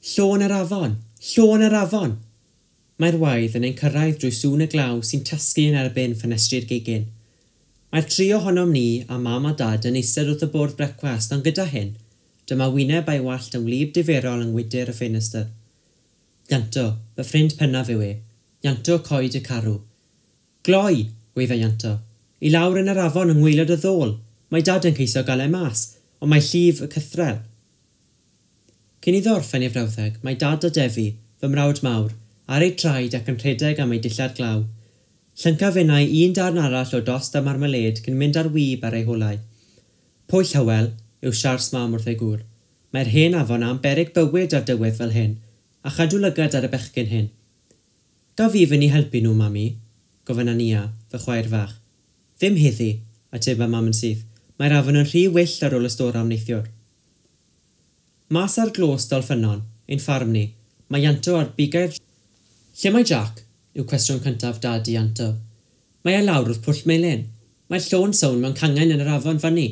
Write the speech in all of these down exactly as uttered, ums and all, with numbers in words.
Llo yn yr afon! Llo yn yr afon! Mae'r waedd yn ein cyrraedd drwy sŵn y glaw sy'n tasgu yn erbyn ffenestri'r gegin. Mae'r tri ohonom ni a Mam a Dad yn eistedd wrth y bwrdd brecwast, ond gyda hyn, dyma wyneb a'i wallt yn wlyb diferol yng ngwydr y ffenestr. Ianto, fy ffrind pennaf yw e. Ianto Coed y Carw. Gloi, gweidda Ianto. I lawr yn yr afon yng ngwaelod y ddôl. Mae Dad yn ceisio gael e mas, ond mae llif y cythrel. Cyn iddo orffen ei frawddeg, mae Dad a Defi, fy mrawd mawr, ar eu traed ac yn rhedeg am eu dillad glaw. Llyncaf finnau un darn arall o dost a marmalêd cyn mynd ar wib ar eu holau. Pwyll Hywel, yw siars Mam wrth ei gŵr. Mae'r hen afon am beryg bywyd ar dywydd fel hyn, a chadw lygad ar y bechgyn hyn. Gaf fi fynd i helpu nhw, Mami? Gofynna Nia, fy chwaer fach. Ddim heddi, ateba Mam yn syth. Mae'r afon yn rhy wyllt ar ôl y storam neithiwr. Mas ar glos Dolffynnon, ein ffarm ni, mae Ianto ar bigau'r... Lle mae Jack? Yw cwestiwn cyntaf Dad i Ianto. Mae e lawr wrth Pwll Melyn. Mae'r llo'n sownd mewn cangen yn yr afon fyny.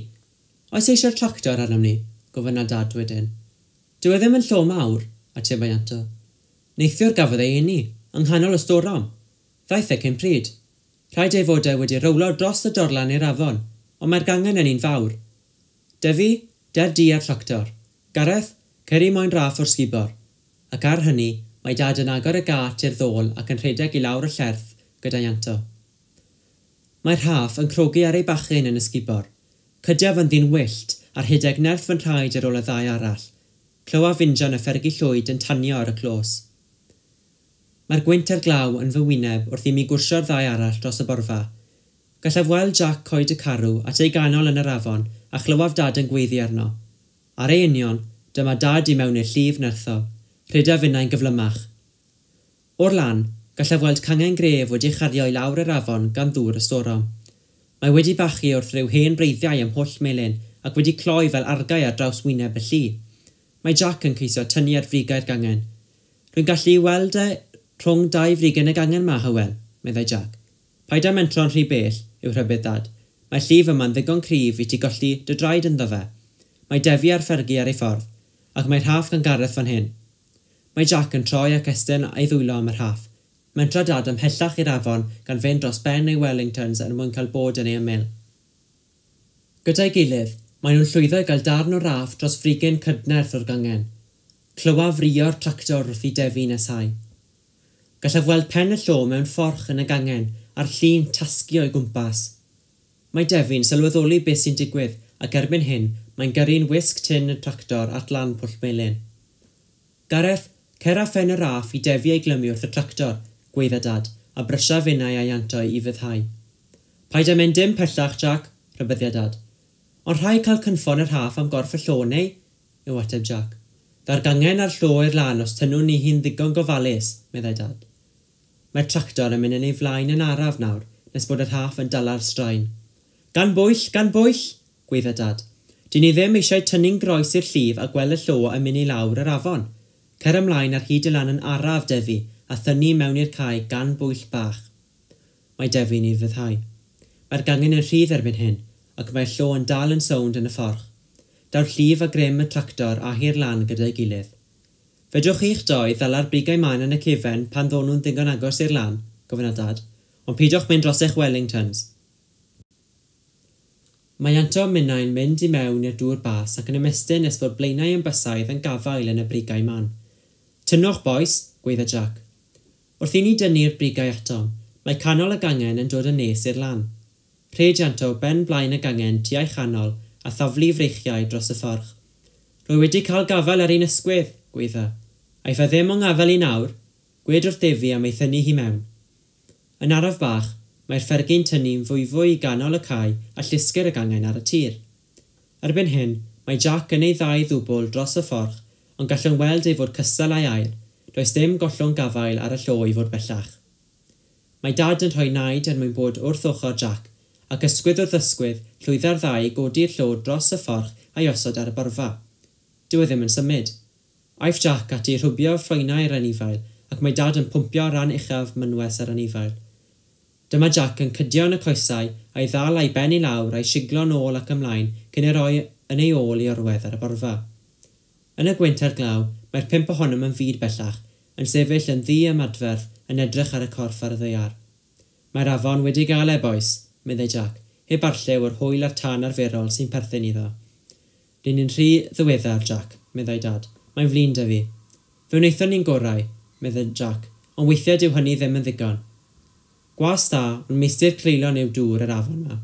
Oes eisiau'r tractor arnom ni? Gofynna Dad wedyn. Dyw e ddim yn llo mawr, ateba Ianto. Neithiwr gafodd ei eni, yng nghanol y storom. Ddaeth e cyn pryd. Rhaid ei fod e wedi rowlo dros y dorlan i'r afon, ond mae'r gangen yn un fawr. Defi, der di a'r tractor. Gareth, cer i moyn raff o'r sgubor. Ac ar hynny, mae Dad yn agor y gât i'r ddôl ac yn rhedeg i lawr y llerth gyda Ianto. Mae'r rhaff yn crogi ar ei bachyn yn y sgubor. Cydiaf yn ddyn wyllt a rhedeg nerth fy nhraed ar ôl y ddau arall. Clywaf injan y Ffergi Llwyd yn tanio ar y clos. Mae'r gwynt a'r glaw yn fy wyneb wrth i mi gwrsio'r ddau arall dros y borfa. Gallaf weld Jack Coed y Carw at ei ganol yn yr afon a chlywaf Dad yn gweiddi arno. Ar ei union, dyma Dad i mewn i'r llif nerthol. Rhedaf finnau'n gyflymach. O'r lan, gallaf weld cangen gref wedi chario i lawr yr afon gan ddŵr y storom. Mae wedi bachu wrth ryw hen breiddiau ym Mhwll Melyn ac wedi cloi fel argau ar draws wyneb y lli. Mae Jack yn ceisio tynnu ar frigau'r gangen. Rwy'n gallu weld e rhwng dau frigen y gangen ma, Hywel, meddai Jack. Paid â mentro'n rhy bell, yw rhybudd Dad. Mae llif yma'n ddigon cryf i ti golli dy draed ynddo fe. Mae Defi a'r Ffergi ar ei ffordd, ac mae rhaff gan Gareth fan hyn. Mae Jack yn troi ac estyn a'i ddwylo am y rhaff. Mentra Dad ymhellach i'r afon gan fynd dros ben ei Wellingtons er mwyn cael bod yn ei ymyl. Gyda'i gilydd, maen nhw'n llwyddo i gael darn o raff dros frigyn cydnerth o'r gangen. Clywaf rio'r tractor wrth i Defi nesau. Gallaf weld pen y llo mewn fforch yn y gangen a'r llun tasgu o'i gwmpas. Mae Defi'n sylweddoli beth sy'n digwydd ac erbyn hyn mae'n gyrru'n wisg tyn y tractor at lan Pwll Melyn. Gareth, cer â phen y raff i Defi ei glymu wrth y tractor, gweidda Dad, a brysia finnau a Ianto i fyddhau. Paid â mynd dim pellach, Jack, rhybuddia Dad. Ond rhaid cael cynffon y rhaff am gorff y llo, neu? Yw ateb Jack. Daw'r gangen a'r llo i'r lan os tynnwn ni hi'n ddigon gofalus, meddai Dad. Mae'r tractor yn mynd yn ei flaen yn araf nawr, nes bod y rhaff yn dala'r straen. Gan bwyll, gan bwyll, gweidda Dad. Dyn ni ddim eisiau tynnu'n groes i'r llif a gweld y llo yn mynd i lawr yr afon. Cer ymlaen ar hyd y lan yn araf, Defi, a thynnu mewn i'r cae gan bwyll bach. Mae Defi'n ei fyddhau. Mae'r gangen yn rhydd erbyn hyn, ac mae'r llo yn dal yn sownd yn y fforch. Daw'r llif a grym y tractor a hi'r lan gyda'i gilydd. Fedrwch chi'ch doi ddala'r brigau maen yn y cefen pan ddon nhw'n ddigon agos i'r lan, gofynna Dad, ond peidiwch mynd dros eich Wellingtons. Mae Ianto a minnau'n mynd i mewn i'r dŵr bas ac yn ymestyn nes bod blaenau yn bysaidd yn gafael yn y brigau man. Tynnwch, bois, gweidda Jack. Wrth i ni dynnu'r brigau atom, mae canol y gangen yn dod yn nes i'r lan. Rhed Ianto ben blaen y gangen tua'i chanol a thaflu freichiau dros y fforch. Rwy wedi cael gafael ar un ysgwydd, gweidda. Aiff e ddim o'n gafael i nawr, gwed wrth Defi am ei thynnu hi mewn. Yn araf bach, mae'r Ffergi'n tynnu'n fwyfwy i ganol y cae a llusgir y gangen ar y tir. Erbyn hyn, mae Jack yn ei ddau ddwbl dros y fforch, ond gallwn weld ei fod cystal a'i air, does dim gollwng gafael ar y llo i fod bellach. Mae Dad yn rhoi naid er mwyn bod wrth ochr Jack, ac ysgwydd wrth ysgwydd llwydda'r ddau i godi'r llo dros y fforch a'i osod ar y borfa. Dyw e ddim yn symud. Aiff Jack ati rhwbio ffroenau'r anifail, ac mae Dad yn pwmpio ran uchaf mynwes yr anifail. Dyma Jack yn cydio yn y coesau a'i ddal a'i ben i lawr a'i siglo nôl ac ymlaen cyn ei roi yn ei ôl i orwedd ar y borfa. Yn y gwynt a'r glaw, Mae'r pump ohonom yn fud bellach, yn sefyll yn ddi-ymadferth yn edrych ar y corff ar y ddaear. Mae'r afon wedi gael e, bois, meddai Jack, heb arlliw o'r hwyl a'r tân arferol sy'n perthyn iddo. Rŷn ni'n rhy ddiweddar, Jack, meddai Dad. Mae'n flin 'da fi. Fe wnaethon ni'n gorau, meddai Jack, ond weithiau dyw hynny ddim yn ddigon. Gwas da, ond meistr creulon yw dŵr yr afon 'ma.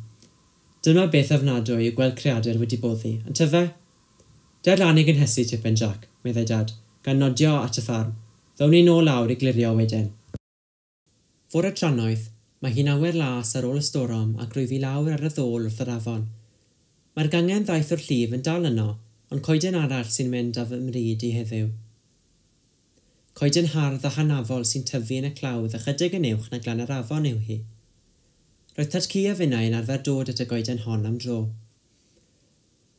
Dyma beth ofnadwy yw gweld creadur wedi boddi, yntyfe? Der lan i gynhesu tipyn, Jack, meddai Dad, gan nodio at y ffarm. Ddown ni nôl lawr i glirio wedyn. Fore trannoeth, mae hi'n awyr las ar ôl y storom ac rwyf i lawr ar y ddôl wrth yr afon. Mae'r gangen ddaeth o'r llif yn dal yno, ond coeden arall sy'n mynd â fy mryd i heddiw. Coeden hardd a hanafol sy'n tyfu yn y clawdd ychydig yn uwch na glan yr afon yw hi. Roedd Tad-cu a finnau yn arfer dod at y goeden hon am dro.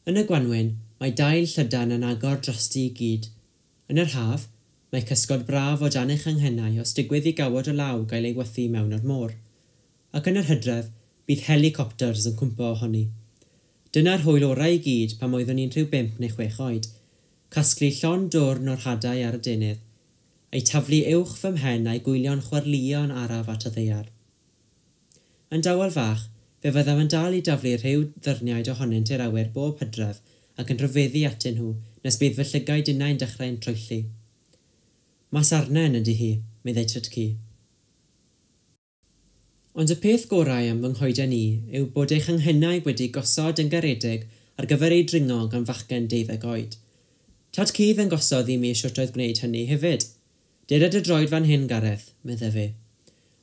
Yn y gwanwyn, mae dail llydan yn agor drosti i gyd. Yn yr haf, mae cysgod braf o dan ei changhennau os digwydd i gawod o law gael ei wythu mewn o'r môr. Ac yn yr hydref, bydd helicopters yn cwmpo ohoni. Dyna'r hwyl orau i gyd pan oeddwn i'n rhyw bump neu chwech oed. Casglu llond dwrn o'r hadau ar y deunydd, eu taflu uwch fy mhen a'i gwylio'n chwarlio'n araf at y ddaear. Yn dawel fach, fe fyddaf yn dal i daflu rhyw ddyrniaid ohonynt i'r awyr bob hydref ac yn rhyfeddu atyn nhw nes bydd fy llygaid innau'n dechrau'n troelli. Masarnen ydy hi, meddai Tad-cu. Ond y peth gorau am fy nghoeden i yw bod ei changhennau wedi gosod yn garedig ar gyfer ei dringo gan fachgen deuddeg oed. Tad-cu ddangosodd i mi shwt oedd gwneud hynny hefyd. Deda dy droed fan hyn, Gareth, meddai fe.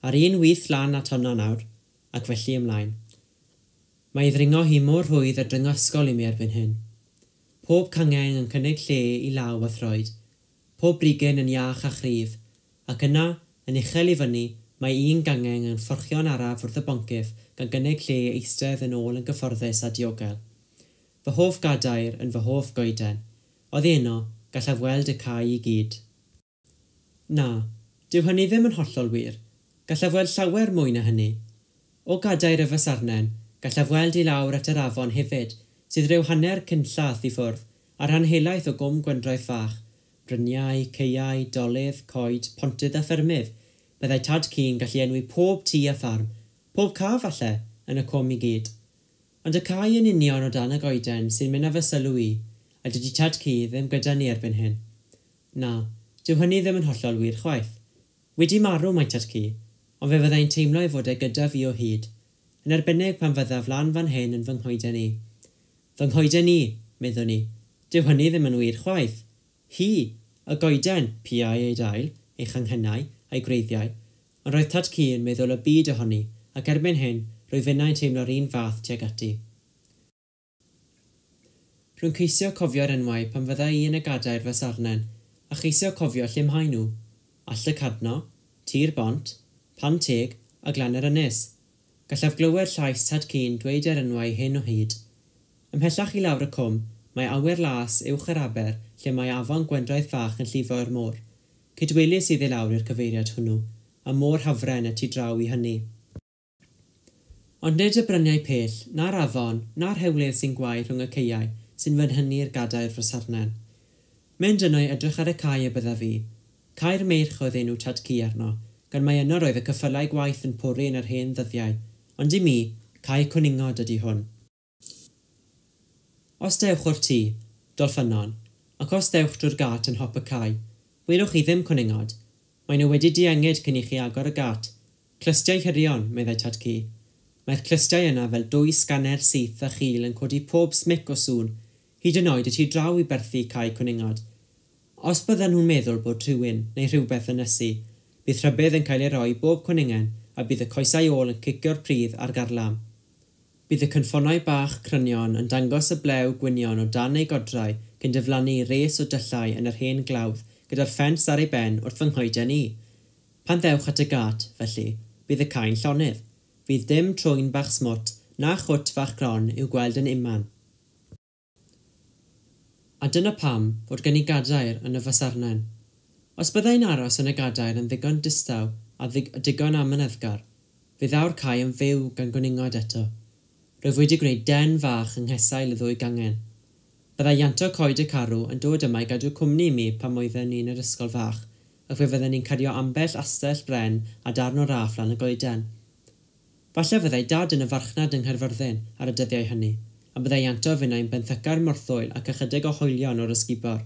Ar un wyth lan at honno nawr, ac felly ymlaen. Mae ei ddringo hi mor rhwydd a dringo ysgol i mi erbyn hyn. Pob cangen yn cynnig lle i law a throed. Pob brigyn yn iach a chryf, ac yna, yn uchel i fyny, mae un gangen yn fforchio'n araf wrth y boncyff gan gynnig lle eistedd yn ôl yn gyfforddus a diogel. Fy hoff gadair yn fy hoff goeden. Oddi yno, gallaf weld y cae i gyd. Na, dyw hynny ddim yn hollol wir. Gallaf weld llawer mwy na hynny. O gadair y fasarnen, gallaf weld i lawr at yr afon hefyd, sydd rhyw hanner cynllath i ffwrdd, a rhan helaeth o gwm Gwendraeth Fach, bryniau, caeau, dolydd, coed, pontydd a ffermydd. Byddai Tad-cu'n gallu enwi pob tŷ a ffarm, pob ca falle, yn y cwm i gyd. Ond y cae yn union o dan y goeden sy'n mynd â fy sylw i, a dydy Tad-cu ddim gyda ni erbyn hyn. Na, dyw hynny ddim yn hollol wir chwaith. Wedi marw mae Tad-cu, ond fe fyddai'n teimlo ei fod e gyda fi o hyd, yn arbennig pan fyddaf lan fan hyn yn fy nghoeden i. Fy nghoeden i, meddwn i, dyw hynny ddim yn wir chwaith. Hi, y goeden, piau ei dail, ei changhennau, a'i gwreiddiau, ond roedd Tad-cu yn meddwl y byd ohoni, ac erbyn hyn, rwyf finnau'n teimlo'r un fath tuag ati. Rwy'n ceisio cofio'r enwau pan fydda i yn y gadair fasarnen, a cheisio cofio lle maen nhw. All y Cadno, Tir Bont, Pan Teg a Glan yr Ynys. Gallaf glywed llais Tad-cu'n dweud yr enwau hyn o hyd. Ymhellach i lawr y cwm, mae awyr las uwch yr aber lle mae afon Gwendraeth Fach yn llifo i'r môr. Cydweli sydd i lawr i'r cyfeiriad hwnnw, a môr Hafren y tu draw i hynny. Ond nid y bryniau pell, na'r afon, na'r hewlydd sy'n gwau rhwng y caeau sy'n fy nhynnu'r gadair fasarnen. Mynd yno i edrych ar y cae y byddaf fi. Cae'r Meirch oedd enw Tad-cu arno, gan mai yno roedd y ceffylau gwaith yn pori yn yr hen ddyddiau, ond i mi, cae cwningod ydy hwn. Os dewch o'r tŷ, Dolffynon, ac os dewch drwy'r gât yn hop y cae, welwch chi ddim cwningod. Maen nhw wedi diengyd cyn i chi agor y gât. Clustiau hirion, meddai Tad-cu. Mae'r clustiau yna fel dwy sganer syth a chul yn codi pob smic o sŵn, hyd yn oed y tu draw i berthi cae cwningod. Os byddan nhw'n meddwl bod rhywun neu rhywbeth yn ysu, bydd rhybudd yn cael ei roi bob cwningen a bydd y coesau ôl yn cicio'r pridd ar garlam. Bydd y cynffonau bach crynion yn dangos y blew gwynion o dan eu godrau cyn diflannu res o dyllau yn yr hen glawdd gyda'r ffens ar ei ben wrth fy nghoeden i. Pan ddewch at y gât, felly, bydd y cae'n llonydd. Fydd dim trwyn bach smwt na chwt fach gron i'w gweld yn unman. A dyna pam fod gen i gadair yn y fasarnen. Os byddai'n aros yn y gadair yn ddigon distaw a digon amyneddgar, fe ddaw'r cae yn fyw gan gwningod eto. Rwyf wedi gwneud den fach yng nghesail y ddwy gangen. Byddai Ianto Coed y Carw yn dod yma i gadw cwmni i mi pan oedden ni'n yr ysgol fach, ac fe fydden ni'n cario ambell astell bren a darn o raff lan y goeden. Falle fyddai Dad yn y farchnad yng Nghaerfyrddin ar y dyddiau hynny, a byddai Ianto finnau'n benthyca'r morthwyl ac ychydig o hoelion o'r ysgubor.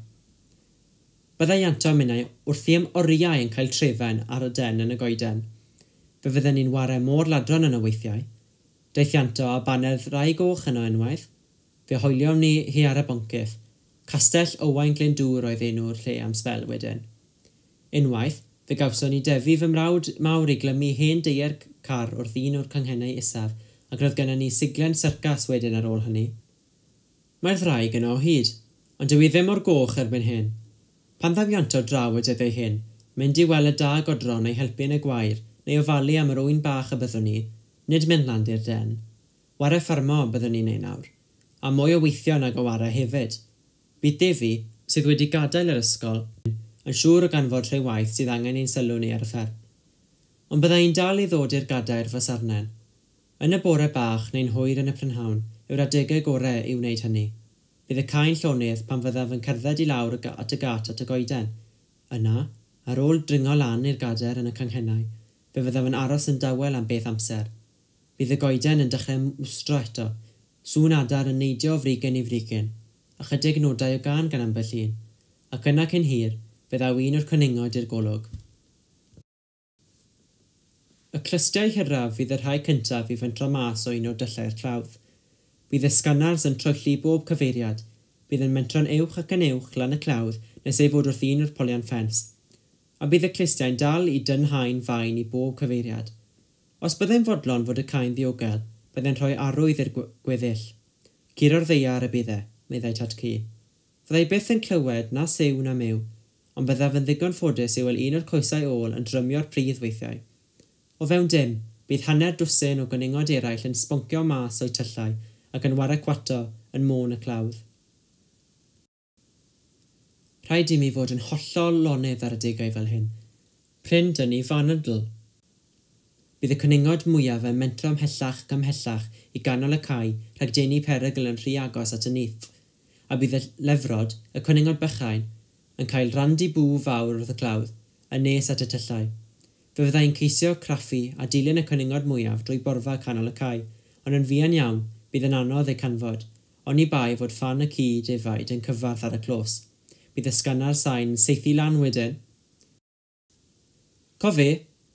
Byddai Ianto a minnau wrthi am oriau yn cael trefen ar y den yn y goeden. Fe fydden ni'n ware môr ladron yno weithiau. Daeth Ianto a baned rai goch yno unwaith. Fe hoeliom ni hi ar y boncyff. Castell Owain Glyndŵr oedd enw'r lle am sbel wedyn. Unwaith, fe gawson ni defu fy mrawd mawr i glymu hen deiar car wrth un o'r canghennau isaf, ac roedd gennym ni siglen syrcas wedyn ar ôl hynny. Mae'r ddraig yno o hyd, ond dyw hi ddim o'r goch erbyn hyn. Pan ddaw Ianto draw y dyddiau hyn, mynd i weld y da godro neu helpu yn y gwair, neu ofalu am yr ŵyn bach y byddwn ni, nid mynd lan i'r den. Ware ffermo byddwn ni'n ei nawr, a mwy o weithio nag o ware hefyd. Bydd Defi, sydd wedi gadael yr ysgol, yn siŵr o ganfod rhyw waith sydd angen ein sylw ni ar y fferm. Ond bydda i'n dal i ddod i'r gadair fy sarnen. Yn y bore bach neu'n hwyr yn y prynhawn yw'r adegau gorau i wneud hynny. Bydd y cae'n llonydd pan fyddaf yn cerdded i lawr at y gat at y goeden. Yna, ar ôl dringo lan i'r gadair yn y canghennau, fe fyddaf yn aros yn dawel am beth amser. Bydd y goeden yn dechrau mwstro eto, sŵn adar yn neidio o frigyn i frigyn, ychydig nodau o gân gan ambell un, ac yna cyn hir, fe ddaw un o'r cwningod i'r golwg. Y clustiau hiraf fydd y rhai cyntaf i fentro mas o un o'r dyllau'r clawdd. Bydd y sganars yn troelli bob cyfeiriad, bydd yn mentro'n uwch ac yn uwch lan y clawdd nes ei fod wrth un o'r polion ffens, a bydd y clustiau'n dal i dynhau'n fain i bob cyfeiriad. Os byddai'n fodlon fod y cae'n ddiogel, byddai'n rhoi arwydd i'r gweddill. Curo'r ddaear y bydd e, meddai Tad-cu. Fyddai byth yn clywed na siw na miw, ond byddaf yn ddigon ffodus i weld un o'r coesau ôl yn drymio'r pridd weithiau. O fewn dim, bydd hanner dwsin o gwningod eraill yn sboncio mas o'u tyllau ac yn ware cwato yn môn y clawdd. Rhaid i mi fod yn hollol lonydd ar adegau fel hyn. Prin dynnu f'anadl. Bydd y cwningod mwyaf yn mentro ymhellach ac ymhellach i ganol y cae rhag denu perygl yn rhy agos at y nyth, a bydd y lefrod, y cwningod bychain, yn cael randi bŵ fawr wrth y clawdd, yn nes at y tyllau. Fe fyddai'n ceisio craffu a dilyn y cwningod mwyaf drwy borfa canol y cae, ond yn fuan iawn bydd yn anodd eu canfod, oni bai fod ffan y ci defaid yn cyfarth ar y clos. Bydd y sgannar sain yn saethu lan wedyn. Cofe,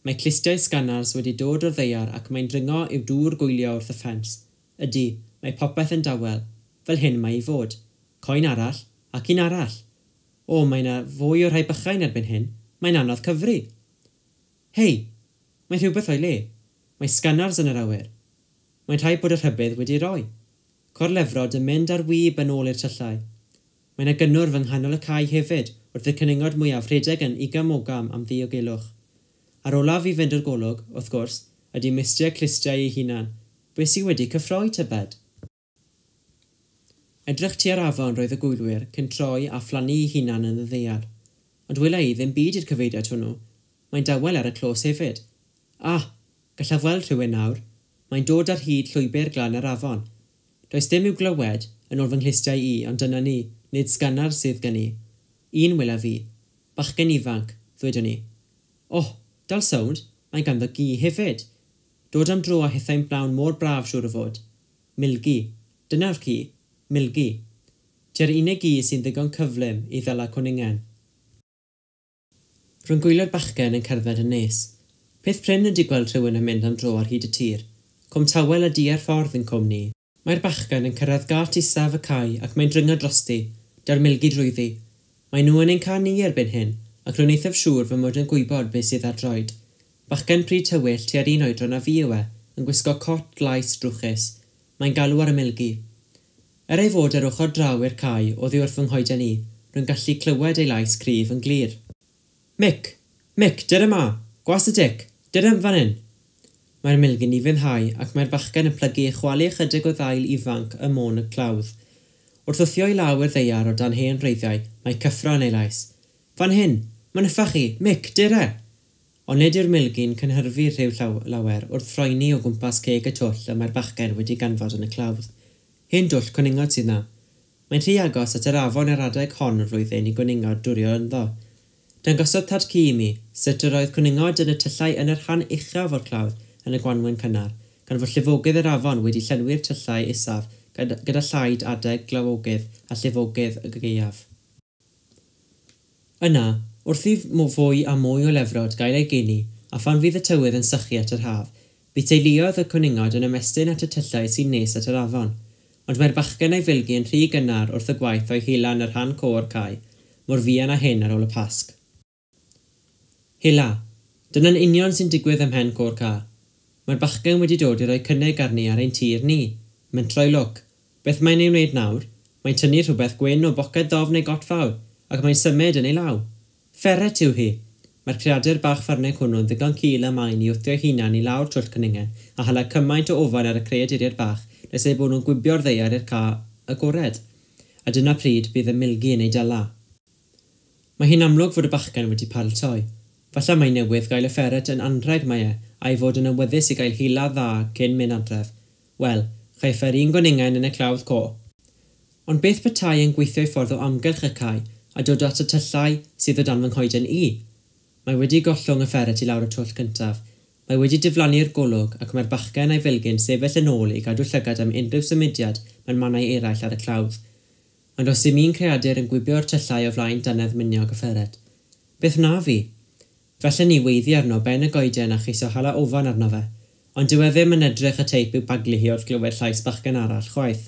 mae clustiau sgannars wedi dod o'r ddaear ac mae'n dringo i'w dŵr gwylio wrth y ffens. Ydy, mae popeth yn dawel. Fel hyn mae i fod. Coen arall, ac un arall. O, mae yna fwy o'r rhai bychain erbyn hyn. Mae'n anodd cyfri. Hei, mae rhywbeth o'i le. Mae sgannars yn yr awyr. Mae'n rhaid bod y rhybudd wedi roi. Corlefrod yn mynd ar wib yn ôl i'r tyllau. Mae yna gynnwrf yng nghanol y cae hefyd wrth y cwningod mwyaf rhedeg yn igam-ogam am ddiogelwch. Ar olaf i fynd o'r golwg, wrth gwrs, ydy mistiau clustiau ei hunan. Be sy wedi cyffroi tybed? Edrych tua'r afon roedd y gwylwyr cyn troi a phlannu ei hunan yn y ddaear. Ond wela i ddim byd i'r cyfeiriad hwnnw. Mae'n dawel ar y clos hefyd. Ah, gallaf weld rhywun nawr. Mae'n dod ar hyd llwybr glan yr afon. Does dim i'w glywed yn ôl fy nghlustiau i, ond dyna ni, nid sgannar sydd gen i. Un wela fi. Bachgen ifanc, ddwedwn i. Oh, dal sownd, mae ganddo gi hefyd. Dod am dro a hithau'n blawn mor braf siŵr o fod. Milgi. Dyna'r ci. Milgi. Tua'r unig gi sy'n ddigon cyflym i ddala cwningen. Rwy'n gwylio'r bachgen yn cerdded yn nes. Peth prin ydy gweld rhywun yn mynd am dro ar hyd y tir. Cwm tawel a di ar ffordd yn cwm ni. Mae'r bachgen yn cyrraedd gat isaf y cae ac mae'n dringo drosti, da'r milgi drwyddi. Mae nhw yn ein cael ni erbyn hyn, ac rwy'n eithaf siŵr fy mod yn gwybod beth sydd ar droed. Bachgen pryd tywyll tua'r un oedran a fi yw e, yn gwisgo cot glais drwchus. Mae'n galw ar y milgi. Er ei fod ar ochr draw i'r cae oddi wrth fy nghoeden i, rwy'n gallu clywed ei lais cryf yn glir. Mick! Mick, dyr yma! Gwas y dic! Dyr ym fan hyn! Mae'r milgi'n ufuddhau ac mae'r bachgen yn plygu i chwalu ychydig o ddail ifanc ym môn y clawdd. Wrth wthio i law i'r ddaear o dan hen wreiddiau, mae cyffro yn ei lais. Fan hyn! Mae'n yffach chi! Mick, dyr e! Ond nid yw'r milgi'n cynhyrfu rhyw llaw lawer wrth ffroeni o gwmpas ceg y twll y mae'r bachgen wedi ganfod yn y clawdd. Hen dwll cwningod sydd na. Mae'n rhy agos at yr afon ar adeg hon o'r flwyddyn i gwningod dwrio ynddo. Dangosodd tad-cu i mi sut yr oedd cwningod yn y tyllau yn y rhan uchaf o'r clawdd yn y gwanwyn cynnar, gan fod llifogydd yr afon wedi llenwi'r tyllau isaf gyda llaid adeg glawogydd a llifogydd y gaeaf. Yna, wrth i fwy a mwy o lefrod gael ei geni, a phan fydd y tywydd yn sychu at yr haf, bydd teuluoedd y cwningod yn ymestyn at y tyllau sy'n nes at yr afon. Ond mae'r bachgen a'i filgi yn rhy gynnar wrth y gwaith o'i hela yn y rhan côr cae, mor fuan â hyn ar ôl y Pasg. Hela. Dyna'n union sy'n digwydd ym mhen côr ca. Mae'r bachgen wedi dod i roi cynnig arni ar ein tir ni. Mentroi lwc. Beth mae'n ei wneud nawr? Mae'n tynnu rhywbeth gwyn o boced ddofn ei got fawr, ac mae'n symud yn ei law. Fferet yw hi. Mae'r creadur bach ffyrnig hwnnw'n ddigon cul a main i wthio'i hunan i lawr twll cwningen a hala cymaint o ofan ar y creaduriaid bach nes eu bod nhw'n gwibio'r ddaear i'r ca agored. A dyna pryd bydd y milgi yn ei dala. Mae hi'n amlwg fod y bachgen wedi paratoi. Falle mai newydd gael y fferet yn anrheg mae e, a'i fod yn awyddus i gael hila dda cyn mynd adref. Wel, chaiff e'r un gwningen yn y clawdd co. Ond beth petai yn gweithio i ffordd o amgylch y cae a dod at y tyllau sydd o dan fy nghoeden i? Mae wedi gollwng y fferet i lawr y twll cyntaf. Mae wedi diflannu'r golwg ac mae'r bachgen a'i filgi'n sefyll yn ôl i gadw llygad am unrhyw symudiad mewn mannau eraill ar y clawdd. Ond os dim un creadur yn gwibio'r tyllau o flaen dannedd miniog y fferet. Beth wna fi? Felly ni weiddi arno ben y goeden a cheisio hala ofan arno fe, ond dyw e ddim yn edrych y teip i'w baglu hi wrth glywed llais bachgen arall chwaith.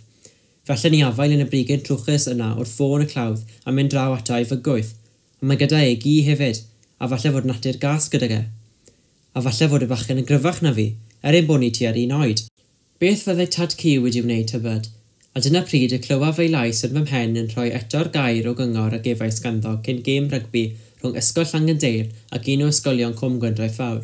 Felly ni afael yn y brigyn trwchus yna wrth fôn y clawdd a mynd draw ato i fygwyth, ond mae gyda e gi hefyd, a falle fod natur gas gydag e. A falle fod y bachgen yn gryfach na fi, er ein bod ni tua'r un oed. Beth fyddai tad-cu wedi wneud tybed? A dyna pryd y clywaf ei lais yn fy mhen yn rhoi eto'r gair o gyngor a gefais ganddo cyn gêm rygbi rhwng Ysgol Llangyndeyrn ac un o ysgolion Cwm Gwendraeth Fawr.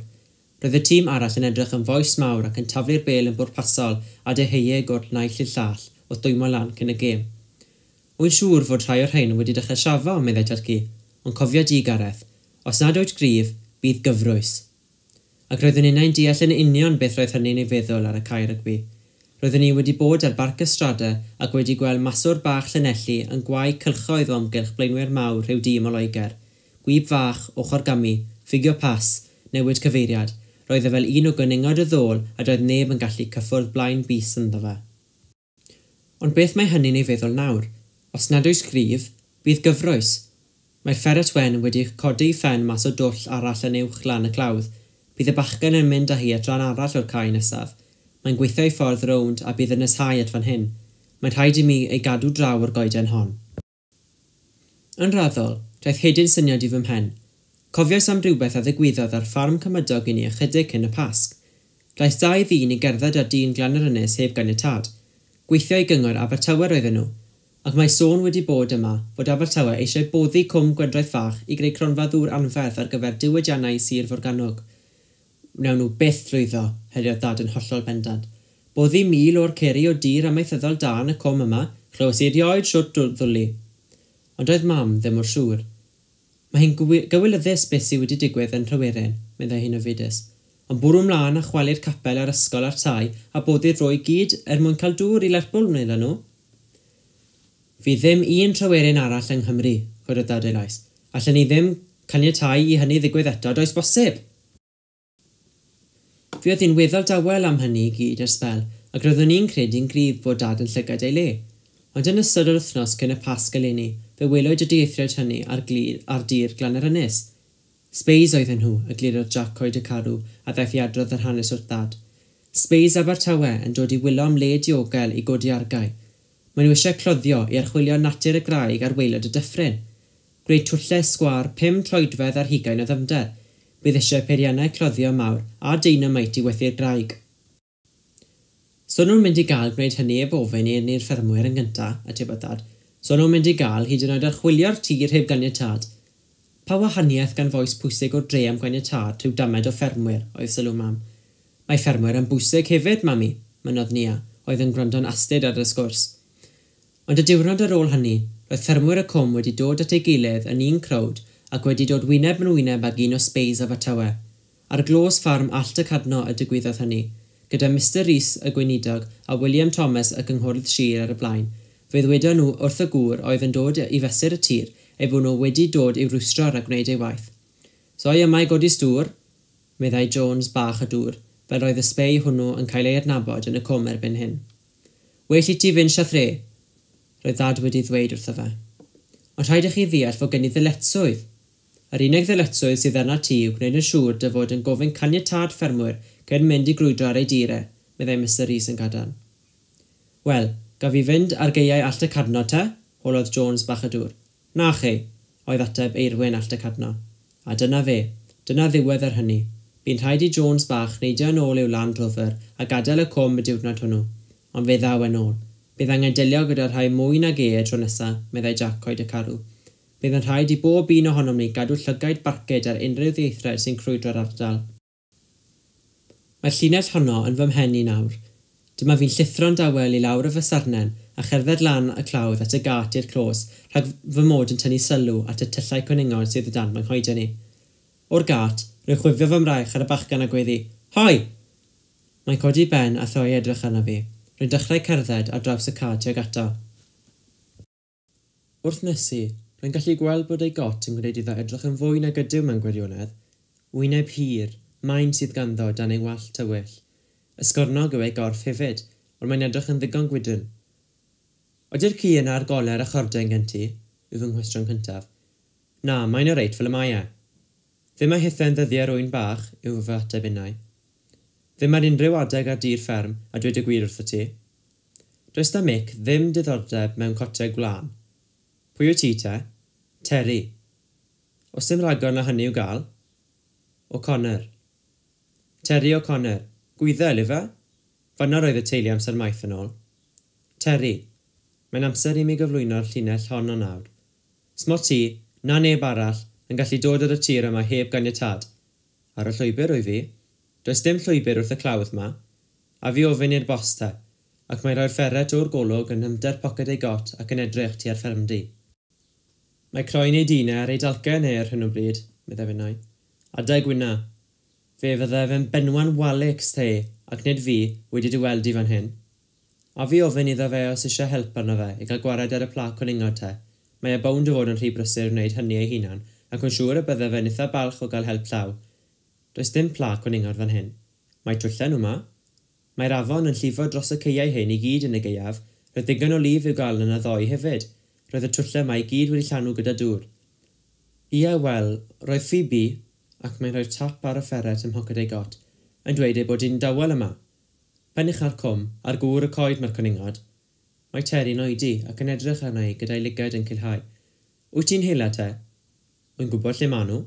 Roedd y tîm arall yn edrych yn fois mawr ac yn taflu'r bêl yn bwrpasol a deheuig o'r naill i'r llall wrth dwymo lan cyn y gêm. Wy'n siŵr fod rhai o'r rhain wedi dechrau siafo, meddai tad-cu, ond cofia di, Gareth, os nad wyt gryf, bydd gyfrwys. Ac roeddwn innau'n deall yn union beth roedd hynny'n ei feddwl ar y cae rygbi. Roeddwn i wedi bod ar Barc y Strade ac wedi gweld maswr bach Llanelli yn gwau cylchoedd o amgylch blaenwyr mawr rhyw dîm o Loegr. Gwib fach, ochr gamu, ffugio pas, newid cyfeiriad. Roedd e fel un o gwningod y ddôl a doedd neb yn gallu cyffwrdd blaen bys ynddo fe. Ond beth mae hynny'n ei feddwl nawr? Os nad oes gryf, bydd gyfrwys. Mae'r fferet wen wedi codi phen mas o dwll arall yn uwch lan y clawdd. Bydd y bachgen yn mynd â hi at ran arall o'r cae nesaf. Mae'n gweithio ei ffordd rownd a bydd yn neshau at fan hyn. Mae'n rhaid i mi ei gadw draw o'r goeden hon. Yn raddol, daeth hedyn syniad i fy mhen. Cofiais am rhywbeth a ddigwyddodd ar ffarm cymydog i ni ychydig cyn y Pasg. Daeth dau ddyn i gerdded ar dyn glan yr ynys heb ganiatâd. Gweithio i gyngor Abertawe roedden nhw, ac mae sôn wedi bod yma fod Abertawe eisiau boddi Cwm Gwendraeth Fach i greu cronfa ddŵr anferth ar gyfer diwydiannau Sir Forgannwg. Wnawn nhw byth llwyddo, heriodd dad yn hollol bendant. Boddi mil o'r ceri o dir amaethyddol da yn y cwm yma, chlywes i erioed siwt ddwli. Ond oedd mam ddim mor siŵr. Mae hi'n gywilyddus beth sydd wedi digwydd yn Nhryweryn, meddai hi'n ofidus. Ond bwrw mlaen a chwalu'r capel a'r ysgol a'r tai a boddi'r fro i gyd er mwyn cael dŵr i Lerpwl, wnaethon nhw. Fydd ddim un Tryweryn arall yng Nghymru, chwedodd dad ei lais. Allen ni ddim caniatáu i hynny ddigwydd eto, does bosib. Fi oedd hi'n weddol dawel am hynny i gyd ers sbel, ac roeddwn i'n credu'n gryf bod dad yn llygad ei le. Ond yn ystod yr wythnos cyn y Pasg eleni, fe welwyd y dieithriaid hynny ar, glir, ar dir glan yr ynys. Sbeis oedden nhw, eglurodd Jack Coed y Carw, a ddaeth i adrodd yr hanes wrth dad. Sbeis Abertawe yn dod i wylo am le diogel i godi argae. Maen nhw eisiau cloddio i archwilio natur y graig ar waelod y dyffryn. Gwneud twllau sgwâr pum troedfedd ar hugain o ddyfnder. Bydd eisiau peiriannau cloddio mawr a deinamite i wethu'r graig. So nhw'n mynd i gael gwneud hynny heb ofyn i ni'r ffermwyr yn gyntaf, atebodd dad. So nhw'n mynd i gael hyd yn oed archwilio'r tir heb ganiatâd. Pa wahaniaeth gan fois pwysig o'r dre am ganiatâd rhyw damed o ffermwyr, oedd sylw mam. Mae ffermwyr yn bwysig hefyd, mami, mynnodd Nia, oedd yn gwrando'n astud ar y sgwrs. Ond y diwrnod ar ôl hynny, roedd ffermwyr y cwm wedi dod at ei gilydd yn un crowd ac wedi dod wyneb yn wyneb ag un o sbeis Abertawe. Ar glos ffarm Allt y Cadno y digwyddodd hynny, gyda Mister Rees y gweinidog a William Thomas y cynghorydd sir ar y blaen, Fe ddwedon nhw wrth y gŵr oedd yn dod i fesur y tir eu bod nhw wedi dod i'w rwystro rhag gwneud ei waith. So i yma i godi stŵr, meddai Jones bach y dŵr, fel roedd y sbei hwnnw yn cael ei adnabod yn y cwm erbyn hyn. Well i ti fynd siathre, roedd Dad wedi ddweud wrtho fe. Ond rhaid i chi ddeall fod gen i ddyletswydd. Yr unig ddyletswydd sydd arna ti yw gwneud yn siŵr dy fod yn gofyn caniatâd ffermwyr cyn mynd i grwydro ar ei dir e, meddai Mister Rees yn gadarn. Wel, gaf i fynd ar gaeau Allt y Cadno te? Holodd Jones bach y dŵr. Na chi, oedd ateb Eirwyn Allt y Cadno. A dyna fe, dyna ddiwedd ar hynny. Bu'n rhaid i Jones bach neidio yn ôl i'w Land Rover a gadael y cwm y diwrnod hwnnw. Ond fe ddaw yn ôl. Bydd angen delio gyda rhai mwy nag e y tro nesaf, meddai Jack Coed y Carw. Bydd yn rhaid i bob un ohonom ni gadw llygaid barcud ar unrhyw ddieithrau sy'n crwydro'r ardal. Mae'r llinell honno yn fy mhen i nawr. Dyma fi'n llithro'n dawel i lawr y fysarnen a cherdded lan y clawdd at y gât i'r clos rhag fy mod yn tynnu sylw at y tyllau cwningod sydd o dan fy nghoeden i. O'r gât, rwy'n chwifio fy mraich ar y bachgen a gweiddi, Hoi! Mae'n codi ben a throi edrych arna fi. Rwy'n dechrau cerdded ar draws y cae tuag ato. Wrth nesu, rwy'n gallu gweld bod ei got yn gwneud iddo edrych yn fwy nag ydyw mewn gwirionedd. Wyneb hir, maen sydd ganddo dan ei wallt tywyll. Ysgornog yw ei gorff hefyd, ond mae'n edrych yn ddigon gwydn. Ydy'r ci yna ar goler a chordau gen ti? Yw fy nghwestiwn cyntaf. Na, mae'n oreit fel y mae e. Ddim a hithau'n ddyddiau rwy'n bach, yw fy ateb innau. Ddim ar unrhyw adeg ar dir fferm, a dweud y gwir wrtho ti. Does da Mick ddim diddordeb mewn cotiau gwlân. Pwy wyt ti te? Terry. Oes dim rhagor na hynny i'w gael? O'Connor. Terry O'Connor. Gwyddel, ife? Fan'na roedd y teulu amser maith yn ôl. Terry. Mae'n amser i mi gyflwyno'r llinell hon o nawr. Smo ti, na neb arall, yn gallu dod ar y tir yma heb ganiatâd. Ar y llwybr wyf fi. Does dim llwybr wrth y clawdd ma. A fi ofyn i'r bos te, ac mae'n rhoi'r ferret o'r golwg yn nyfnder poced ei got ac yn edrych tua'r ffermdy. Mae croen ei dînau ar ei dalcen e ar hyn o bryd, meddai finnau. Adeg wyna. Fe fydde fe'n benwan walics te, ac nid fi wedi dy weld i fan hyn. A fi ofyn iddo fe os eisiau help arno fe i gael gwared ar y pla cwningod te. Mae e bownd o fod yn rhy brysur wneud hynny ei hunan, ac yn siŵr y bydde fe'n eitha balch o gael help llaw. Does dim pla cwningod fan hyn. Mae twllen nhw ma. Mae'r afon yn llifo dros y caeau hyn i gyd yn y gaeaf, roedd digon o lif i'w gael yna ddoe hefyd. Roedd y twllau yma i gyd wedi llanw gyda dŵr. Ia, wel, roedd Phoebe, ac mae'n rhoi'r tap ar y ferret ym mhoced ei got, yn dweud ei bod hi'n dawel yma. Pen ucha'r cwm, ar gŵr y coed mae'r cwningod. Mae Terry'n oedi ac yn edrych arna i gyda'i lygaid yn culhau. Wyt ti'n hela te? Wy'n gwybod lle maen nhw.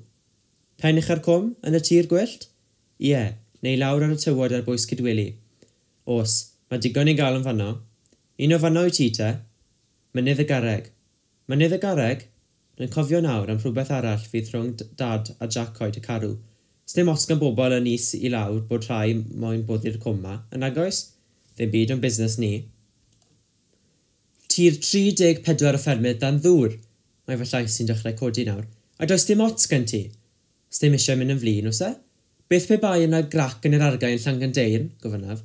Pen ucha'r cwm, yn y tir gwyllt? Ie, neu lawr ar y tywod ar bwys Cydweli. Os, mae digon i gael yn fanno. Un o fanno wyt ti te? Mynydd y Garreg. Mynydd y Garreg? Rwy'n cofio nawr am rhywbeth arall fydd rhwng Dad a Jack Coed y Carw. Sdim ots gan bobl yn is i lawr bod rhai moyn boddi'r cwm ma, yn nagoes? Ddim byd o'n busnes ni. Tir tri deg pedwar o ffermydd dan ddŵr. Mae fy llais sy'n dechrau codi nawr. A does dim ots gen ti? Sdim eisiau mynd yn flin, oes e? Beth pe bai yna grac yn yr argae yn Llangandeirn, gofynnaf.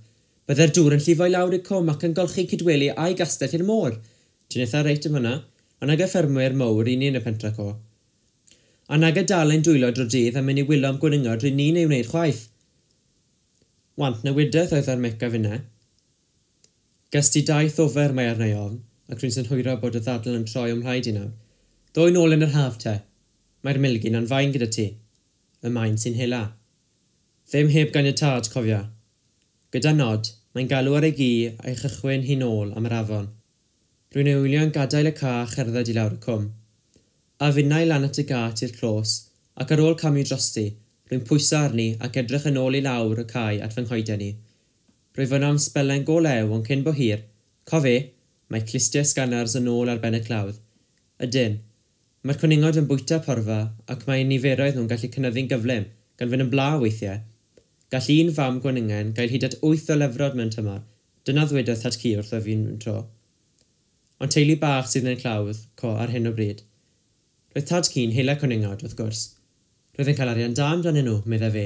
Bydde'r dŵr yn llifo i lawr i'r cwm ac yn golchi Cydweli a'i gastell i'r môr. Ti'n eitha reit yn fan'na, ond nag y ffermwyr mowr i ni yn y pentre co. A nag y dal ein dwylo drwy'r dydd a mynd i wylo am gwningod rydyn ni'n ei wneud chwaith. Want newidaeth oedd ar Mick a finne. Ges ti daith ofer mae arna i ofn, ac rwy'n synhwyro bod y ddadl yn troi o'm mhlaid i nawr. Ddoi nôl yn yr haf te. Mae'r milgyn a'n fain gyda ti. Y maen sy'n hela. Ddim heb ganiatâd, cofia. Gyda nod, mae'n galw ar ei gi a'i chychwyn hi nôl am yr afon. Rwy'n ei wylio'n gadael y ca a cherdded i lawr y cwm. A finnau lan at y gât i'r clos, ac ar ôl camu drosti, rwy'n pwyso arni ac edrych yn ôl i lawr y cae at fy nghoeden i. Rwyf yno am sbelen go lew ond cyn bo hir, cof e, mae clustiau sganars yn ôl ar ben y clawdd. Ydyn, mae'r cwningod yn bwyta porfa ac mae niferoedd nhw'n gallu cynyddu'n gyflym, gan fynd yn bla weithiau. Gall un fam gwningen gael hyd at wyth o lefrod mewn tymor, dyna ddwedodd tad cu wrtho fi'n tro. Ond teulu bach sydd yn y clawdd, co, ar hyn o bryd. Roedd tad cu'n hela cwningod, wrth gwrs. Roedd yn cael arian da amdanyn nhw, meddai fe.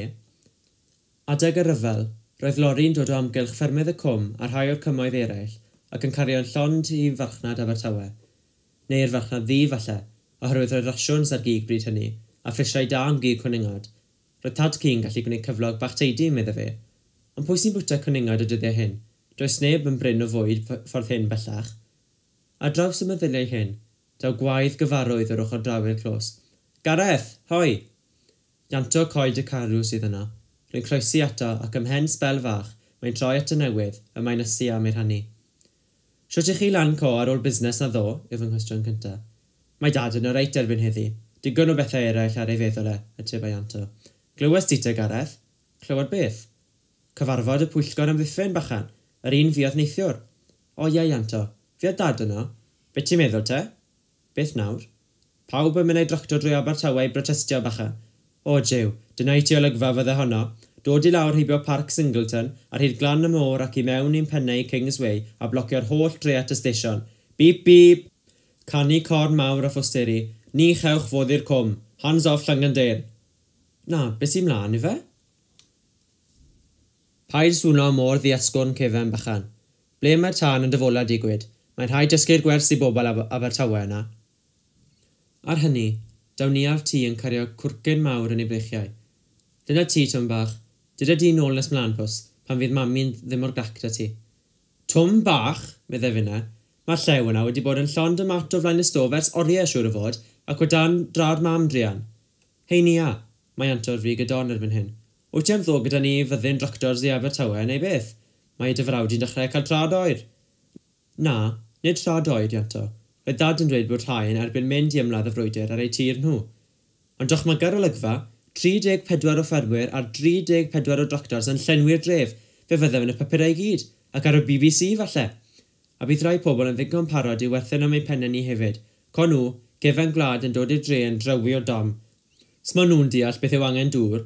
Adeg y rhyfel, roedd lori'n dod o amgylch ffermydd y cwm a rhai o'r cymoedd eraill, ac yn cario'n llond i farchnad Abertawe. Neu'r farchnad ddu falle, oherwydd roedd rasiwns ar gig bryd hynny, a phrisiau da am gig cwningod. Roedd tad ci'n gallu gwneud cyflog bach teidi, medde fe. Ond pwy sy'n bwyta cwningod y dyddiau hyn? Does neb yn brin o fwyd ffordd hyn bellach. Ar draws y meddyliau hyn, daw gwaedd gyfarwydd o'r ochr draw i'r clos. Gareth, hoi! Ianto Coed y Carw sydd yna. Rwy'n croesi ato ac ymhen sbel fach, mae'n troi at y newydd, y mae'n ysu am ei rhannu. Shwt i chi lan co ar ôl busnes na ddo, yw fy nghwestiwn cyntaf. Mae dad yn oreit erbyn heddi. Digon o bethau eraill ar ei feddwl e, atebau Ianto. Glywes ti te, Gareth? Clywed beth? Cyfarfod y pwyllgor amddiffyn, bachan. Yr un fuodd neithiwr. O ie, Ianto. Fuodd dad yno. Be ti'n meddwl te? Beth nawr? Pawb yn mynd ei dractor drwy Abertawe i brotestio, bachan. O, jiw, dyna i ti olygfa fydde honno. Dod i lawr heibio Parc Singleton, ar hyd glan y môr ac i mewn i'n pennau Kings Way a blocio'r holl dre at y stesion. Bip, bip! Canu corn mawr a phosteri. Ni chewch fod i'r cwm. Hands off Llangyndeyrn. Na, beth sy'n mlaen i fe? Paid swno mor ddiasgwrn cefen bachan. Ble mae'r tân yn dyfola digwyd? Mae'n rhaid dysgu'r gwers i bobl Ab Abertawe yna. Ar hynny, daw ni a'r tŷ yn cario cwrcyn mawr yn ei breichiau. Dyna ti, Twm bach. Dyda di nôl nes mlaen pws, pan fydd mami'n ddim o'r grac da ti. Twm bach, meddai finne. Mae'r llew yna wedi bod yn llond y mat o flaen y stof ers oriau siŵr o fod, ac o dan drad mam druan. Hei Nia, mae Ianto ar frig y don erbyn hyn. Wyt ti am ddod gyda ni fyddin dractors i Abertawe neu beth? Mae dy frawd i'n dechrau cael trad oer. Na, nid trad oer, Ianto. Roedd dad yn dweud bod rhai yn erbyn mynd i ymladd y frwydr ar eu tir nhw. Ond dychmyga'r olygfa, tri deg pedwar o ffermwyr a dri deg pedwar o dractors yn llenwi'r dref, fe fyddem yn y papurau i gyd, ac ar y B B C falle. A bydd rai pobl yn ddigon parod i werthen am eu pennau ni hefyd. Con nhw, gefen gwlad yn dod i'r dre yn drywi o dom. Smo nhw'n deall beth yw angen dŵr,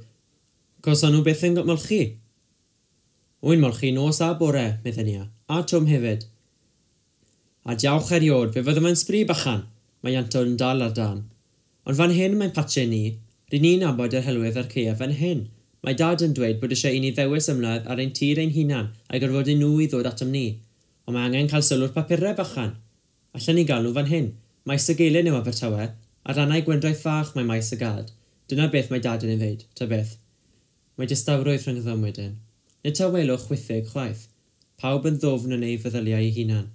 cos o'n nhw byth yn molchi. Wy'n molchi nos a bore, meddai Nia, a Twm hefyd. A diawch eriod, fe fyddem yn sbri bachan, mae Ianto yn dal ar dan. Ond fan hyn mae'n patio ni, rydyn ni'n nabod yr helwydd a'r caeaf fan hyn. Mae dad yn dweud bod eisiau i ni ddewis ymladd ar ein tir ein hunan a'i gorfodi nhw i ddod atom ni. Ond mae angen cael sylw'r papurau bachan. Allan ni gael nhw fan hyn. Maes y Gelyn yw Abertawe, ar rannau Gwendraeth Fach mae maes y gad. Dyna beth mae dad yn ei ddeud, ta beth. Mae distawrwydd rhyngddom wedyn. Nid tawelwch chwithig chwaith. Pawb yn ddwfn yn ei feddyliau ei hunan.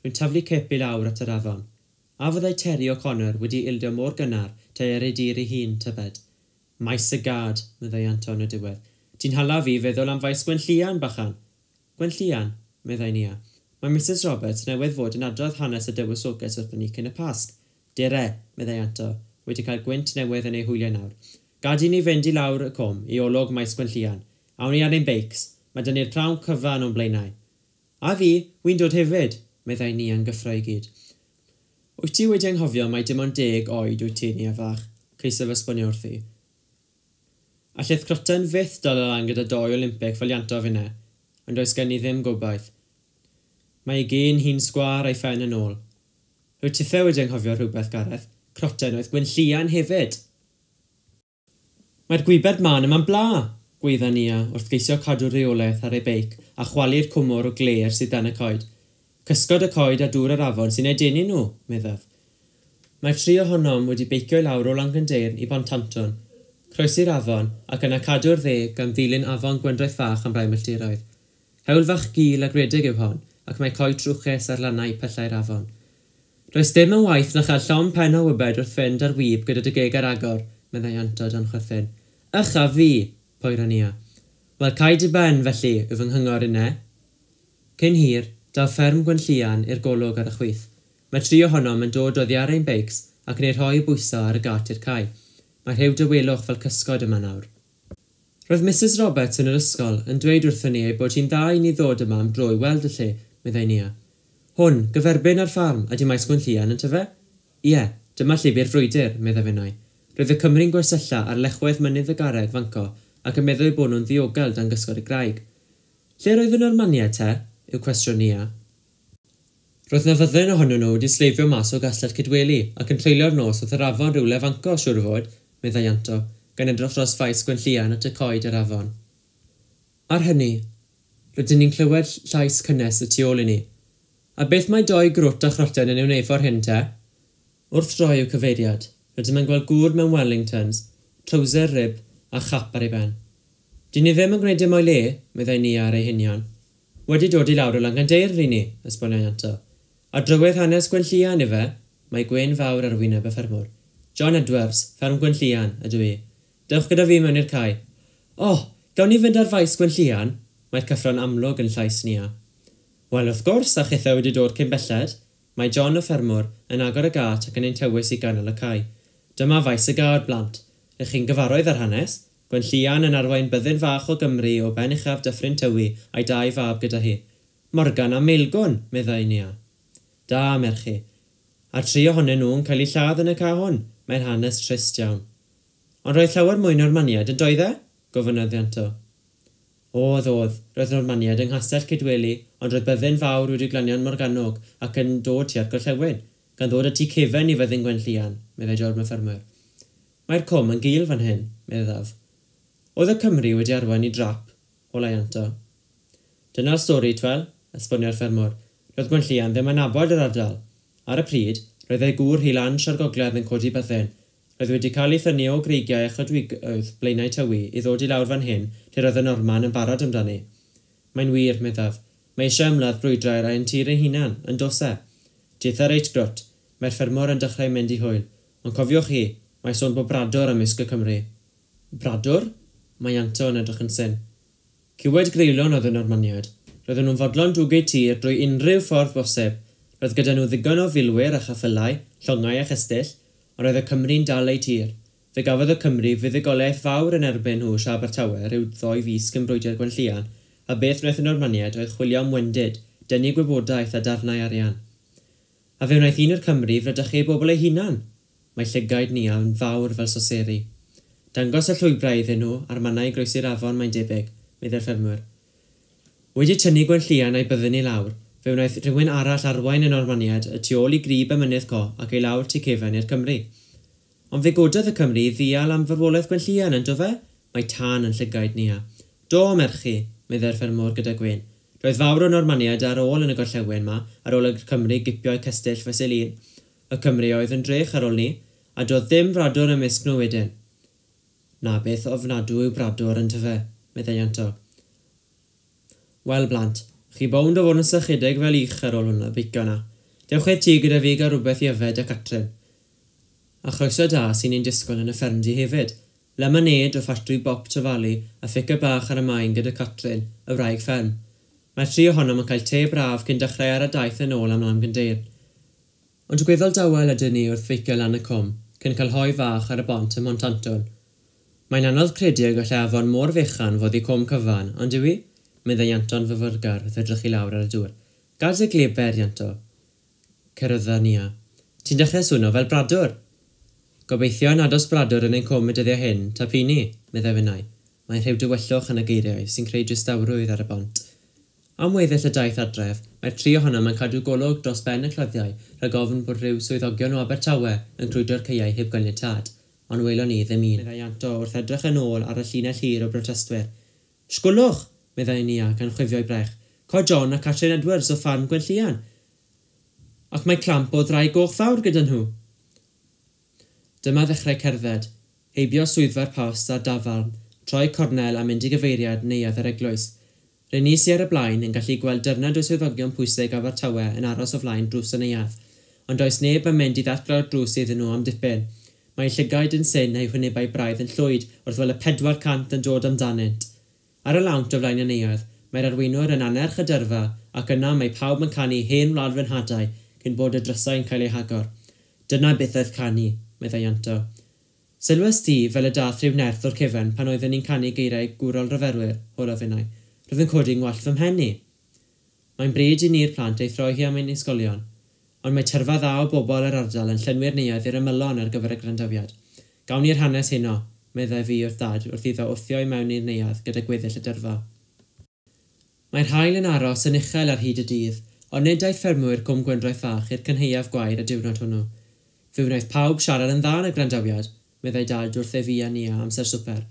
Rwy'n taflu cip i lawr at yr afon. A fyddai Terry O'Connor wedi ildio mor gynnar te ar ei dir ei hun, tybed. Maes y gad, meddai Ianto yn y diwedd. Ti'n hala fi feddwl am faes Gwenllian, bachan. Gwenllian, meddai Nia. Mae Missus Roberts newydd fod yn adrodd hanes y dywysoges wrthon ni cyn y Pasg. Dere, meddai Ianto, wedi cael gwynt newydd yn ei hwyliau nawr. Gad i ni fynd i lawr y cwm, i olwg maes Gwenllian. Awn ni ar ein beics, mae dyn ni'r prawn cyfan o'n blaenau. A fi, wy'n dod hefyd, meddai Nia yn gyffro i gyd. Wyt ti wedi anghofio mai dim ond deg oed wyt ti, Nia fach, ceisio fy esbonio wrthi. Allith croten fyth dal lan gyda doi Olympic fel Ianto finne, ond does gen i ddim gobaith. Mae ei gên hi'n sgwâr a'i phen yn ôl. Rwyt tithe wedi anghofio rhywbeth, Gareth. Croten oedd Gwenllian hefyd. Mae'r gwybed man yma'n bla, gweidda Nia wrth geisio cadw reolaeth ar ei beic a chwalu'r cwmwr o gler sydd dan y coed. Cysgod y coed a dŵr yr afon sy'n eu denu nhw, meddaf. Mae'r tri ohonom wedi beicio i lawr o Langyndeyrn i Bontanton, croesi'r afon ac yna cadw'r dde gan ddilyn afon Gwendraeth Fach am rai milltiroedd. Hewl fach gul a gredig yw hon, ac mae coed trwchus ar lannau pellau'r afon. Does dim yn waith na chael llond pen o wybed wrth fynd ar wib gyda dy geg ar agor, meddai Ianto dan chwerthin. Ych a fi, poera Nia. Wel, cau dy ben, felly, yw fy nghyngor inne. Cyn hir, daw fferm Gwenllian i'r golwg ar y chwith. Mae tri ohonom yn dod oddi ar ein beics ac yn ei rhoi bwyso ar y gat i'r cae. Mae rhyw dawelwch fel cysgod yma nawr. Roedd Missus Roberts yn yr ysgol yn dweud wrthon ni ei bod hi'n dda i ni ddod yma am dro i weld y lle, meddai Nia. Hwn, gyferbyn ar ffarm, ydy maes Gwenllian yn tyfe? Ie, dyma llwybr frwydr, meddai finnau. Roedd y Cymru'n gwersylla ar lechwedd mynydd y garreg fanco ac yn meddwl bod nhw'n ddiogel dan gysgod y graig. Lle roedd y Normaniaid te? Yw cwestiwn Nia. Roedd na fyddin ohonyn nhw wedi sleifio mas o gastell Cydweli ac yn treulio'r nos wrth yr afon rhywle fanco, siŵr o fod, meddai Ianto, gan edrych dros faes Gwenllian at y coed yr afon. Ar hynny, rydyn ni'n clywed llais cynnes y tu ôl i ni. A beth mae doi grwt a chroten yn ei wneud ffordd hyn te? Wrth droi i'w cyfeiriad, rydym yn gweld gŵr mewn Wellingtons, trowser rib a chap ar ei ben. Dyn ni ddim yn gwneud dim o'i le, meddai Nia ar ei hunion. Wedi dod i lawr o Langandeir ry ni, esbonio Ianto. A drywydd hanes Gwenllian ife, mae gwên fawr ar wyneb y ffermwr. John Edwards, fferm Gwenllian, ydw i. Dewch gyda fi mewn i'r cae. O, oh, gawn ni fynd ar faes Gwenllian? Mae'r cyffro'n amlwg yn llais Nia. Wel, wrth gwrs, a chithau wedi dod cyn belled. Mae John y ffermwr yn agor y gât ac yn ein tywys i ganol y cae. Dyma faes y gad, blant. Ych chi'n gyfarwydd ar hanes? Gwenllian yn arwain byddin fach o Gymru o ben uchaf Dyffryn Tywi a'i dau fab gyda hi. Morgan a Maelgwn, meddai Nia. Da, merchi. A'r tri ohonyn nhw'n cael eu lladd yn y cae hwn. Mae'n hanes trist iawn. Ond roedd llawer mwy Normaniaid yn doedd e? Gofynnodd Ianto. Oedd, oedd, roedd Normaniaid yng Nghastell Cydweli, ond roedd byddin fawr wedi glanio'n Morgannwg ac yn dod tua'r gorllewin, gan ddod y tŷ cefen i fyddin Gwenllian, meddai John y ffermwr. Mae'r cwm yn gul fan hyn, meddaf. Oedd y Cymry wedi arwain i drap, holai Ianto. Dyna'r stori, twel, esbonio'r ffermwr. Roedd Gwenllian ddim yn nabod yr ardal. Ar y pryd, roedd ei gŵr hi lan Siar Gogledd yn codi byddin. Roedd wedi cael ei thynnu o greigiau a chodwigoedd Blaenau Tywi i ddod i lawr fan hyn lle roedd y Norman yn barod amdani. Mae'n wir, meddaf. Mae eisiau ymladd brwydrau ar ein tir ein hunan, yn dos e. Deutha reit grwt, mae'r ffermwr yn dechrau mynd i hwyl. Ond cofiwch chi, mae sôn bod bradwr ymysg y Cymry. Bradwr? Mae Ianto yn edrych yn syn. Cywed greulon oedd y Normaniaid. Roedden nhw'n fodlon dwg eu tir drwy unrhyw ffordd bosib. Roedd gyda nhw ddigon o filwyr a cheffylau, llongau a chestyll, ond roedd y Cymry'n dal eu tir. Fe gafodd y Cymry fuddugoliaeth fawr yn erbyn nhw Siar Abertawe rhyw ddoi fis cyn brwydr Gwenllian, a beth wnaeth y Normaniaid oedd chwilio am wendid, dynnu gwybodaeth a darnau arian. A fe wnaeth un o'r Cymry fradychu ei bobl ei hunan. Mae llygaid Nia yn fawr fel soseri. Dangos y llwybrau iddyn nhw a'r mannau groesi'r afon mae'n debyg, meddai'r ffermwr. Wedi tynnu Gwenllian a'i byddin i lawr, fe wnaeth rhywun arall arwain y Normaniaid y tu ôl i grib y mynydd co ac ei lawr tu cefen i'r Cymry. Ond fe gododd y Cymry i ddial am farwolaeth Gwenllian, yn do fe? Mae tân yn llygaid Nia. Do, merchi, meddai'r ffermwr gyda gwên. Roedd fawr o Normaniaid ar ôl yn y gorllewin ma, ar ôl y Cymry gipio'u cestyll fesul un. Y Cymry oedd yn drech ar ôl ni, a doedd ddim bradwr ymysg nhw wedyn. Na beth ofnadw yw bradwr yn tyfe, meddai Ianto. Wel, blant, chi bownd o fod yn sychedig fel ich ar ôl hwnna, beicio na. Dewch i'r tŷ gyda fi gael rhywbeth i yfed a Catrin. A chroeso da sy'n ein disgwyl yn y ffermdy hefyd. Lemonade o ffatri Bop Trefali a phica bach ar y maen gyda Catrin, y wraig fferm. Mae'r tri ohonom yn cael te braf cyn dechrau ar y daith yn ôl am Langandeir. Ond gweddol dawel ydyn ni wrth feicio lan y cwm, cyn cael hoe fach ar y bont ym Mhontantwn. Mae'n anodd credu y gallai afon mor fechan fod i cwm cyfan, ond yw i? Meddai Ianto'n fyfyrgar wrth edrych i lawr ar y dŵr. Gad y gleber, Ianto. Cerydda Nia. Ti'n dechrau swno fel bradwr. Gobeithio nad oes bradwr yn ein cwm y dyddiau hyn, ta pini, meddai finnau. Mae rhyw dywyllwch yn y geiriau sy'n creu distawrwydd ar y bont. Am weddill y daith adref, mae'r tri ohonom yn cadw golwg dros ben y cloddiau rhag ofn bod rhyw swyddogion o Abertawe yn crwydro'r caeau heb ganiatâd, ond welon ni ddim un. Meddai Ianto wrth edrych yn ôl ar y llinell hir o brotestwyr. Sgwlwch, meddai Nia gan chwifio'i brech. Co John a Catrin Edwards o ffarm Gwenllian. Ac mae clamp o ddraig goch fawr gyda nhw. Dyma ddechrau cerdded, heibio swyddfa'r post a'r dafarn, troi cornel a mynd i gyfeiriad neuadd yr eglwys. Rŷn ni sy ar y blaen yn gallu gweld dyrnad o swyddogion pwysig Abertawe yn aros o flaen drws y neuadd, ond does neb yn mynd i ddatglo'r drws iddyn nhw am dipyn. Mae llygaid yn syn a'u hwynebau braidd yn llwyd wrth weld y pedwar cant yn dod amdanynt. Ar y lawnt o flaen y neuadd, mae'r arweinwyr yn annerch y dyrfa ac yna mae pawb yn canu hen wlad fy nhadau cyn bod y drysau yn cael eu hagor. Dyna beth oedd canu, meddai Ianto. Sylwes ti fel y dath rhyw nerth o'r cefen pan oedden ni'n canu geiriau gwrol rhyfelwyr, holodd finnau. Roedd yn codi ngwallt fy mhen i. Mae'n bryd i ni'r plant ei throi hi am ein ysgolion, ond mae tyrfa dda o bobl yr ardal yn llenwi'r neuadd i'r ymylon ar gyfer y gwrandawiad. Gawn ni'r hanes heno, meddai fi wrth dad wrth iddo wthio i mewn i'r neuadd gyda gweddill y dyrfa. Mae'r haul yn aros yn uchel ar hyd y dydd, ond nid aeth ffermwyr Cwm Gwendraeth Fach i'r cynhaeaf gwair y diwrnod hwnnw. Fe wnaeth pawb siarad yn dda yn y gwrandawiad, meddai dad wrth ei fi a Nia amser swper.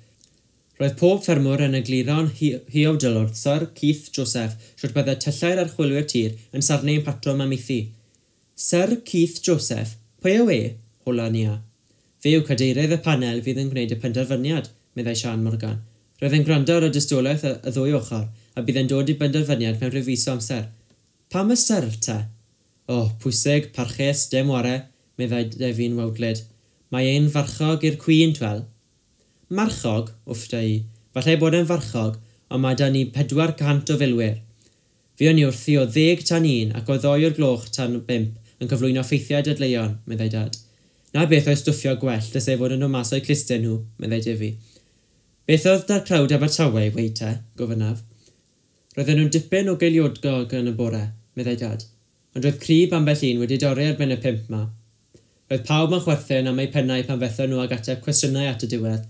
Roedd pob ffermwr yn egluro'n huawdl wrth Syr Keith Joseph sut byddai tyllau'r archwilwyr tir yn sarnu ein patrwm amaethu. Syr Keith Joseph? Pwy yw e? Hola Nia. Fe yw cadeirydd y panel fydd yn gwneud y penderfyniad, meddai Sian Morgan. Roedd e'n gwrando ar y dystiolaeth y ddwy ochr, a bydd e'n dod i benderfyniad mewn rhyw fis o amser. Pam y syr, te? O, oh, pwysig, parchus, dim ware, meddai Defi'n wawdlyd. Mae e'n farchog i'r Queen, twel. Marchog, wffta i. Falle bod e'n farchog, ond mae da ni pedwar cant o filwyr. Fuon ni wrthi o ddeg tan un ac o ddoi o'r gloch tan bump yn cyflwyno ffeithiau dadleuon, meddai Dad. Na beth oedd stwffio gwellt ys ei fod yn dod mas o'u clustau nhw, meddai Defi. Beth oedd da'r crowd Abertawe, weud te, gofynnaf. Roedden nhw'n dipyn o geiliodgog yn y bore, meddai Dad. Ond roedd crib ambell un wedi dorri ar ben y pump ma. Roedd pawb yn chwerthin am eu pennau pan fethon nhw ag ateb cwestiynau at y diwedd.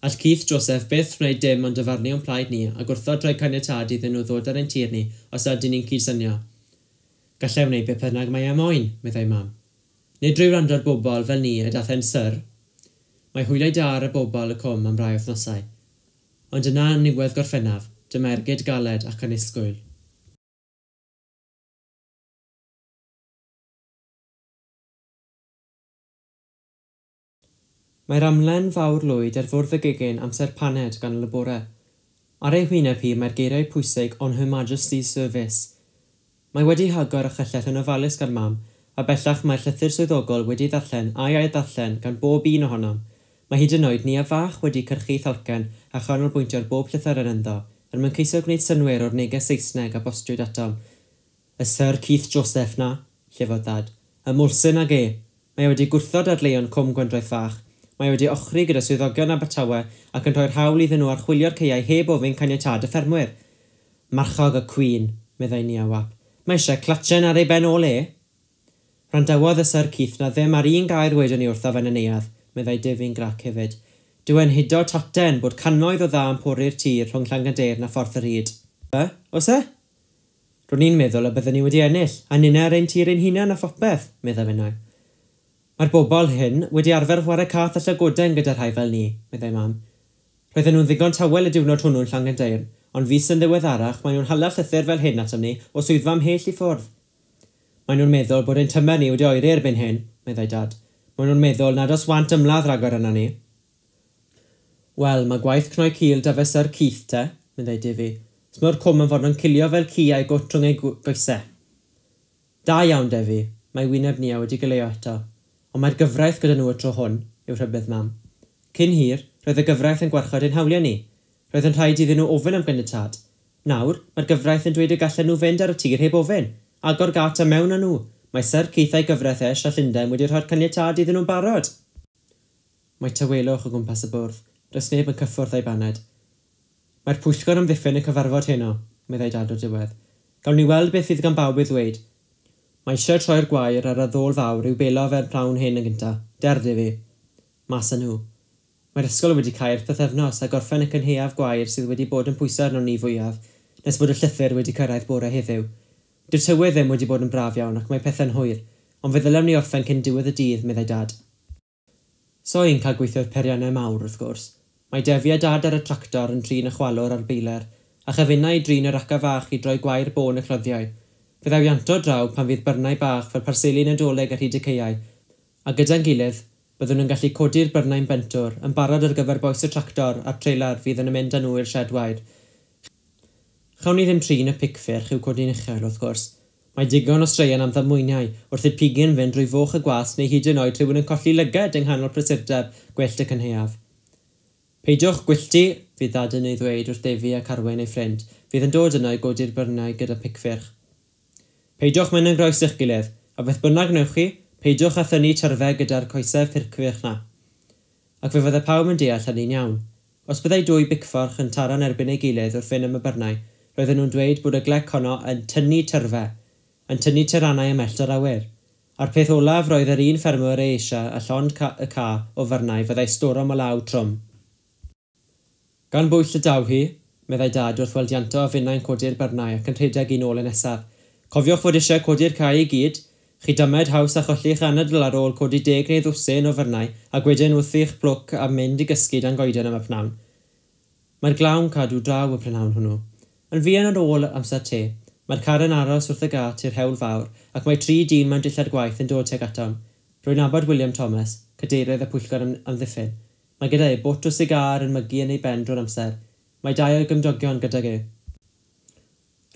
All Keith Joseph byth wneud dim ond dyfarnu o'n plaid ni a gwrthod rhoi caniatâd iddyn nhw ddod ar ein tir ni os ydyn ni'n cydsynio. Gallai wneud beth bynnag mae e moyn, meddai Mam. Nid drwy wrando ar bobl fel ni y dath e'n syr. Mae hwyliau da ar y bobl y cwm am rai wythnosau. Ond yna yn niwedd Gorffennaf, dyma ergyd galed ac annisgwyl. Mae'r amlen fawr lwyd ar fwrdd y gegin amser paned ganol y bore. Ar ei hwyneb hi mae'r geiriau pwysig On Her Majesty's Service. Mae wedi hagor a chyllell yn ofalus gan Mam, a bellach mae'r llythyr swyddogol wedi ddarllen a'i ail-ddarllen gan bob un ohonom. Mae hyd yn oed Nia fach wedi cyrchu thalcen a chanolbwyntio ar bob llythyren ynddo, er mwyn ceisio gwneud synnwyr o'r neges Saesneg a bostiwyd atom. Y Syr Keith Joseph na, llefodd Dad. Y mwlsyn ag e. Mae wedi gwrthod dadleuon Cwm Gwendraeth Fach. Mae wedi ochri gyda swyddogion Abertawe ac yn rhoi'r hawl iddyn nhw archwilio'r caeau heb ofyn caniatâd y ffermwyr. Marchog y Queen, meddai Nia Wap. Mae eisiau clatchen ar ei ben ôl e. Rhandawodd y Syr Keith na ddim ar un gair wedon ni wrtho fe'n y neuadd, meddai Defi'n grac hefyd. Dyw e'n hudo taten bod cannoedd o dda yn pori'r tir rhwng Llangandeyrn a Ffordd yr Hyd. E? Oes e? Ro'n i'n meddwl y byddwn ni wedi ennill, a ninne ar ein tir ein hunan a phopeth, meddai finnau. Mae'r bobl hyn wedi arfer chwarae cath a llygoden gyda rhai fel ni, meddai Mam. Roedden nhw'n ddigon tawel y diwrnod hwnnw'n Llangandeyrn, ond fis yn ddiweddarach maen nhw'n hala llythyr fel hyn atom ni o swyddfa ymhell i ffwrdd. Maen nhw'n meddwl bod ein tymer ni wedi oeri erbyn hyn, meddai Dad. Maen nhw'n meddwl nad oes want ymladd rhagor arnon ni. Wel, mae gwaith cnoi cil da fe Syr Keith te, meddai Defi. Smo'r cwm yn fodlon cilio fel ci a'i gwt rhwng ei goesau. Da iawn, Defi. Mae wyneb Nia wedi goleuo eto. Ond mae'r gyfraith gyda nhw y tro hwn, yw rhybudd Mam. Cyn hir, roedd y gyfraith yn gwarchod ein hawliau ni. Roedd yn rhaid iddyn nhw ofyn am ganiatâd. Nawr, mae'r gyfraith yn dweud y gallen nhw fynd ar y tir heb ofyn. Agor gat a mewn â nhw. Mae Syr Keith a'i gyfraith e a Llundain wedi rhoi'r caniatâd iddyn nhw'n barod. Mae tawelwch o gwmpas y bwrdd. Does neb yn cyffwrdd â'i baned. Mae'r pwyllgor amddiffyn yn cyfarfod heno, meddai Dad o'r diwedd. Gawn ni weld beth fydd gan bawb ei ddweud. Mae eisiau troi'r gwair ar y ddôl fawr i'w belo fe'r prawn hyn yn gynta. Der, Defi. Mas â nhw. Mae'r ysgol wedi cau'r pythefnos a gorffen y cynhaeaf gwair sydd wedi bod yn pwyso arnon ni fwyaf, nes bod y llythyr wedi cyrraedd bore heddiw. Dyw'r tywydd ddim wedi bod yn braf iawn ac mae pethau'n hwyr, ond fe ddylem ni orffen cyn diwedd y dydd, meddai Dad. So i'n cael gweithio'r peiriannau mawr, wrth gwrs. Mae Defi a Dad ar y tractor yn trin y chwalwr a'r beiler, a chyfunau i drin yr aca fach i droi gwair bôn y cloddiau. Fe ddaw Ianto draw pan fydd byrnau bach fel parseli Nadolig ar hyd y caeau, a gyda'n gilydd, byddwn yn gallu codi'r byrnau'n bentwr, yn barod ar gyfer bois y tractor a'r treilar fydd yn mynd â nhw i'r sied wair. Chawn ni ddim trin y picffyrch i'w codi'n uchel, wrth gwrs. Mae digon o straeon am ddamweiniau wrth i'r pigyn fynd drwy foch y gwas neu hyd yn oed rhywun yn colli lygad yng nghanol prysurdeb gwyllt y cynhaeaf. Peidiwch gwylltu, fydd Dad yn ei ddweud wrth Defi a Carwyn ei ffrind, fydd yn dod yno i godi'r byrnau gyda picffyrch. Peidiwch mynd yn groes i'ch gilydd, a beth bynnag wnewch chi, peidiwch â thynnu tyrfau gyda'r coesau ffurcfych na. Ac fe fyddai pawb yn deall hynny'n iawn. Os byddai dwy bicfforch yn taro'n erbyn ei gilydd wrth fynd am y byrnau, roedden nhw'n dweud bod y glec honno yn tynnu tyrfau, yn tynnu tyrannau ymhell o'r awyr. A'r peth olaf roedd yr un ffermwr ei eisiau a llond ca y ca o fyrnau fyddai storom o law trwm. Gan bwyll y daw hi, meddai Dad wrth weld Ianto a finnau'n codi'r byrnau ac yn rhedeg un ôl y nesaf. Cofiwch fod eisiau codi'r cae i gyd, chi dymed haws a cholli'ch anadl ar ôl codi deg neu ddwsin o fyrnau ac wedyn wrth i'ch plwc a mynd i gysgu dan goeden am y pnawn. Mae'r glaw'n cadw draw y prynhawn hwnnw. Yn fuan ar ôl amser te, mae'r car yn aros wrth y gât i'r hewl fawr ac mae tri dyn mewn dillad gwaith yn dod tuag atom. Rwy'n nabod William Thomas, cadeirydd y pwyllgor amddiffyn. Mae gyda e bot o sigâr yn mygu yn ei ben drwy'r amser. Mae dau o'i gymdogion gydag e.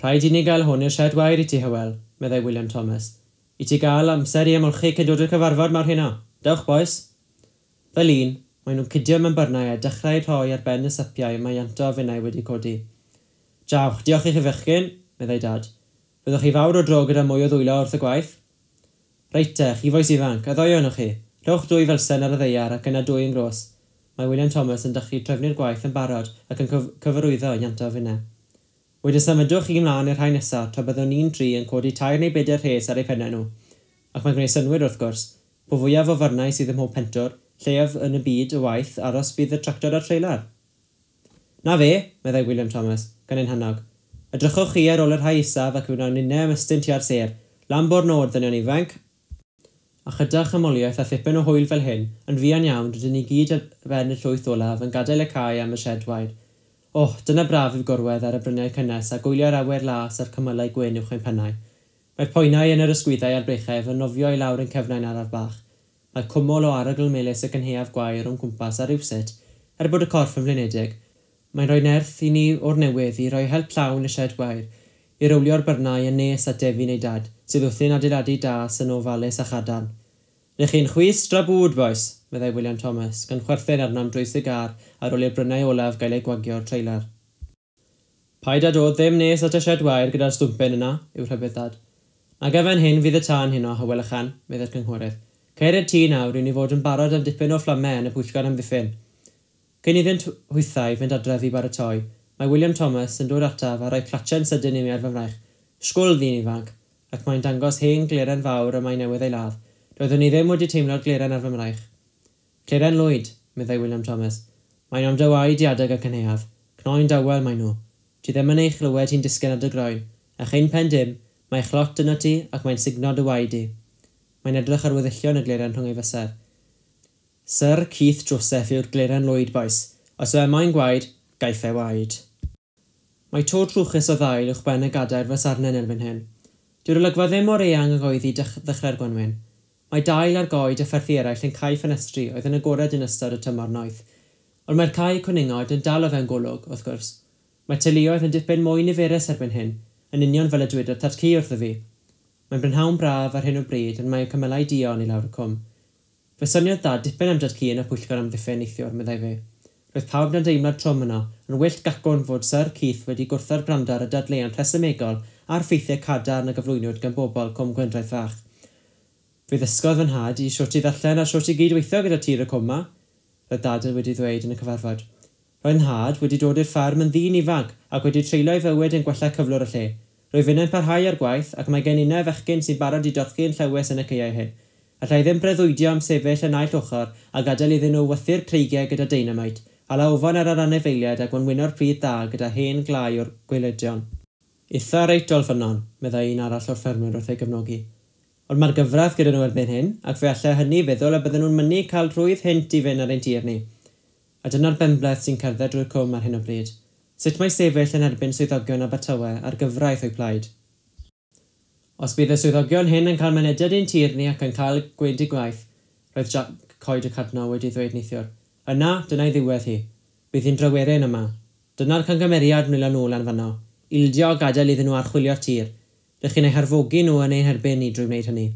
Rhaid i ni gael hwn i'r sied wair i ti, Hywel, meddai William Thomas. I ti gael amser i ymolchi cyn dod i'r cyfarfod mawr heno. Dewch, bois. Fel un, maen nhw'n cydio mewn byrnau a dechrau rhoi ar ben y sypiau mae Ianto a finnau wedi codi. Jawch, diolch i chi fechgyn, meddai Dad. Fyddwch chi fawr o dro gyda mwy o ddwylo wrth y gwaith? Reit te, chi fois ifanc, a ddoi ohonoch chi. Rhowch dwy felsen ar y ddaear ac yna dwy yn gros. Mae William Thomas yn dechrau trefnu'r gwaith yn barod ac yn cyf cyfarwyddo Ianto a finnau. Wedyn symudwch chi ymlaen i'r rhai nesaf tra byddwn ni'n tri yn codi tair neu bedair rhes ar eu pennau nhw. Ac mae'n gwneud synnwyr wrth gwrs. Po fwyaf o fyrnau sydd ym mhob pentwr, lleiaf yn y byd o waith aros bydd y tractor a'r treilar. Na fe, meddai William Thomas, gan ein hannog. Edrychwch chi ar ôl y rhai isaf ac wnawn ninnau ymestyn tua'r sêr. Lan bo'r nod, ddynion ifanc. A chyda chymoliaeth a thipyn o hwyl fel hyn, yn fuan iawn rydyn ni gyd ar ben y llwyth olaf yn gadael y cae am y sied wair. Oh, dyna braf yw gorwedd ar y bryniau cynnes a gwylio'r awyr las a'r cymylau gwyn uwch ein pennau. Mae'r poenau yn yr ysgwyddau a'r breichau yn nofio i lawr yn cefnau'n araf bach. Mae cwmwl o arogl melys y cynhaeaf gwair o'n cwmpas a rywsut, er bod y corff yn flinedig. Mae'n rhoi nerth i ni o'r newydd i roi help llawn y sied wair, i rowlio'r byrnau yn nes at Defi neu Dad, sydd wrthi'n adeiladu das yn ofalus a chadarn. Rych chi'n chwys dra bwd, bois, meddai William Thomas, gan chwerthin arnom drwy sigar ar ôl i'r bryniau olaf gael eu gwagio o'r treilar. Paid â dod ddim nes at y sied wair gyda'r stwmpyn yna, yw'r rhybudd Dad. Nag efen hyn fydd y tân heno, Hywel Ychan, meddai'r cynghorydd. Ceir y tŷ nawr i ni fod yn barod am dipyn o fflamau yn y pwyllgor amddiffyn. Cyn iddynt hwythau fynd adref i baratoi, mae William Thomas yn dod ataf a rhoi clatsen sydyn i mi ar fy mraich. Sgwl ddyn ifanc, ac mae'n dangos hen gleren fawr y mae newydd ei ladd. Doeddwn i ddim wedi teimlo'r gleren ar fy mraich. Cleren lwyd, meddai William Thomas. Mae'n am dy waed i adeg y cynhaeaf. Cnoi'n dawel mae nhw. Ti ddim yn ei chlywed hi'n disgyn ar dy groen. A chyn pen dim, mae chlot yno ti ac mae'n sugno dy waed i. Mae'n edrych ar weddillion y gleren rhwng ei fysedd. Sir Keith Joseph yw'r gleren lwyd, bois. Os yw e moyn gwaed, gaiff e waed. Mae to trwchus o ddail uwch ben y gadair fysarnen erbyn hyn. Dyw'r olygfa ddim mor eang ag oedd hi ddechrau'r gwanwyn. Mae dail ar goed a pherthi eraill yn cau ffenestri oedd yn agored yn ystod y tymor noeth. Ond mae'r cae cwningod yn dal o fewn golwg, wrth gwrs. Mae teuluoedd yn dipyn mwy niferus erbyn hyn, yn union fel y dwedodd Tad-cu wrtho fi. Mae'n brynhawn braf ar hyn o bryd ond mae cymylau duon i lawr y cwm. Fe soniodd Dad dipyn am Dad-cu yn y pwyllgor amddiffyn neithiwr, meddai fe. Roedd pawb dan deimlad trwm yno, yn wyllt gacwn fod Sir Keith wedi gwrthod gwrando ar y dadleuon rhesymegol a'r ffeithiau cadarn a gyflwynwyd gan bobl Cwm Gwendraeth Fach. Fe ddysgodd fy nhad i shwt i ddarllen a shwt i gydweithio gyda tir y cwm 'ma, roedd Dad wedi ddweud yn y cyfarfod. Roedd nhad wedi dod i'r fferm yn ddyn ifanc ac wedi treulio'i fywyd yn gwella cyflwr y lle. Rwyf finnau'n parhau â'r gwaith ac mae gen innau fechgyn sy'n barod i dorchi yn llewys yn y caeau hyn. Alla i ddim breuddwydio am sefyll y naill ochr a gadael iddyn nhw wythu'r creigiau gyda deinamite, a lawfon ar yr anifeiliaid a gwenwyno'r pridd dda gyda hen glai o'r gwaelodion. Itha reit ôl ffynnon, meddai un arall o'r ffermwyr wrth ei gefnogi. Ond mae'r gyfraith gyda nhw erbyn hyn, ac fe allai hynny feddwl y bydden nhw'n mynnu cael rhwydd hynt i fynd ar ein tir ni. A dyna'r benbleth sy'n cerdded drwy'r cwm ar hyn o bryd. Sut mae sefyll yn erbyn swyddogion Abertawe a'r gyfraith o'u plaid? Os bydd y swyddogion hyn yn cael mynediad i'n tir ni ac yn cael gweud eu gwaith, roedd Jack Coed y Cadno wedi ddweud neithiwr. Yna, dyna'i ddiwedd hi. Bydd hi'n dryweryn yma. Dyna'r cangymeriad nwylo nôl lan fanno. Ildio a gadael iddyn nhw archwilio'r tir. Rych chi'n eu harfogi nhw yn ein herbyn ni drwy wneud hynny.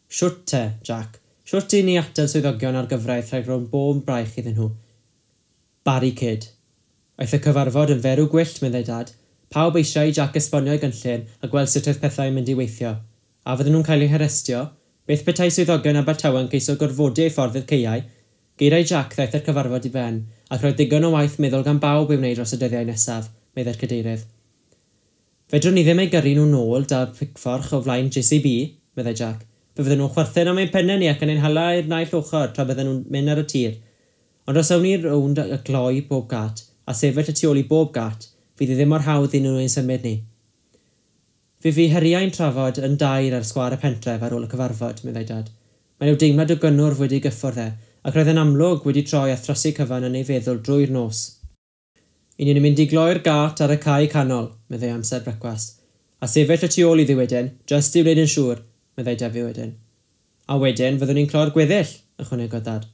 Shwt te, Jack. Shwt i ni atal swyddogion a'r gyfraith rhag rhwng bob braich iddyn nhw. Barricade. Aeth y cyfarfod yn ferw gwyllt, meddai Dad. Pawb eisiau i Jack esbonio ei gynllun a gweld sut oedd pethau'n mynd i weithio. A fydden nhw'n cael eu harestio? Beth petai swyddogion Abertawe yn ceisio gorfodi eu ffordd i'r caeau? Geiriau Jack ddaeth i'r cyfarfod i ben, ac roedd digon o waith meddwl gan bawb i'w wneud dros y dyddiau nesaf, meddai'r cadeirydd. Fedrwn ni ddim eu gyrru nhw nôl 'da picfforch o flaen J C B, meddai Jack. Fe fydden nhw'n chwerthin am ein pennau ni ac yn ein hala i'r naill ochr tra bydden nhw'n mynd ar y tir. Ond os awn ni rownd a gloi bob gat, a sefyll y tu ôl i bob gat, fydd hi ddim mor hawdd i nhw ein symud ni. Fe fu heriau'n trafod yn dair ar sgwâr y pentref ar ôl y cyfarfod, meddai Dad. Mae rhyw deimlad o gynnwrf wedi gyffwrdd e, ac roedd yn amlwg wedi troi a throsi cyfan yn ei feddwl drwy'r nos. I ni'n mynd i gloi'r gat ar y cae canol, meddai amser brecwast. A sefyll y tu ôl iddi wedyn, jyst i wneud yn siŵr, meddai Defi wedyn. A wedyn fyddwn ni'n cloi'r gweddill, ychwanegodd Dad.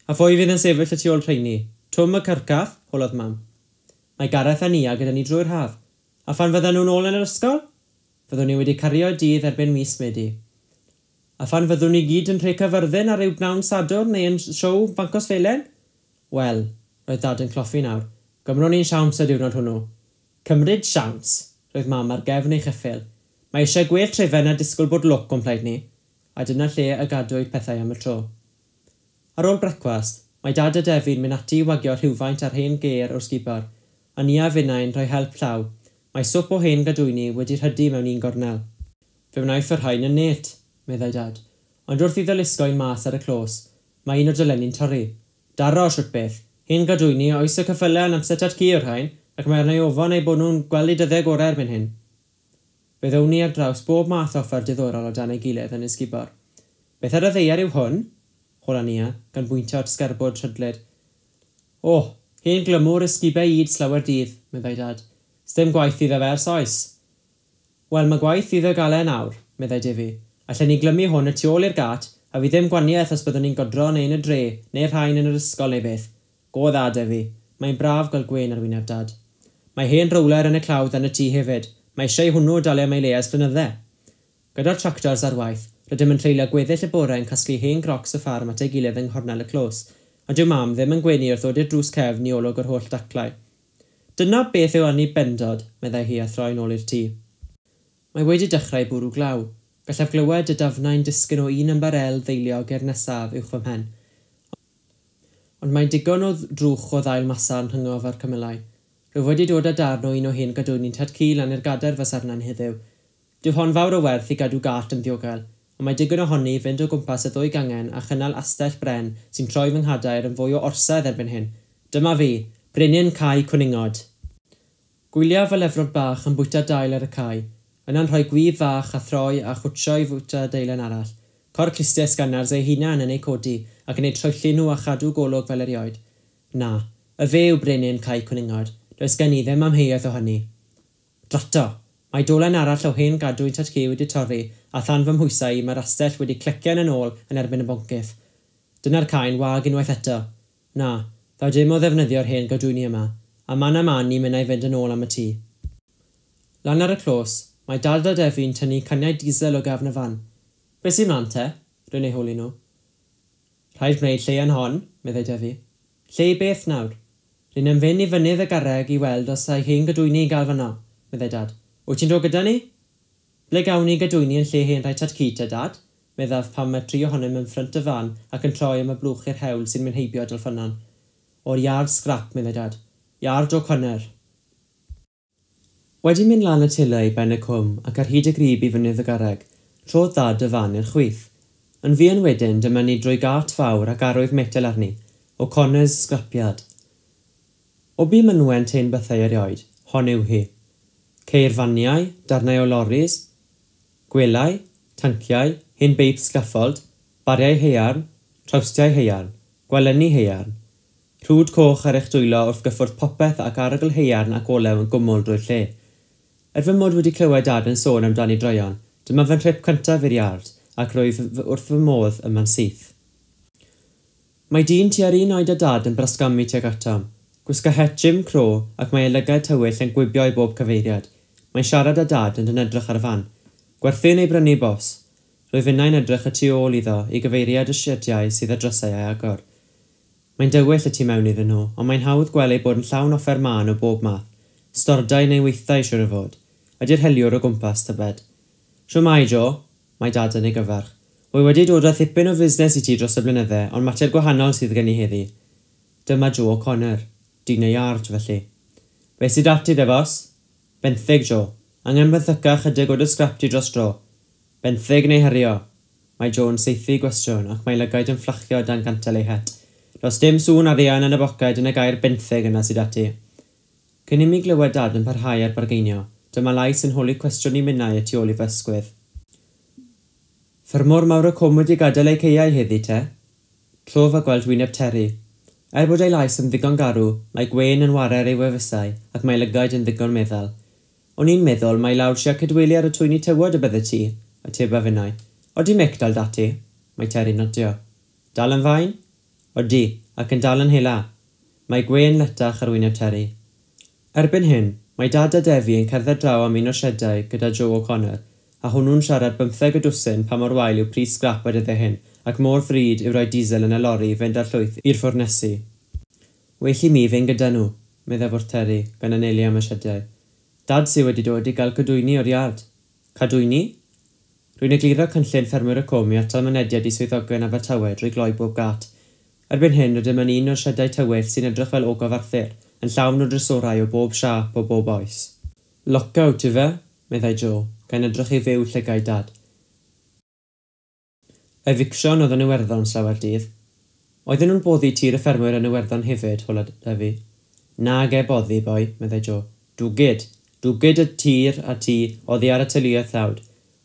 A phwy fydd yn sefyll y tu ôl rheini? Twm y cyrcath, holodd Mam. Mae Gareth a Nia gyda ni drwy'r haf. A phan fyddan nhw'n ôl yn yr ysgol? Fyddwn ni wedi cario dydd erbyn mis Medi. A phan fyddwn ni gyd yn rhoi Caerfyrddin ar ryw bnawn Sadwrn neu yn siow Bancos Felen? Wel, roedd Dad yn cloffi nawr. Gymron ni'n siawns y diwrnod hwnnw. Cymryd siawns, roedd Mam ar gefn ei cheffyl. Mae eisiau gwell trefen a disgwyl bod lwc o'n plaid ni. A dyna lle y gadwyd pethau am y tro. Ar ôl brecwast, mae Dad a Defi'n mynd ati i wagio rhywfaint ar hen gêr o'r sgubor, a Nia finnau'n rhoi help llaw. Mae swp o hen gadwyni wedi rhydu mewn un gornel. Fe wnaeth y rhain yn net, meddai Dad. Ond wrth iddo lusgo'n mas ar y clos, mae un o'r dolenni'n torri. Daro, shwt beth. Hen gadwyni oes y ceffylau yn amser tad-cu o'r rhain, ac mae arna i ofon eu bod nhw'n gweld eu dyddiau gorau erbyn hyn. Fe ddown ni ar draws bob math o offer diddorol o dan ei gilydd yn y sgubor. Beth ar y ddaear yw hwn? Hola Nia, gan bwyntio at sgerbwd rhydlyd. O, hen glymwr ysgubau yd slawer dydd, meddai Dad. Sdim gwaith iddo fe ers oes. Wel, mae gwaith iddo gael e nawr, meddai Defi. Allen ni glymu hwn y tu ôl i'r gat, a fi ddim gwaniaeth os byddwn ni'n godro neu yn y dre, neu'r rhain yn yr ysgol neu beth. Go dda, Defi. Mae'n braf gweld gwên ar wyneb Dad. Mae hen rowler yn y clawdd yn y tŷ hefyd. Mae eisiau hwnnw dalu am ei le ers blynydde. Gyda'r tractors ar waith, rydym yn treulio gweddill y bore yn casglu hen grocs y ffarm at ei gilydd yng nghornel y clos, ond dyw Mam ddim yn gwenu wrth ddod i'r drws cefn i olwg yr holl daclau. Dyna beth yw annibendod, meddai hi a throi nôl i'r tŷ. Mae wedi dechrau bwrw glaw. Gallaf glywed y dafnau'n disgyn o un ymbarel ddeiliog i'r nesaf uwch fy mhen. Ond mae digon o drwch o ddail masarn rhyngof a'r cymylau. Rwyf wedi dod â darn o un o hen gadwyni'n tad-cu lan i'r gadair fasarna'n heddiw. Dyw hon fawr o werth i gadw gat yn ddiogel, ond mae digon ohoni i fynd o gwmpas y ddwy gangen a chynnal astell bren sy'n troi fy nghadair yn fwy o orsedd erbyn hyn. Dyma fi, brenin cae cwningod. Gwyliaf y lefrod bach yn bwyta dail ar y cae, yna'n rhoi gwib fach a throi a chwtsio i fwyta deilen arall. Cor clustiau sgannars ei hunan yn eu codi ac yn eu troelli nhw a chadw golwg fel erioed. Na, y fe yw brenin cae cwningod. Does gen i ddim amheuaeth o hynny. Drato! Mae dolen arall o hen gadwyn tad-cu wedi torri a than fy mhwysau i mae'r astell wedi clecian yn ôl yn erbyn y boncyff. Dyna'r caen wag unwaith eto. Na, ddaw dim o ddefnyddio'r hen gadwyni yma, a man a man ni'n mynd i fynd yn ôl am y tŷ. Lan ar y clos, mae Dad a Defi'n tynnu caniau diesel o gefn y fan. Be sy'n mlaen te? Rwy'n eu holi nhw. Rhaid gwneud lle yn hon, meddai Defi. Lle i beth nawr? Rwy'n am fynd i fynydd y garreg i weld os ai hen gadwyni i gael fanno, meddai Dad. Wyt ti'n dod gyda ni? Ble gawn ni gadwyni yn lle hen rhai tad-cu te, Dad? Meddaf pan mae tri ohonom yn ffrynt y fan ac yn troi am y blwch i'r hewl sy'n mynd heibio Dolffynon. O'r iard sgrap, meddai Dad. Iard O'Connor. Wedi mynd lan y tila i ben y cwm ac ar hyd y grib i fynydd y garreg, trodd Dad y fan i'r chwith. Yn fuan wedyn dyma ni drwy gat fawr ac arwydd metel arni, O'Connor's Scrapyard. O bu mynwent hen bethau erioed, hon yw hi. Ceir faniau, darnau o loris, gwelau, tanciau, hen beip scaffold, bariau haearn, trawstiau haearn, gwalenni haearn. Rhwd coch ar eich dwylo wrth gyffwrdd popeth ac arogl haearn ac olew yn gwmwl drwy'r lle. Er fy mod wedi clywed Dad yn sôn amdani droeon, dyma fy nhrip cyntaf i'r iard, ac roedd wrth fy modd yma'n syth. Mae dyn tua'r un oed â Dad yn brasgamu tuag atom. Gwisga het Jim Crow ac mae ei lygaid tywyll yn gwibio i bob cyfeiriad. Mae'n siarad â Dad yn edrych ar y fan. Gwerthu neu brynu, bos? Rwyf innau'n edrych y tu ôl iddo i gyfeiriad y siediau sydd â drysau ei agor. Mae'n dywyll y tu mewn iddyn nhw, ond mae'n hawdd gweld ei bod yn llawn offer mân o bob math. Stordai neu weithdai siŵr o fod. Ydy'r heliwr o gwmpas, tybed? Shwmae, Joe? Mae Dad yn ei gyfarch. Wy wedi dod â thipyn o fusnes i ti dros y blynydde, ond mater gwahanol sydd gen i heddi. Dyma Joe O'Connor. Dyn y iard, felly. Be sydd ati de, bos? Benthyg, Joe. Angen benthyca chydig o dy sgrap ti dros dro. Benthyg neu herio? Mae Joe yn saethu gwestiwn ac mae lygaid yn fflachio dan gantel ei het. Does dim sŵn arian yn y boced yn y gair benthyg yna sydd ati. Cyn i mi glywed Dad yn parhau ar bargeinio, dyma lais yn holi cwestiwn i minnau y tu ôl i fy ysgwydd. Ffermwr mawr y cwm wedi gadael ei caeau heddi te? Trof a gweld wyneb Terry. Er bod ei lais yn ddigon garw, mae gwên yn warer ei wefusau ac mae lygaid yn ddigon meddal. O'n i'n meddwl mai lawr sia cydweli ar y twyni tywod y bydde ti, ateba finnau. Odi Mick dal dati? Mae Terry'n nodio. Dal yn fain? Odi, ac yn dal yn hela. Mae gwên letach ar wyneb Terry. Erbyn hyn, mae Dad a Defi yn cerdded draw am un o'r siedau gyda Joe O'Connor, a hwnnw'n siarad bymtheg y dwsin pa mor wael yw pris sgrap y dyddiau hyn, ac mor ddrud yw rhoi diesel yn y lori i fynd â'r llwyth i'r ffwrnesi. Well i mi fynd gyda nhw, meddai wrth Terry, gan anelu am y siediau. Dad sy wedi dod i gael cadwyni o'r iard. Cadwyni? Rwy'n egluro cynllun ffermwyr y cwm i atal mynediad i swyddogion Abertawe drwy gloi bob gât. Erbyn hyn, rydym yn un o'r siedau tywyll sy'n edrych fel ogof Arthur, yn llawn o drysorau o bob siâp o bob oes. Lockout, ife? Meddai Joe, gan edrych i fyw llygaid Dad. Eviction oedd yn Iwerddon slawer dydd. Oedden nhw'n boddi tir y ffermwyr yn Iwerddon hefyd, holodd Defi. Nage boddi, boi, meddai Joe. Dwgyd. Dwgyd y tir a tŷ oddi ar y teuluoedd tlawd.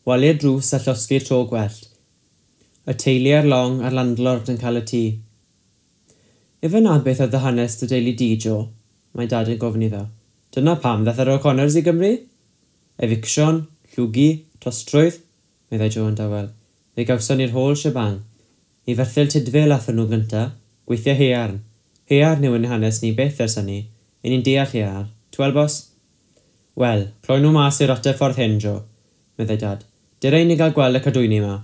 Walu'r drws a llosgi'r to gwellt. Y teulu ar long a'r landlord yn cael y tŷ. Ife na beth oedd y hanes dy deulu di, Joe? Mae Dad yn gofyn iddo. Dyna pam ddaeth yr O'Connors i Gymru? Eviction, llwgu, tostrwydd, meddai Joe yn dawel. Fe gawson ni'r whole shebang. I Ferthyl Tudful athon nhw gynta, gweithio haearn. Haearn yw ein hanes ni byth ers hynny. Y'n ni'n deall haearn. T'wel, bos? Wel, cloi nhw mas i'r ateb ffordd hyn, Joe, meddai Dad. Dere i ni gael gweld y cadwyni 'ma.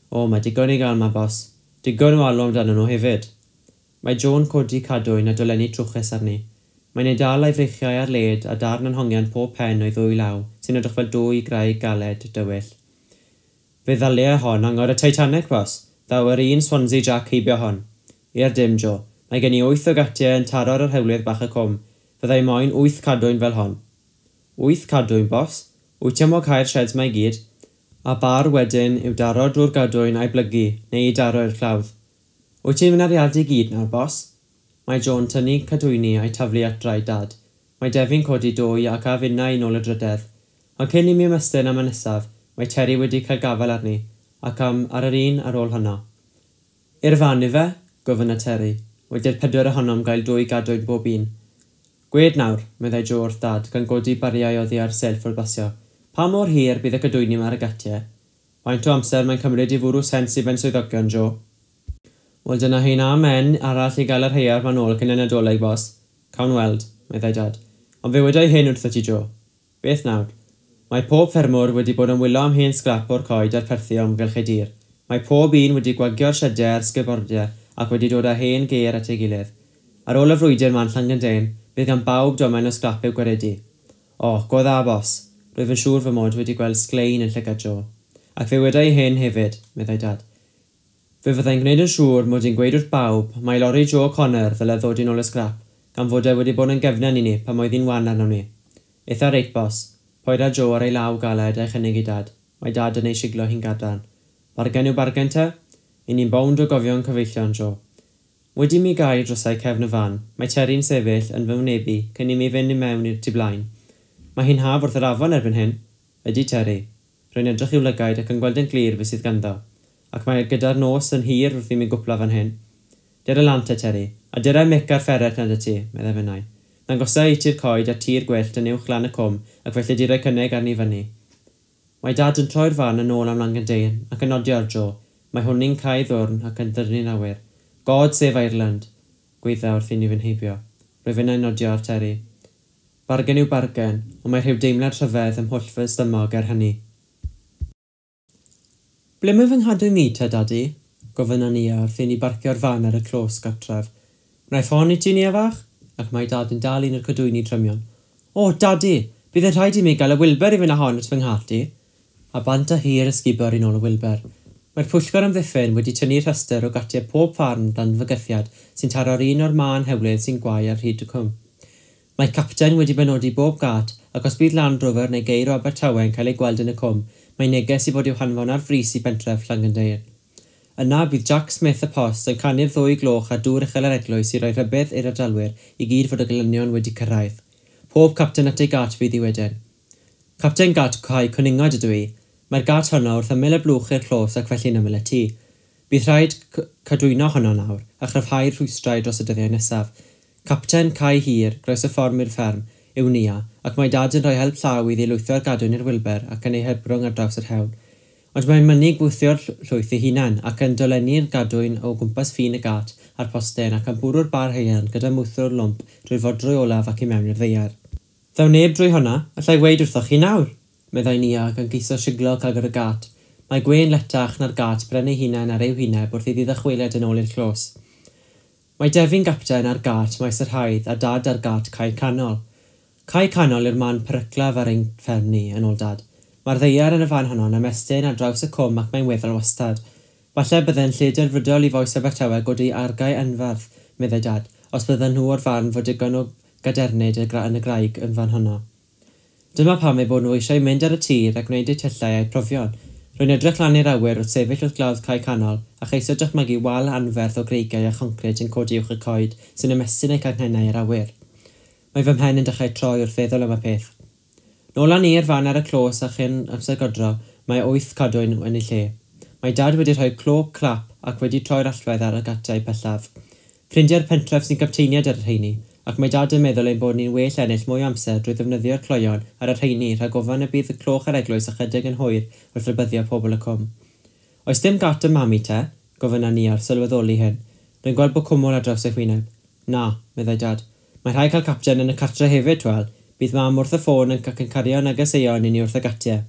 O, mae digon i gael 'ma, bos. Digon o alw amdanyn nhw hefyd. Mae Joe'n codi cadwyn a dolenni trwchus arni. Mae'n ei dal a'i freichiau ar led a darn yn hongian pob pen o'i ddwy law, sy'n edrych fel dwy graig galed, dywyll. Fe ddalia hon angor y Titanic, bos. Ddaw yr un Swansea Jack heibio hon. I'r dim, Joe. Mae gen i wyth o gatiau yn taro ar yr hewlydd bach y cwm. Fyddai moyn wyth cadwyn fel hon. Wyth cadwyn, bos? Wyt ti am wacau'r sheds 'ma i gyd? A bar wedyn i'w daro drwy'r gadwyn a'i blygu, neu i daro i'r clawdd. Wyt ti'n mynd â'r iard i gyd nawr, bos? Mae Joe'n tynnu cadwyni a'i taflu at draed Dad. Mae Defi'n codi dwy ac a finnau i nôl y drydedd. Ond cyn i mi ymestyn am y nesaf, mae Terry wedi cael gafael arni, ac am ar yr un ar ôl honno. I'r fan, ife? Gofynna Terry, wedi'r pedwar ohonom gael dwy gadwyn bob un. Gwed nawr, meddai Joe wrth Dad, gan godi bariau oddi ar silff wrth basio. Pa mor hir bydd y cadwyni 'ma ar y gatiau? Faint o amser mae'n cymryd i fwrw sens i ben swyddogion, Joe? Wel, dyna hi'n amen arall i gael yr haearn 'ma nôl cyn y Nadolig, bos. Cawn weld, meddai Dad. Ond fe wedai hyn wrthot ti, Joe. Beth nawr? Mae pob ffermwr wedi bod yn wylo am hen sgrap o'r coed a'r perthi o amgylch ei dir. Mae pob un wedi gwagio'r siediau a'r sgybordiau ac wedi dod â hen gêr at ei gilydd. Ar ôl y frwydr 'ma'n Llangyndeyrn, bydd gan bawb domen o sgrap i'w gwaredu. O, go dda, bos. Rwyf yn siŵr fy mod wedi gweld sglein yn llygad Joe. Ac fe wedai hyn hefyd, meddai Dad. Fe fyddai'n gwneud yn siŵr mod i'n gweud wrth bawb mai lori Joe O'Connor ddyle ddod i nôl y sgrap, gan fod e wedi bod yn gefnen i ni pan oedd hi'n wan arnom ni. Eitha reit, bos. Poeda Joe ar ei law galed a'i chynnig i Dad. Mae Dad yn ei siglo hi'n gadarn. Bargen yw bargen te? Y'n ni'n bownd o gofio'n cyfeillion, Joe. Wedi mi gau drysau cefn y fan, mae Terry'n sefyll yn fy wynebu cyn i mi fynd i mewn i'r tu blaen. Mae hi'n haf wrth yr afon erbyn hyn. Ydy, Terry. Rwy'n edrych i'w lygaid ac yn gweld yn glir beth sydd ganddo. Ac mae gyda'r nos yn hir wrth i mi gwpla fan hyn. Dere lan te, Terry. A dere Mick a'r fferet na 'da ti, meddai finnau. Ddangosa i ti'r coed a'r tir gwyllt yn uwch lan y cwm ac felly di roi cynnig arni fyny. Mae Dad yn troi'r fan yn ôl am Langyndeyrn ac yn nodio ar Joe. Mae hwnnw'n cau ddwrn ac yn dyrnu'n awyr. God save Ireland! Gweidda wrth i ni fynd heibio. Rwyf finnau'n nodio ar Terry. Bargen yw bargen, ond mae rhyw deimlad rhyfedd ym mhwll fy stumog er hynny. Ble mae fy nghadwyn i te, Dadi? Gofynna Nia wrth i ni barcio'r fan ar y clos gartref. Wnaiff hon i ti, Nia fach? Ac mae Dad yn dal un o'r cadwyni trymion. O, Dadi! Bydd yn rhaid i mi gael y Wilbur i fynd â hon at fy nghat i. A bant â hi i'r ysgubor i nôl y Wilbur. Mae'r pwyllgor amddiffyn wedi tynnu rhestr o gatiau pob ffarm dan fygythiad sy'n taro'r un o'r mân hewlydd sy'n gwau ar hyd y cwm. Mae capten wedi benodi bob gat ac os bydd Land Rover neu geir o Abertawe yn cael ei gweld yn y cwm, mae neges i fod i'w hanfon ar frys i bentref Llangyndeyrn. Yna bydd Jack Smith y post yn canu'r ddwy gloch ar dŵr uchel yr eglwys i roi rhybudd i'r ardalwyr i gyd fod y gelynion wedi cyrraedd. Pob capten at ei gat fydd hi wedyn. Capten gat cae cwningod ydw i. Mae'r gat honno wrth ymyl y blwch i'r clos ac felly'n ymyl y tŷ. Bydd rhaid cadwyno honno nawr, a chryfhau'r rhwystrau dros y dyddiau nesaf. Capten Cae Hir, groes y ffordd i'r fferm, yw Nia, ac mae Dad yn rhoi help llaw iddi lwytho'r gadwyn i'r wilber ac yn ei hebrwng ar draws yr hewl. Ond mae'n mynnu gwthio'r llwyth ei hunan ac yn dolenni'r gadwyn o gwmpas ffin y gat a'r posten ac yn bwrw'r bar haearn gyda mwthwr lwmp drwy'r fodrwy olaf ac i mewn i'r ddaear. Ddaw neb drwy honna, allai weud wrthoch chi nawr, meddai Nia gan geisio siglo cagr y gat. Mae gwên letach na'r gat bren ei hunan ar ei hwyneb wrth iddi ddychwelyd yn ôl i'r clos. Mae Defi'n gapten ar gat Maes yr Haidd a Dad ar gat Cae Canol. Cae Canol yw'r man peryclaf ar ein fferm ni, yn ôl Dad. Mae'r ddaear yn y fan honno'n ymestyn ar draws y cwm ac mae'n weddol wastad. Falle bydde'n lle delfrydol i fois Abertawe godi argae anferth, meddai Dad, os bydden nhw o'r farn fod digon o gadernid yn y graig yn fan honno. Dyma pam eu bod nhw eisiau mynd ar y tir a gwneud eu tyllau a'u profion. Rwy'n edrych lan i'r awyr wrth sefyll wrth glawdd Cae Canol a cheisio dychmygu wal anferth o greigiau a choncrit yn codi uwch y coed sy'n ymestyn eu canghennau i'r awyr. Mae fy mhen yn dechrau troi wrth feddwl am y peth. Nôl â ni i'r fan ar y clos a chyn amser godro, mae wyth cadwyn yn ei lle. Mae Dad wedi rhoi clo clap ac wedi troi'r allwedd ar y gatiau pellaf. Ffrindiau'r pentref sy'n gapteiniad ar y rheini, ac mae Dad yn meddwl ein bod ni'n well ennill mwy o amser drwy ddefnyddio'r cloion ar y rheini rhag ofan y bydd y cloch ar eglwys ychydig yn hwyr wrth rybuddio pobl y cwm. Oes dim gat y mami te? Gofynna ni ar sylweddoli hyn. Rwy'n gweld bod cwmwl ar draws ei hwyneb. Na, meddai Dad. Mae rhaid cael capten yn y cartre hefyd, twel. Bydd mam wrth y ffôn yn ac yn cario negeseuon i ni wrth y gatiau.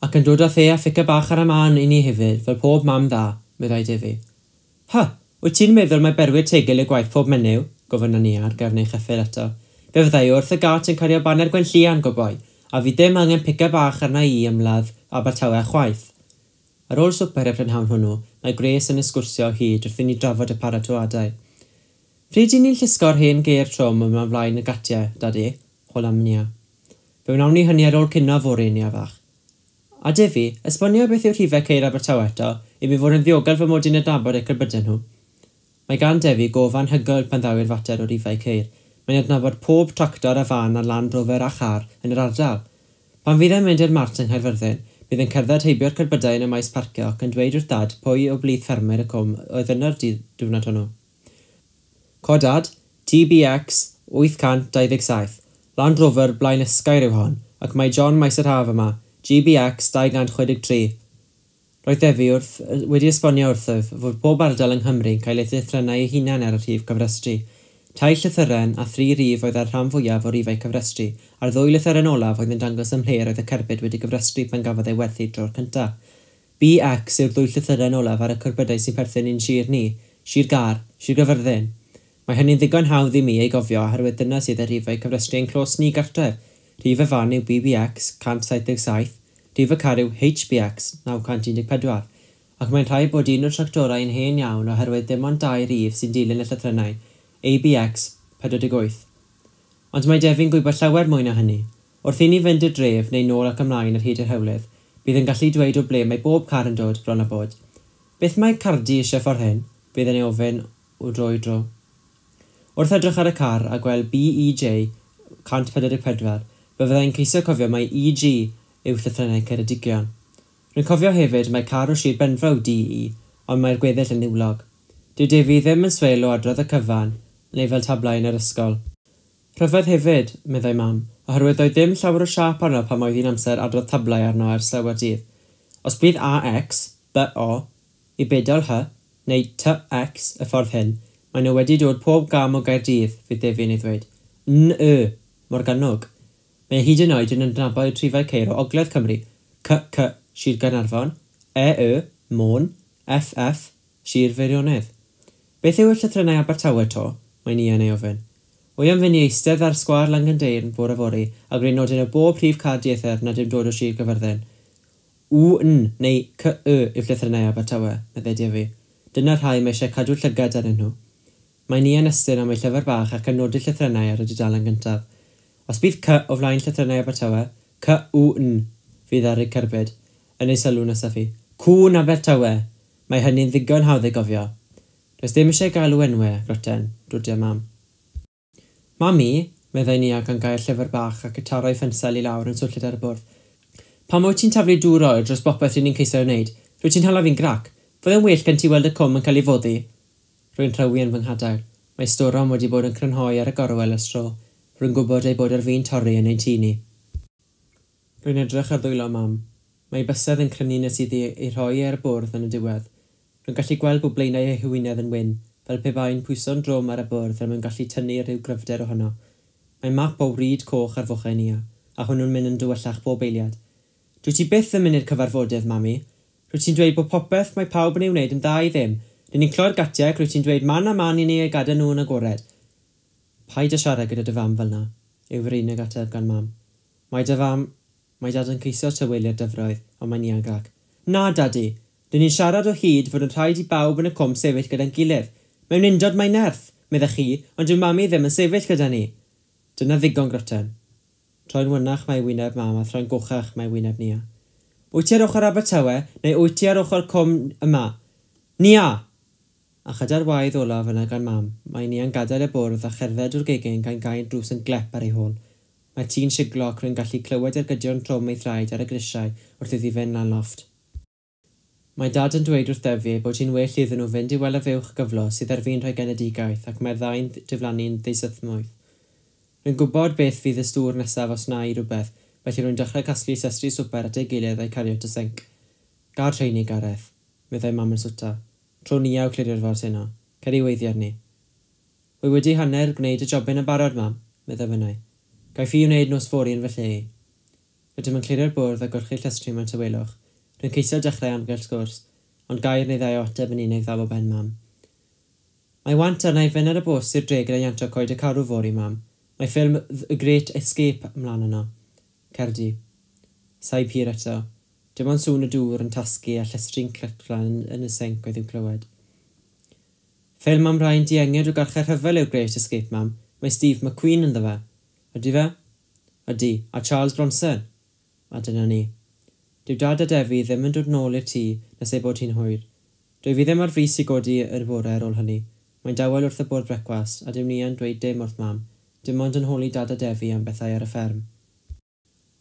Ac yn dod â the a ffica bach ar y man i ni hefyd, fel pob mam dda, meddai Defi. Ha, wyt ti'n meddwl mai berwyr tegel yw gwaith pob menyw? Gofynna ni ar gefn ei cheffyl eto. Fe fyddai wrth y gat yn cario baner Gwenllian, goboi, a fi ddim angen pica bach arna i ymladd Abertawe chwaith. Ar ôl swper y prynhawn hwnnw, mae Grace yn ysgwrsio o hyd wrth i ni drafod y paratoadau. Pryd i ni'n llusgo'r hen geir trwm yma flaen y gatiau, Dadi? Hola Nia. Fe wnawn ni hynny ar ôl cinio fory, Nia fach. A Defi, esbonio beth yw rhifau ceir Abertawe eto, i mi fod yn ddiogel fy mod i'n adnabod eu cerbydau nhw. Mae gan Defi gof anhygoel pan ddaw i'r fater o rifau ceir. Mae'n adnabod pob tractor a fan a Land Rover a char yn yr ardal. Pan fydd e'n mynd i'r mart yng Nghaerfyrddin, bydd yn cerdded heibio'r cerbydau yn y maes parcio ac yn dweud wrth Dad pwy o blith ffermwyr y cwm oedd yno'r diwrnod hwnnw. Codad T B X wyth cant dau ddeg saith, Land Rover Blaen Ysgair yw hon, ac mae John Maes yr Haf yma, G B X dau gant chwe deg tri. Roedd Defi wrth, wedi esbonio wrthyf fod pob ardal yng Nghymru'n cael ei llythrennau ei hunan ar y rhif cyfrestru. Tair llythyren a thri rif oedd ar rhan fwyaf o rifau cyfrestru, a'r ddwy lythyren olaf oedd yn dangos ym mhle roedd y cerbyd wedi gyfrestru pan gafodd ei werthu dro'r cyntaf. B X yw'r ddwy llythyren olaf ar y cerbydau sy'n perthyn i'n sir ni, Sir Gâr, Sir Gaerfyrddin. Mae hynny'n ddigon hawdd i mi ei gofio oherwydd dyna sydd ar rifau cyfrestru ein clos ni gartref. Rhif y fan yw B B X cant saith deg saith, rhif y car yw H B X naw cant un deg pedwar, ac mae'n rhaid bod un o'r tractorau yn hen iawn oherwydd dim ond dau rif sy'n dilyn y llythrennau, A B X pedwar deg wyth. Ond mae Defi'n gwybod llawer mwy na hynny. Wrth i ni fynd i'r dref neu nôl ac ymlaen ar hyd yr hewlydd, bydd yn gallu dweud o ble mae bob car yn dod bron a bod. Beth mae Cardi eisiau ffordd hyn? Bydd yn ei ofyn o dro i dro. Wrth edrych ar y car a gweld B E J cant pedwar deg pedwar, fe fyddai'n ceisio cofio mai E G yw llythrennau Ceredigion. Rwy'n cofio hefyd mai car o Sir Benfro D E, ond mae'r gweddill yn niwlog. Dyw Defi ddim yn swel o adrodd y cyfan, neu fel tablau yn yr ysgol. Rhyfedd hefyd, meddai mam, oherwydd doedd ddim llawer o siâp arno pan oedd hi'n amser adrodd tablau arno ers llawer dydd. Os bydd A X, B O, i bedol H, neu T X y ffordd hyn, maen nhw wedi dod pob gam o Gaerdydd, fydd Defi'n ei ddweud. N Y, Morgannwg. Mae hyd yn oed yn adnabod rhifau ceir o Ogledd Cymru, C C, Sir Gaernarfon, E Y, Môn, F F, Sir Feirionnydd. Beth yw y llythrennau Abertawe to? Mae Nia yn ei ofyn. Wy am fynd i eistedd ar sgwâr Llangyndeyrn bore fory a gwneud nodyn o bob rhif car dieithr nad yw'n dod o Sir Gaerfyrddin. U N neu C Y yw llythrennau Abertawe, meddai Defi. Dyna'r rhai mae eisiau cadw llygad arnyn nhw. Mae Nia'n estyn am ei llyfr bach ac yn nodi llythrennau ar y dudalen gyntaf. Os bydd C o flaen llythrennau Abertawe, C U N fydd ar ei cerbyd, yn ei sylw nesaf hi. Cŵn Abertawe! Mae hynny'n ddigon hawdd ei gofio. Does dim eisiau galw enwau, Roten, dwrdia mam. Mami, meddai Nia gan gael llyfr bach ac y taro'i phensel i lawr yn swnllyd ar y bwrdd. Pam wyt ti'n taflu dŵr oer dros bopeth ry'n ni'n ceisio wneud? Rwyt ti'n hala fi'n grac. Fydde'n well gen ti weld y cwm yn cael ei foddi? Rwy'n rhewi yn fy nghadair. Mae storom wedi bod yn crynhoi ar y gorwel ers tro. Rwy'n gwybod ei bod ar fin torri yn ein tŷ ni. Rwy'n edrych ar ddwylo mam. Mae ei bysedd yn crynu nes iddi ei rhoi ar y bwrdd yn y diwedd. Rwy'n gallu gweld bod blaenau ei hwyneb yn wyn, fel pe bai'n pwyso'n drwm ar y bwrdd er mwyn gallu tynnu rhyw gryfder ohono. Mae map o wrid coch ar fochau Nia, a hwnnw'n mynd yn dywyllach bob eiliad. Dwyt ti byth yn mynd i'r cyfarfodydd, mami. Rwyt ti'n dweud bod popeth mae pawb yn ei wneud yn dda i ddim. Rydyn ni'n cloi'r gatiau ac rwyt ti'n dweud man a man i ni ei gadael nhw yn agored. Paid â siarad gyda dy fam fel 'na, yw yr unig ateb gan mam. Mae dy fam... Mae dad yn ceisio tawelu'r dyfroedd, ond mae Nia'n grac. Na, dadi! Rydyn ni'n siarad o hyd fod yn rhaid i bawb yn y cwm sefyll gyda'n gilydd. Mewn undod mae nerth, meddech chi, ond dyw mami ddim yn sefyll gyda ni. Dyna ddigon, Groten. Troi'n wynach mae wyneb mam a throi'n gochach mae wyneb Nia. Wyt ti ar ochr Abertawe, neu wyt ti ar ochr cwm yma? Nia! A chyda'r waedd olaf yna gan mam, mae Nia'n gadael y bwrdd a cherdded o'r gegin gan gau'r drws yn glep ar ei hôl. Mae tŷ'n siglo ac rwy'n gallu clywed ergydion trwm ei thraed ar y grisiau wrth iddi fynd lan lofft. Mae dad yn dweud wrth Defi ei bod hi'n well iddyn nhw fynd i weld y fuwch gyflo sydd ar fin rhoi genedigaeth ac mae'r ddau'n diflannu'n ddeusythmwyth. Rwy'n gwybod beth fydd y stŵr nesaf os wna i rywbeth, felly rwy'n dechrau casglu llestri swper at ei gilydd a'u cario at y sinc. Gad rheini, Gareth, meddai mam yn swta. Tro Nia yw clirio'r ford heno. Cer i weiddi arni. Wy wedi hanner gwneud y jobyn yn barod, mam, meddai finnau. Gaiff i wneud nos fory yn fy lle i. Rydym yn clirio'r bwrdd a golchi'r llestri mewn tawelwch. Rwy'n ceisio dechrau amgylch sgwrs, ond gair neu ddau o ateb yn unig ddaw o ben mam. Mae want arna i fynd ar y bws i'r dre gyda Ianto Coed y Carw fory, mam. Mae ffilm The Great Escape ymlaen yno. Cer di. Saib hir eto. Dim ond sŵn y dŵr yn tasgu a llestri'n cliclan yn y sinc oedd i'w clywed. Ffilm am rai'n diengyd o garchar rhyfel yw'r Great Escape, mam. Mae Steve McQueen ynddo fe. Ydy fe? Ydy, a Charles Bronson. A dyna ni. Dyw dad a Defi ddim yn dod nôl i'r tŷ nes ei bod hi'n hwyr. Dwyf i ddim ar frys i godi yr bore ar ôl hynny. Mae'n dawel wrth y bwrdd brecwast, a dyw Nia'n dweud dim wrth mam, dim ond yn holi dad a Defi am bethau ar y fferm.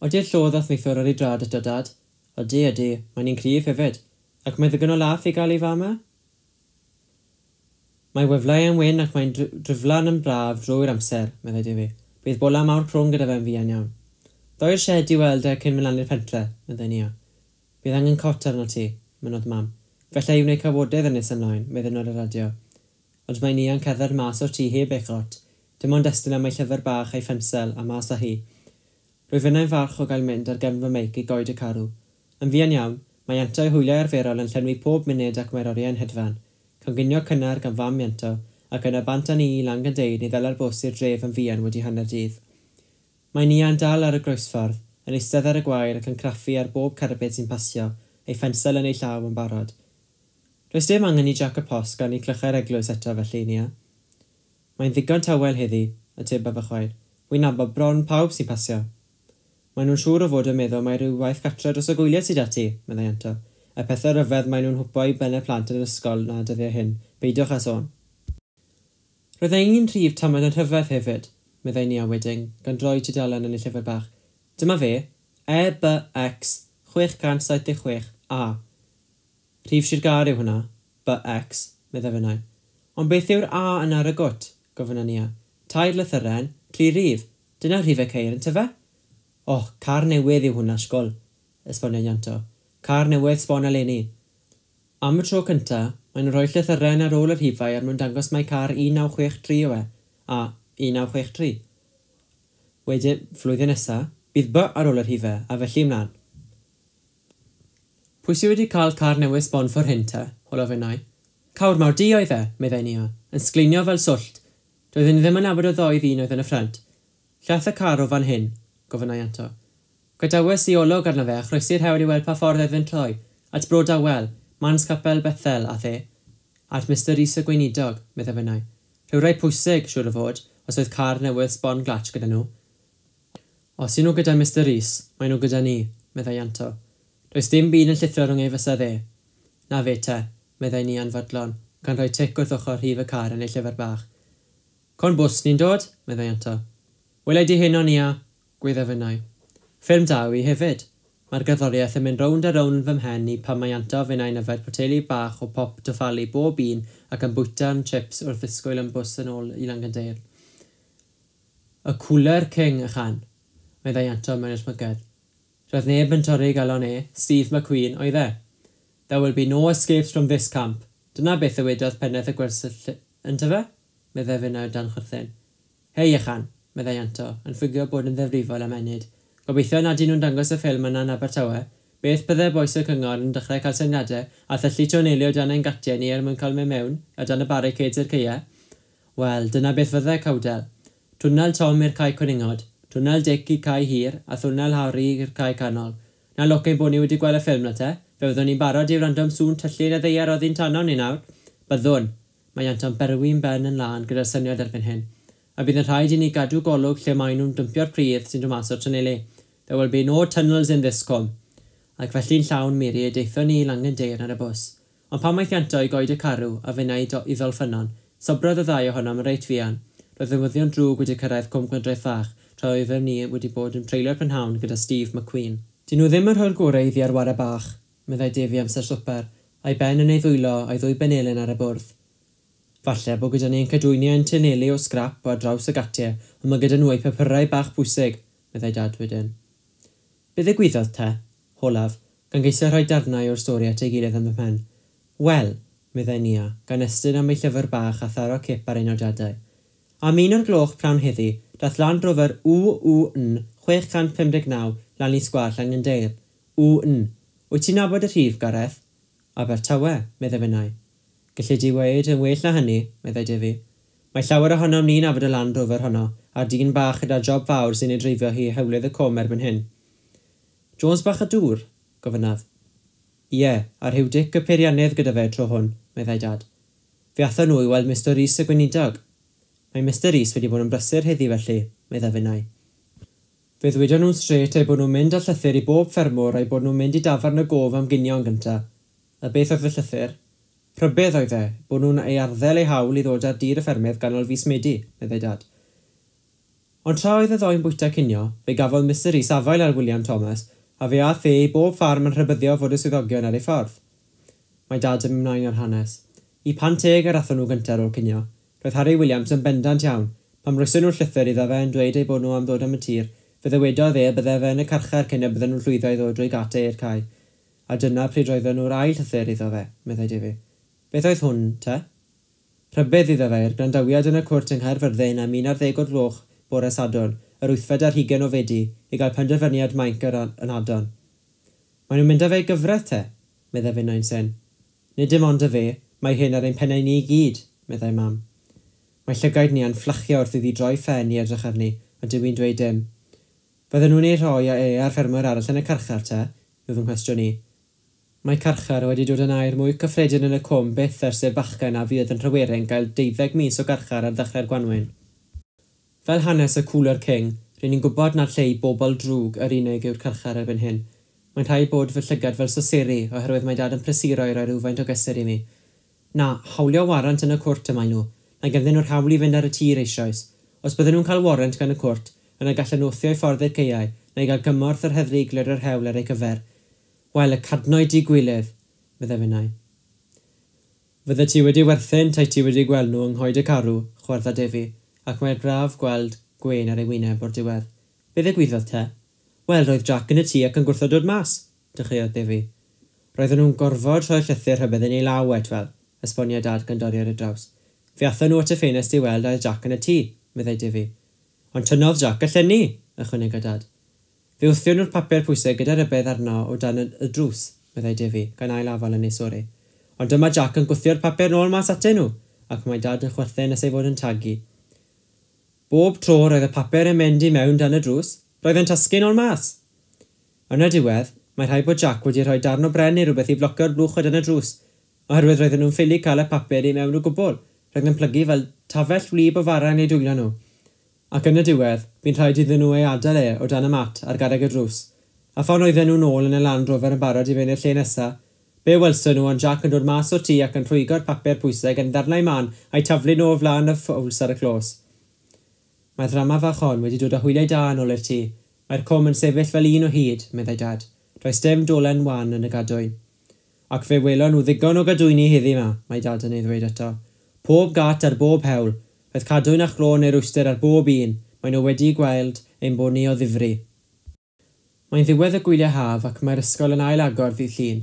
Ody'r llo ddath neithiwr ar ei drad eto, dad? Ydy, ydy, mae'n un cryf hefyd. Ac mae ddigon o lath i gael ei fam e? Mae weflau yn wyn ac mae'n driflan yn braf drwy'r amser, meddai Defi. Bydd bola mawr crwn gyda fe'n fuan iawn. Ddo i'r shed i weld e cyn mynd lan i'r pentre, meddai Nia. Bydd angen cot arno ti, mynnodd mam. Fella i wneud cawodydd yn nes ymlaen, meddai nhw ar y radio. Ond mae Nia'n cerdded mas o'r tŷ heb ei chot. Dim ond estyn am ei llyfr bach a'i phensel a mas â hi. Rwyf finnau'n falch o gael mynd ar gefn fy meic i Goed y Carw. Yn fuan iawn, mae Ianto ei hwyliau arferol yn llenwi pob munud ac mae'r oriau'n hedfan. Coginio cynnar gan fam Ianto, ac yna bant â ni i Langanddeud i ddala'r bws i'r dref yn fuan wedi hanner dydd. Mae Nia'n dal ar y groesffordd, yn eistedd ar y gwair ac yn craffu ar bob cerbyd sy'n pasio, ei phensel yn ei llaw yn barod. Does dim angen i Jac y Post ganu clychau'r eglwys eto felly, Nia. Mae'n ddigon tawel heddi, atebodd fy chwaer. Wi'n nabod bron pawb sy'n pasio. Maen nhw'n siŵr o fod yn meddwl mai rhyw waith cartre dros y gwyliau sydd 'da ti, meddai Ianto. Y pethau rhyfedd maen nhw'n hwpo i bennau plant yn yr ysgol 'na dyddiau hyn, peidiwch â sôn. Roedd e un rhif tamaid yn rhyfedd hefyd, meddai Nia wedyn, gan droi tudalen yn ei llyfr bach. Dyma fe, E B X chwech cant saith deg chwech A. Rhif Sir Gâr yw hwnna, B X, meddai finnau. Ond beth yw'r A yna ar y gwt? Gofynna Nia. Tair lythyren, tri rhif. Dyna rhifau ceir, yntyfe? O, car newydd yw hwnna, sgol, esboniodd Ianto. Car newydd sbon eleni. Am y tro cynta, maen nhw'n rhoi llythyren ar ôl y rhifau er mwyn dangos mai car un naw chwech tri yw e, a un naw chwech tri. Wedyn, flwyddyn nesa, bydd B ar ôl y rhifau, a felly ymlaen. Pwy sy wedi cael car newydd sbon ffor hyn te? Holodd finnau. Cawr mawr du oedd e, meddai Nia, yn sgleinio fel swllt. Doeddwn i ddim yn nabod y ddou ddyn oedd yn y ffrynt. Llaeth y car o fan hyn? Gofynnai Ianto. Gadawes i olwg arno fe a chroesi'r hewl i weld pa ffordd oedd yn troi, at Bro Dawel, Mans Capel Bethel, ath e. At Mister Rees y gweinidog, meddai finnau. Rhywrai pwysig, siŵr o fod, os oedd car newydd sbon glatsh gyda nhw. Os y'n nhw gyda Mister Rees, maen nhw gyda ni, meddai Ianto. Does dim byd yn llithro rhwng ei fysedd e. Na fe te, meddai Nia'n fodlon, gan rhoi tic wrth ochr rhif y car yn ei llyfr bach. Con bws ni'n dod, meddai Ianto. Welai di heno, Nia, gweidda finnau. Ffilm da yw hi hefyd. Mae'r gerddoriaeth yn mynd rownd a rownd yn fy mhen i pan mae Ianto a finnau'n yfed poteli bach o pop Dofali bob un ac yn bwyta'n chips wrth ddisgwyl am bws yn ôl i Langyndeyrn. Y Cooler King, ychan, meddai Ianto mewn ysmygedd. Roedd neb yn torri ei galon e, Steve McQueen, oedd e. There will be no escapes from this camp. Dyna beth ddywedodd pennaeth y gwersyll yntyfe? Meddai finnau dan chwerthin. Hei, ychan, meddai Ianto, yn ffugio bod yn ddifrifol am ennyd. Gobeithio nad y'n nhw'n dangos y ffilm yna yn Abertawe. Beth bydde bois y cyngor yn dechrau cael syniadau a thyllu twneli o dan ein gatiau ni er mwyn cael mynd mewn a dan y barricades i'r caeau? Wel, dyna beth fydde cawdel. Twnnel Tom i'r cae cwningod, twnnel Dick i cae hir a thwnnel Harry i'r cae canol. Na lwc ein bod ni wedi gweld y ffilm na te, fe fyddwn ni'n barod i wrando am sŵn tyllu yn y ddaear oddi'n tanom ni nawr. Byddwn. Mae Ianto'n berwi'n ben yn lân gyda'r syniad erbyn hyn. A bydd yn rhaid i ni gadw golwg lle maen nhw'n dympio'r pridd sy'n dod mas o'r twneli. There will be no tunnels in this cwm. Ac felly'n llawn miri y deithon ni i Langyndeyrn ar y bws. Ond pan mae Ianto i Goed y Carw a finnau i Ddolffynnon, sobrodd y ddau ohonom yn reit fuan. Roedd newyddion drwg wedi cyrraedd Cwm Gwendraeth Fach, tra oeddem ni wedi bod yn treulio'r prynhawn gyda Steve McQueen. Dyn nhw ddim yn rhoi'r gorau iddi ar ware bach, meddai Defi amser swper, a'i ben yn ei ddwylo a'i ddwy benelin ar y bwrdd. Falle bod gyda ni'n cadwyni ein tynelu o sgrap ar draws y gatiau, ond mae gyda nhw eu papurau bach bwysig, meddai Dad wedyn. Be ddigwyddodd te? Holaf, gan geisio rhoi darnau o'r stori at ei gilydd yn fy mhen. Wel, meddai Nia, gan estyn am ei llyfr bach a tharo cip ar ei nodiadau. Am un o'r gloch prawn heddi, dath Land Rover W W N chwech cant pum deg naw lan i sgwâr Llangyndeyrn. W N. Wyt ti'n nabod y rhif, Gareth? Abertawe, meddai finnau. Gelli di weud yn well na hynny, meddai Defi. Mae llawer ohonom ni'n nabod y Land Rover honno, a'r dyn bach gyda job fawr sy'n ei dreifio hi hewlydd y cwm erbyn hyn. Jones bach y dŵr? Gofynnaf. Ie, a rhyw Dic y peiriannydd gyda fe tro hwn, meddai Dad. Fe athon nhw i weld Mister Rees y gweinidog. Mae Mister Rees wedi bod yn brysur heddi felly, meddai finnau. Fe ddwedon nhw'n strêt eu bod nhw'n mynd â llythyr i bob ffermwr a'u bod nhw'n mynd i dafarn y gof am ginio'n gyntaf. A beth oedd y llythyr? Rhybudd oedd e, bod nhw'n ei arddel ei hawl i ddod ar dir y ffermydd ganol fis Medi, meddai Dad. Ond tra oedd y ddoi'n bwyta cinio, fe gafodd Mister Rees afael ar William Thomas, a fe aeth e i bob ffarm yn rhybuddio fod y swyddogion ar ei ffordd. Mae Dad yn ymlaen â'r hanes. I pan teg yr athon nhw gyntaf ar ôl cinio. Roedd Harry Williams yn bendant iawn. Pan roeson nhw'r llythyr iddo fe yn dweud eu bod nhw am ddod am y tir, fe ddywedodd e y bydde fe yn y carchar cyn y bydden nhw'n llwyddo i ddod drwy gatiau i'r cae. A dyna pryd roedden nhw'r ail llythyr iddo fe, meddai Defi. Beth oedd hwn, te? Rhybudd iddo fe i'r gwrandawiad yn y cwrt yng Nghaerfyrddin am un ar ddeg o'r gloch bore Sadwrn, yr wythfed ar hugain o Fedi, i gael penderfyniad mainc yr ynadon. Maen nhw'n mynd â fe i gyfraith, te, meddai finnau'n syn. Nid dim ond y fe, mae hyn ar ein pennau ni i gyd, meddai mam. Mae llygaid ni yn fflachio wrth iddi droi phen i edrych arni, ond dyw hi'n dweud dim. Fydden nhw'n ei rhoi a e a'r ffermwyr arall yn y carchar, te? Yw fy nghwestiwn i. Mae carchar wedi dod yn air mwy cyffredin yn y cwm byth ers i'r bachgen a fuodd yn Nhryweryn gael deuddeg mis o garchar ar ddechrau'r gwanwyn. Fel hanes y Cooler King, ry'n ni'n gwybod nad lle i bobl drwg yr unig yw'r carchar erbyn hyn. Mae'n rhaid bod fy llygad fel soseri oherwydd mae Dad yn prysuro i roi rhywfaint o gysur i mi. Na, hawlio warant yn y cwrt y maen nhw. Mae ganddyn nhw'r hawl i fynd ar y tir eisoes. Os bydden nhw'n cael warrant gan y cwrt, yna gallen nhw wthio i ffordd i'r caeau, neu gael gymorth yr heddlu i glirio'r hewl ar eu cyfer. Wel, y cadnoid di gwilydd, meddai finnau. Fydde ti wedi werthin tai ti wedi gweld nhw yng Nghoed y Carw, chwardda Defi, ac mae'r braf gweld gwên ar ei wyneb o'r diwedd. Be ddigwyddodd te? Wel, roedd Jack yn y tŷ ac yn gwrthod dod mas, dechreuodd Defi. Roedden nhw'n gorfod rhoi'r llythyr rhybudd yn ei law etwel, esbonio Dad gan dorri ar y draws. Fe athon nhw at y ffenest i weld a oedd Jack yn y tŷ, meddai Defi. Ond tynnodd Jack y llenni, ychwanega Dad. Fe wthion nhw'r papur pwysig gyda rhybudd arno o dan y, y drws, meddai Defi, gan ail afal yn ei sori. Ond dyma Jack yn gwthio'r papur nôl mas atyn nhw, ac mae Dad yn chwerthin nes ei fod yn tagu. Bob tro roedd y papur yn mynd i mewn dan y drws, roedd yn tasgu nôl mas. Yn y diwedd, mae rhaid bod Jack wedi rhoi darn o bren neu rhywbeth i flocio'r blwch o dan y drws, oherwydd roedden nhw'n ffili cael y papur i mewn o gwbl, roedd yn plygu fel tafell wlyb o fara yn eu dwylo nhw. Ac yn y diwedd, bu'n rhaid iddyn nhw ei adael e o dan y mat ar garreg y drws. A phan oedden nhw'n ôl yn y Land Rover yn barod i fynd i'r lle nesaf, be welson nhw ond Jack yn dod mas o'r tŷ ac yn rhwygo'r papur pwysig yn ddarnau mân a'i taflu nhw o flaen y ffowls ar y clos. Mae'r ddrama fach hon wedi dod â hwyliau da yn ôl i'r tŷ. Mae'r cwm yn sefyll fel un o hyd, meddai Dad. Does dim dolen wan yn y gadwyn. Ac fe welon nhw ddigon o gadwyni heddi 'ma, mae Dad yn ei ddweud eto. Pob gat ar bob hewl. Roedd cadwyn a chlo neu rwystr ar bob un. Maen nhw wedi gweld ein bod ni o ddifri. Mae'n ddiwedd y gwyliau haf ac mae'r ysgol yn ail-agor ddydd Llun.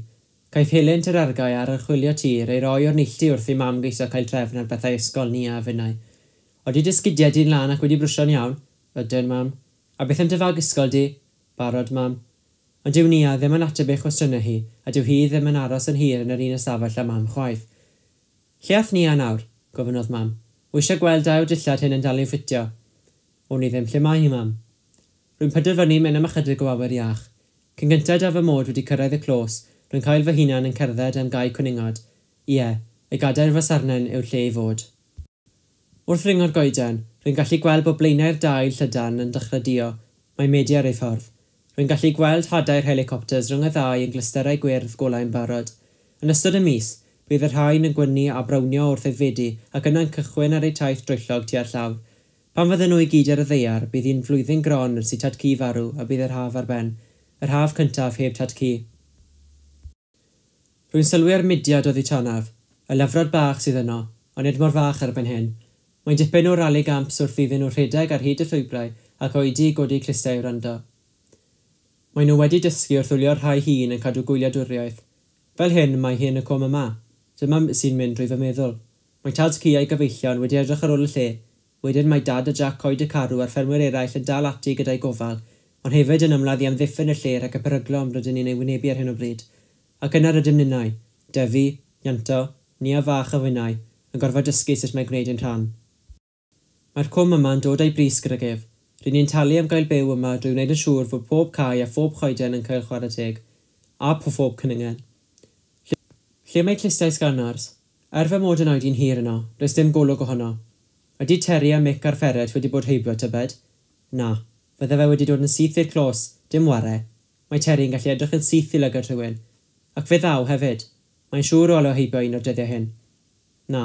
Caiff helynt yr argae ar archwilio tir ei roi o'r neilltu wrth i Mam geisio cael trefn ar bethau ysgol Nia a finnau. Odi dy sgidiau di'n lân ac wedi brwsio'n iawn? Ydyn, Mam. A beth am dy fag ysgol di? Barod, Mam. Ond dyw Nia ddim yn ateb ei chwestiynau hi, a dyw hi ddim yn aros yn hir yn yr un ystafell â Mam chwaith. Lle ath Nia nawr? Gofynnodd Mam. Wy eisiau gweld a yw'r dillad hyn yn dal i'w ffitio. Wn i ddim lle mae hi, Mam. Rwy'n penderfynu mynd am ychydig o awyr iach. Cyn gynted â fy mod wedi cyrraedd y clos, rwy'n cael fy hunan yn cerdded am gae cwningod. Ie, y gadair fasarnen yw'r lle i fod. Wrth ringo'r goeden, rwy'n gallu gweld bod blaenau'r dail llydan yn dechrau duo. Mae Medi ar ei ffordd. Rwy'n gallu gweld hadau'r helicopters rhwng y ddau yn glysterau gwyrdd golau'n barod. Yn ystod y mis, bydd y rhain yn gwynnu a brownio wrth aeddfedu ac yna'n cychwyn ar eu taith droellog tua'r llawr. Pan fydden nhw i gyd ar y ddaear, bydd hi'n flwyddyn gron ers i Tad-cu farw a bydd yr haf ar ben. Yr haf cyntaf heb Tad-cu. Rwy'n sylwi ar mudiad oddi tanaf. Y lyfrod bach sydd yno, ond nid mor fach erbyn hyn. Mae'n dipyn o rali gamps wrth iddyn nhw rhedeg ar hyd y llwybrau ac oedi i godi clustiau i wrando. Maen nhw wedi dysgu wrth wylio'r rhai hŷn yn cadw gwyliadwriaeth. Fel hyn mae hi yn y cwm yma. Dyma sy'n mynd drwy fy meddwl. Mae Tad-cu a'i gyfeillion wedi edrych ar ôl y lle. Wedyn mae Dad a Jac Coed y Carw a'r ffermwyr eraill yn dal ati gyda'i gofal, ond hefyd yn ymladd i amddiffyn y lle rhag y peryglon rydyn ni'n ei wynebu ar hyn o bryd. Ac yna rydym ninnau, Defi, Ianto, Nia fach a finnau, yn gorfod dysgu sut mae gwneud ein rhan. Mae'r cwm yma'n dod â'i bris gydag ef. Ry'n ni'n talu am gael byw yma drwy wneud yn siŵr fod pob cae a phob choeden yn cael chwarae teg. A phob cwningen. Lle, lle mae clustiau sganars? Er fy mod yn oedi'n hir yno, does dim golwg ohono. Ydy Terry a Mick a'r ferret wedi bod heibio tybed? Na, fydde fe wedi dod yn syth i'r clos, dim ware. Mae Terry yn gallu edrych yn syth i lygad rhywun. Ac fe ddaw hefyd. Mae'n siŵr o alw heibio un o'r dyddiau hyn. Na,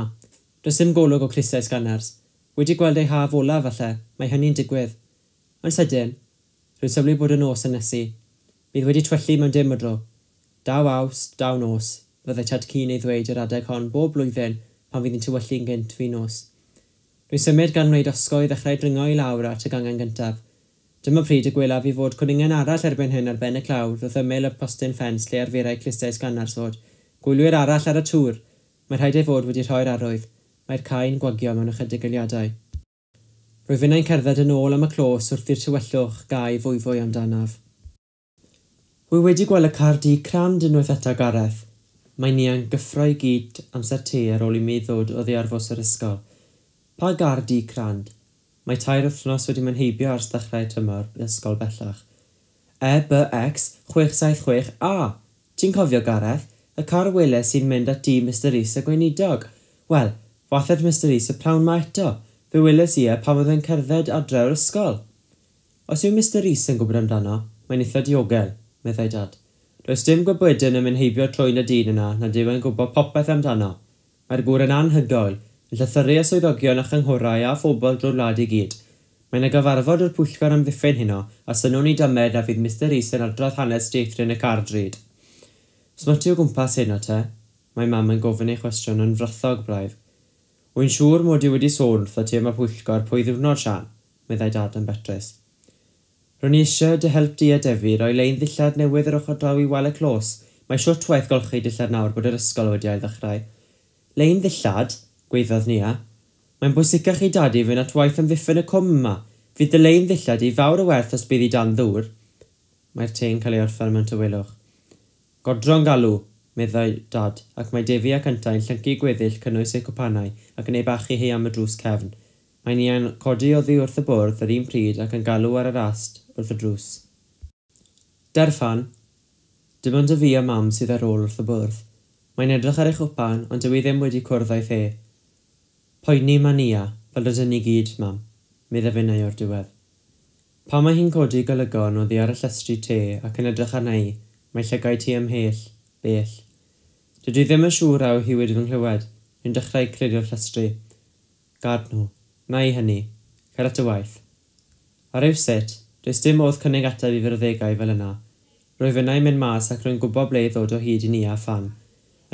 does dim golwg o clustiau sganars. Wedi gweld ei haf olaf falle, mae hynny'n digwydd. Yn sydyn, rwy'n sylwi bod y nos yn nesu. Bydd wedi twyllu mewn dim o dro. Daw Awst, daw nos, fyddai Tad-cu'n ei ddweud yr adeg hon bob blwyddyn pan fydd hi'n tywyllu'n gynt fin nos. Rwy'n symud gan wneud osgo i ddechrau dringo i lawr at y gangen gyntaf. Dyma pryd y gwelaf i fod cwningen arall erbyn hyn ar ben y clawr wrth ymyl y postyn ffens lle arferai clustiau sganars fod. Gwylwyr arall ar y tŵr. Mae rhaid ei fod wedi rhoi'r arwydd. Mae'r cae'n gwagio mewn ychydig eiliadau. Rwyf finnau'n cerdded yn ôl am y clos wrth i'r tywyllwch gau fwyfwy amdanaf. Wy wedi gweld y car du crand unwaith eto, Gareth. Mae Nia'n gyffro i gyd amser te ar ôl i mi ddod oddi ar fws yr ysgol. Pa gar du crand? Mae tair wythnos wedi mynd heibio ers ddechrau tymor ysgol bellach. E B X chwech saith chwech A. Ti'n cofio, Gareth? Y car weles sy'n mynd at dŷ Mister Rees y gweinidog. Wel, fathedd Mister Rees y prawn ma eto. Fe weles i e pan oedd e'n cerdded adre o'r ysgol. Os yw Mister Rees yn gwybod amdano, mae'n eitha diogel, meddai Dad. Does dim gwybodyn yn mynd heibio trwyn y dyn yna nad yw e'n gwybod popeth amdano. Mae'r gŵr yn anhygoel, yn llythyru y swyddogion a chynghorau a phobl drwy'r wlad i gyd. Mae'n y gyfarfod o'r pwyllgor amddiffyn heno, a synnwn i dymed a fydd Mister Rees yn adrodd hanes dieithryn y car drud. Smyty o gwmpas heno te? Mae Mam yn gofyn ei chwestiwn yn frythog braidd. Wy'n siŵr mod i wedi sôn wrtho ti am y pwyllgor pwy ddiwrnod, Sian, meddai Dad yn betrus. Ro'n i eisiau dy help di a Defi roi lein ddillad newydd yr ochr draw i wal y clos. Mae siwt waith golchi dillad nawr bod yr ysgol wedi ail-ddechrau. Lein ddillad? Gweiddodd Nia. Mae'n bwysicach i Dad i fynd at waith amddiffyn y cwm yma. Fydd dy lein ddillad i fawr o werth os bydd i dan ddŵr. Mae'r te'n cael ei orffen mewn tawelwch. Godro'n galw, meddai Dad, ac mae Defi ac yntau'n llyncu gweddill cynnwys eu cwpanau ac yn ei bachu hi am y drws cefn. Mae Nia'n codi oddi wrth y bwrdd yr un pryd ac yn galw ar yr ast wrth y drws. Derfan, dim ond y fi a Mam sydd ar ôl wrth y bwrdd. Mae'n edrych ar ei chwpan, ond dyw hi ddim wedi cwrdd â'i the. Poeni ma Nia, fel rydyn ni gyd, Mam, meddai finnau o'r diwedd. Pan mae hi'n codi golygon oddi ar y llestri te ac yn edrych arna i, mae llygaid hi ymhell, bell. Dydw i ddim yn siŵr a yw hi wedi fy nghlywed, rwy'n dechrau clirio'r llestri. Gad nhw, na i hynny, cer at y waith. Ar rywsut, does dim modd cynnig ateb i fyrddegau fel yna. Rwyf yna i mynd mas ac rwy'n gwybod ble i ddod o hyd i Nia a Ffan.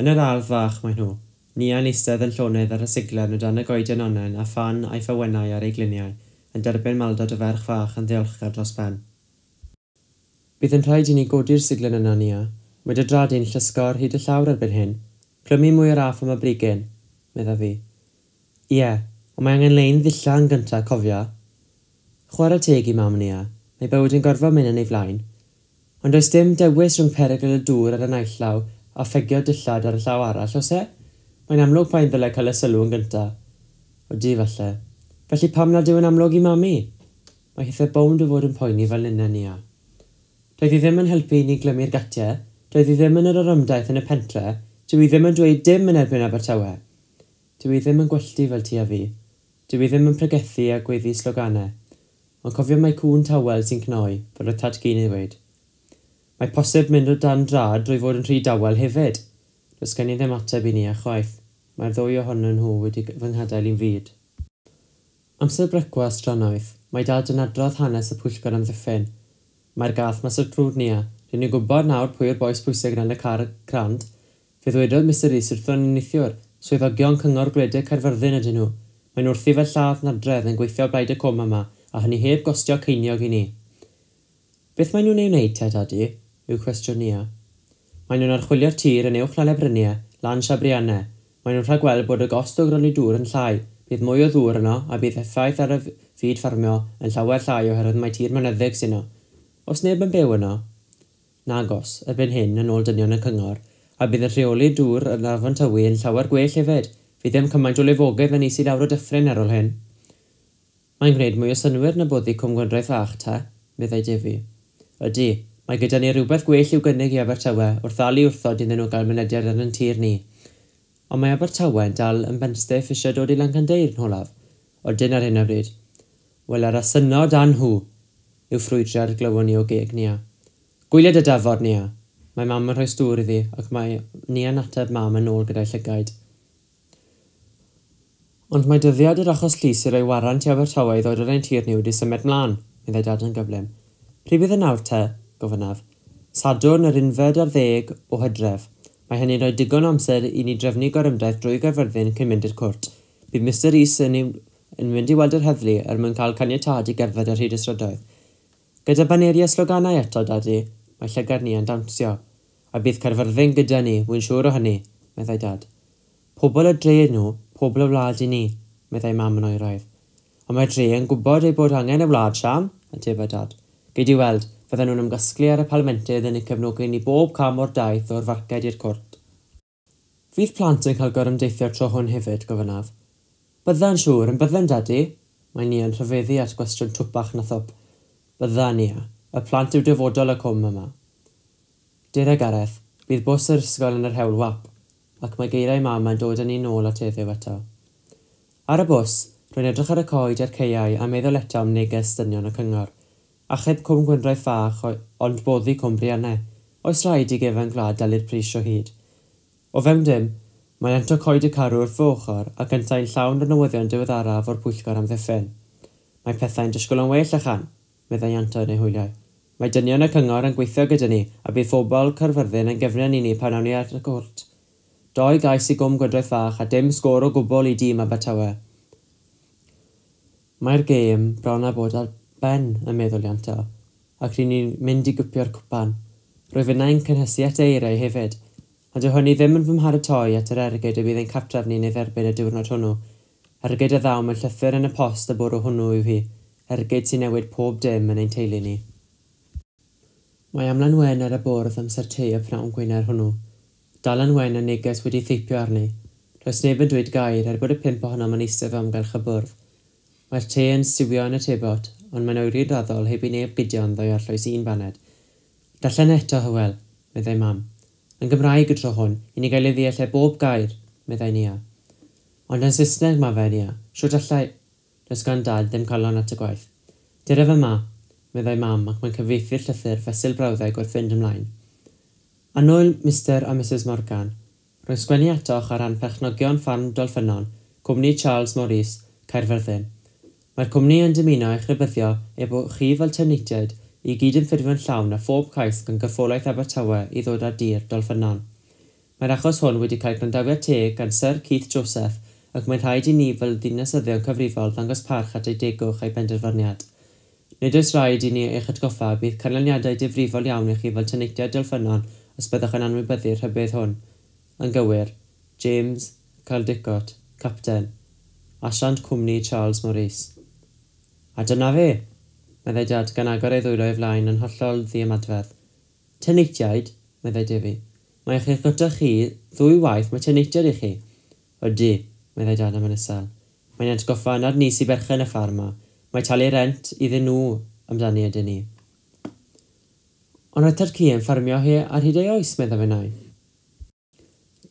Yn yr ardd fach maen nhw. Nia'n eistedd yn llonydd ar y siglen o dan y goeden onnen a Ffan a'i ffawennau ar ei gliniau, yn derbyn maldod y ferch fach yn ddiolchgar dros ben. Bydd yn rhaid i ni godi'r siglen yna, Nia. Mae dy draed di'n llusgo ar hyd y llawr erbyn hyn. Clymu mwy o raff am y brigyn, meddai fi. Ie, ond mae angen lein ddilla yn gyntaf, cofia. Chwarae teg i mam, Nia. Mae bywyd yn gorfod mynd yn ei flaen. Ond does dim dewis rhwng perygl y dŵr ar y naill law a phegio dillad ar y llaw arall, oes e? Mae'n amlwg pa un ddylai cael y sylw yn gyntaf. Odi, falle. Felly pam nad yw yn amlwg i mami? Mae hithau bownd o fod yn poeni fel ninna, Nia. Doedd hi ddim yn helpu i ni glymu'r gatiau, doedd hi ddim yn yr orymdaith yn y pentre, dyw hi ddim yn dweud dim yn erbyn Abertawe. Dyw hi ddim yn gwelltu fel ti a fi. Dyw hi ddim yn pregethu a gweiddi sloganau. Ond cofio mai cŵn tawel sy'n cnoi, fel oedd Tad-cu'n ei ddweud. Mae posib mynd o dan drad drwy fod yn rhy dawel hefyd. Does gen i ddim ateb i Nia chwaith. Mae'r ddwy ohonyn nhw wedi fy nghadael i'n fud. Amser brecwast drannoeth, mae Dad yn adrodd hanes y pwyllgor amddiffyn. Mae'r gath mas o'r crwd, Nia. Rydyn ni'n gwybod nawr pwy yw'r bois pwysig yn y car crand. Fe ddwedodd Mister Rees wrthon ni neithiwr, swyddogion Cyngor Gwledig Caerfyrddin ydyn nhw. Mae'n wrthi fel lladd nadredd yn gweithio o blaid y cwm yma, a hynny heb gostio ceiniog i ni. Beth maen nhw'n ei wneud te, Dadi? Yw cwestiwn Nia. Maen nhw'n archwilio'r tir yn uwch lan y bryniau, lan Siabriannau. Maen nhw'n rhagweld bod y gost o gronni dŵr yn llai. Bydd mwy o ddŵr yno a bydd effaith ar y fyd ffarmio yn llawer llai oherwydd mae tir mynyddig sy'n yno. Oes neb yn byw yno? Nagos, erbyn hyn yn ôl dynion y cyngor, a bydd yn rheoli dŵr yn Afon Tywi yn llawer gwell hefyd. Fydd ddim cymaint o lifogydd yn is i lawr o dyffryn ar ôl hyn. Mae'n gwneud mwy o synnwyr na boddi Cwm Gwendraeth Fach, te, meddai Defi. Ydy, mae gyda ni rhywbeth gwell i'w gynnig i Abertawe wrth ddal i wrthod iddyn nhw gael mynediad ar yn tir ni. Ond mae Abertawe yn dal yn benstiff eisiau dod i Lancandeir yn olaf. Odyn ar hyn o bryd. Wel, ar asynod a nhw, yw ffrwydriad glywon ni o geg Nia. Gwylia dy dafod, Nia. Mae mam yn rhoi stŵr iddi ac mae Nia'n ateb mam yn ôl gyda'i llygaid. Ond mae dyddiad yr achos llys i roi warant i Abertawe i ddod ar ein tir ni wedi symud mlaen, meddai Dad yn gyflym. Pryd bydd y nawr te? Gofynnaf. Sadwrn yr unfed ar ddeg o Hydref. Mae hynny'n rhoi digon o amser i ni drefnu gorymdaith drwy Gaerfyrddin cyn mynd i'r cwrt. Bydd Mister Rees yn, yn mynd i weld yr heddlu er mwyn cael caniatâd i gerdded ar hyd y strydoedd. Gyda baneri a sloganau eto, Dadi, mae llygad ni yn dawnsio. A bydd Caerfyrddin gyda ni, wy'n siŵr o hynny, meddai Dad. Pobl y dre nhw, pobl y wlad i ni, meddai mam yn oeraidd. Ond mae'r dre yn gwybod ei bod angen y wlad, Sian, atebau Dad. Gei di weld, fydden nhw'n ymgasglu ar y palmentydd yn eu cefnogi ni bob cam o'r daith o'r farced i'r cwrt. Fydd plant yn cael gorymdeithio'r tro hwn hefyd, gofynnaf. Bydda'n siŵr, yn bydden, Dadi? Mae Nia yn rhyfeddu at gwestiwn twpach na thwp. Bydda, Nia. Y plant yw dyfodol y cwm yma. Dere Gareth, bydd bws yr ysgol yn yr hewl wap, ac mae geiriau mam yn dod â ni nôl at heddiw eto. Ar y bws, rwy'n edrych ar y coed a'r caeau a meddwl eto am neges dynion y cyngor. Achub Cwm Gwendraeth Fach ond boddi Cwm Briannau. Oes rhaid i gefen gwlad dalu'r pris o hyd. O fewn dim, mae Ianto Coed y Carw wrth fy ochr ac yntau'n llawn o'r newyddion diweddaraf o'r pwyllgor amddiffyn. Mae pethau'n disgwyl yn well achan, meddai Ianto yn ei hwyliau. Mae dynion y cyngor yn gweithio gyda ni a bydd phobl Caerfyrddin yn gefnen i ni pan awn ni ar y cwrt. Doi gais i Gwm Gwendraeth Fach a dim sgôr o gwbl i dîm Abertawe. Mae'r gêm bron â bod ar ben, yn meddwl Ianto, ac ry'n ni'n mynd i gwpio'r cwpan. Rwyf innau'n cynhesu at eiriau hefyd, ond dyw hynny ddim yn fy mharatoi at yr ergyd y bydd ein cartref ni'n ei dderbyn y diwrnod hwnnw. Ergyd a ddaw mewn llythyr yn y post y bwrw hwnnw yw hi, ergyd sy'n newid pob dim yn ein teulu ni. Mae amlan wen ar y bwrdd amser te y pnawn Gwener hwnnw. Dalan wen a neges wedi theipio arni. Does neb yn dweud gair er bod y pump ohonom yn eistedd o amgylch y bwrdd. Mae'r te yn siwio yn y tebot, ond mae'n oeri'n raddol heb i neb gydio ynddo i arllwys un baned. Darllen eto, Hywel, meddai mam. Yn Gymraeg y tro hwn, i ni gael ei ddeall e bob gair, meddai Nia. Ond yn Saesneg ma fe, Nia. Shwt allai... Does gan Dad ddim calon at y gwaith. Dere fe ma, meddai mam, ac mae'n cyfieithu'r llythyr fesul brawddeg wrth fynd ymlaen. Annwyl Mister a Missus Morgan, rwy'n sgwennu atoch ar ran perchnogion ffarm Dolffynon, cwmni Charles Maurice, Caerfyrddin. Mae'r cwmni yn dymuno eich rhybuddio ei bod chi fel tenantiaid i gydymffurfio'n llawn â phob cais gan Gorffolaeth Abertawe i ddod ar dir Dolffynon. Mae'r achos hwn wedi cael gwrandawiad teg gan Syr Keith Joseph ac mae'n rhaid i ni fel dinasyddion cyfrifol ddangos parch at ei degwch a'i benderfyniad. Nid oes rhaid i ni eich atgoffa bydd canlyniadau difrifol iawn i chi fel tenantiaid Dolffynon os byddwch yn anwybyddu'r rhybudd hwn. Yn gywir, James Caldicott, Capten, Asiant Cwmni Charles Maurice. A dyna fe, meddai Dad gan agor ei ddwylo o'i flaen yn hollol ddiymadferth. Tenantiaid, meddai Defi. Mae eich gyda chi ddwy waith mae tenantiaid i chi. Ydy, meddai Dad am yn isel. Mae'n atgoffa nad ni sy'n berchen y ffarm 'ma. Mae talu rent iddyn nhw amdani ydyn ni. Ond roedd Tad-cu yn ffarmio hi ar hyd ei oes, meddai finnau.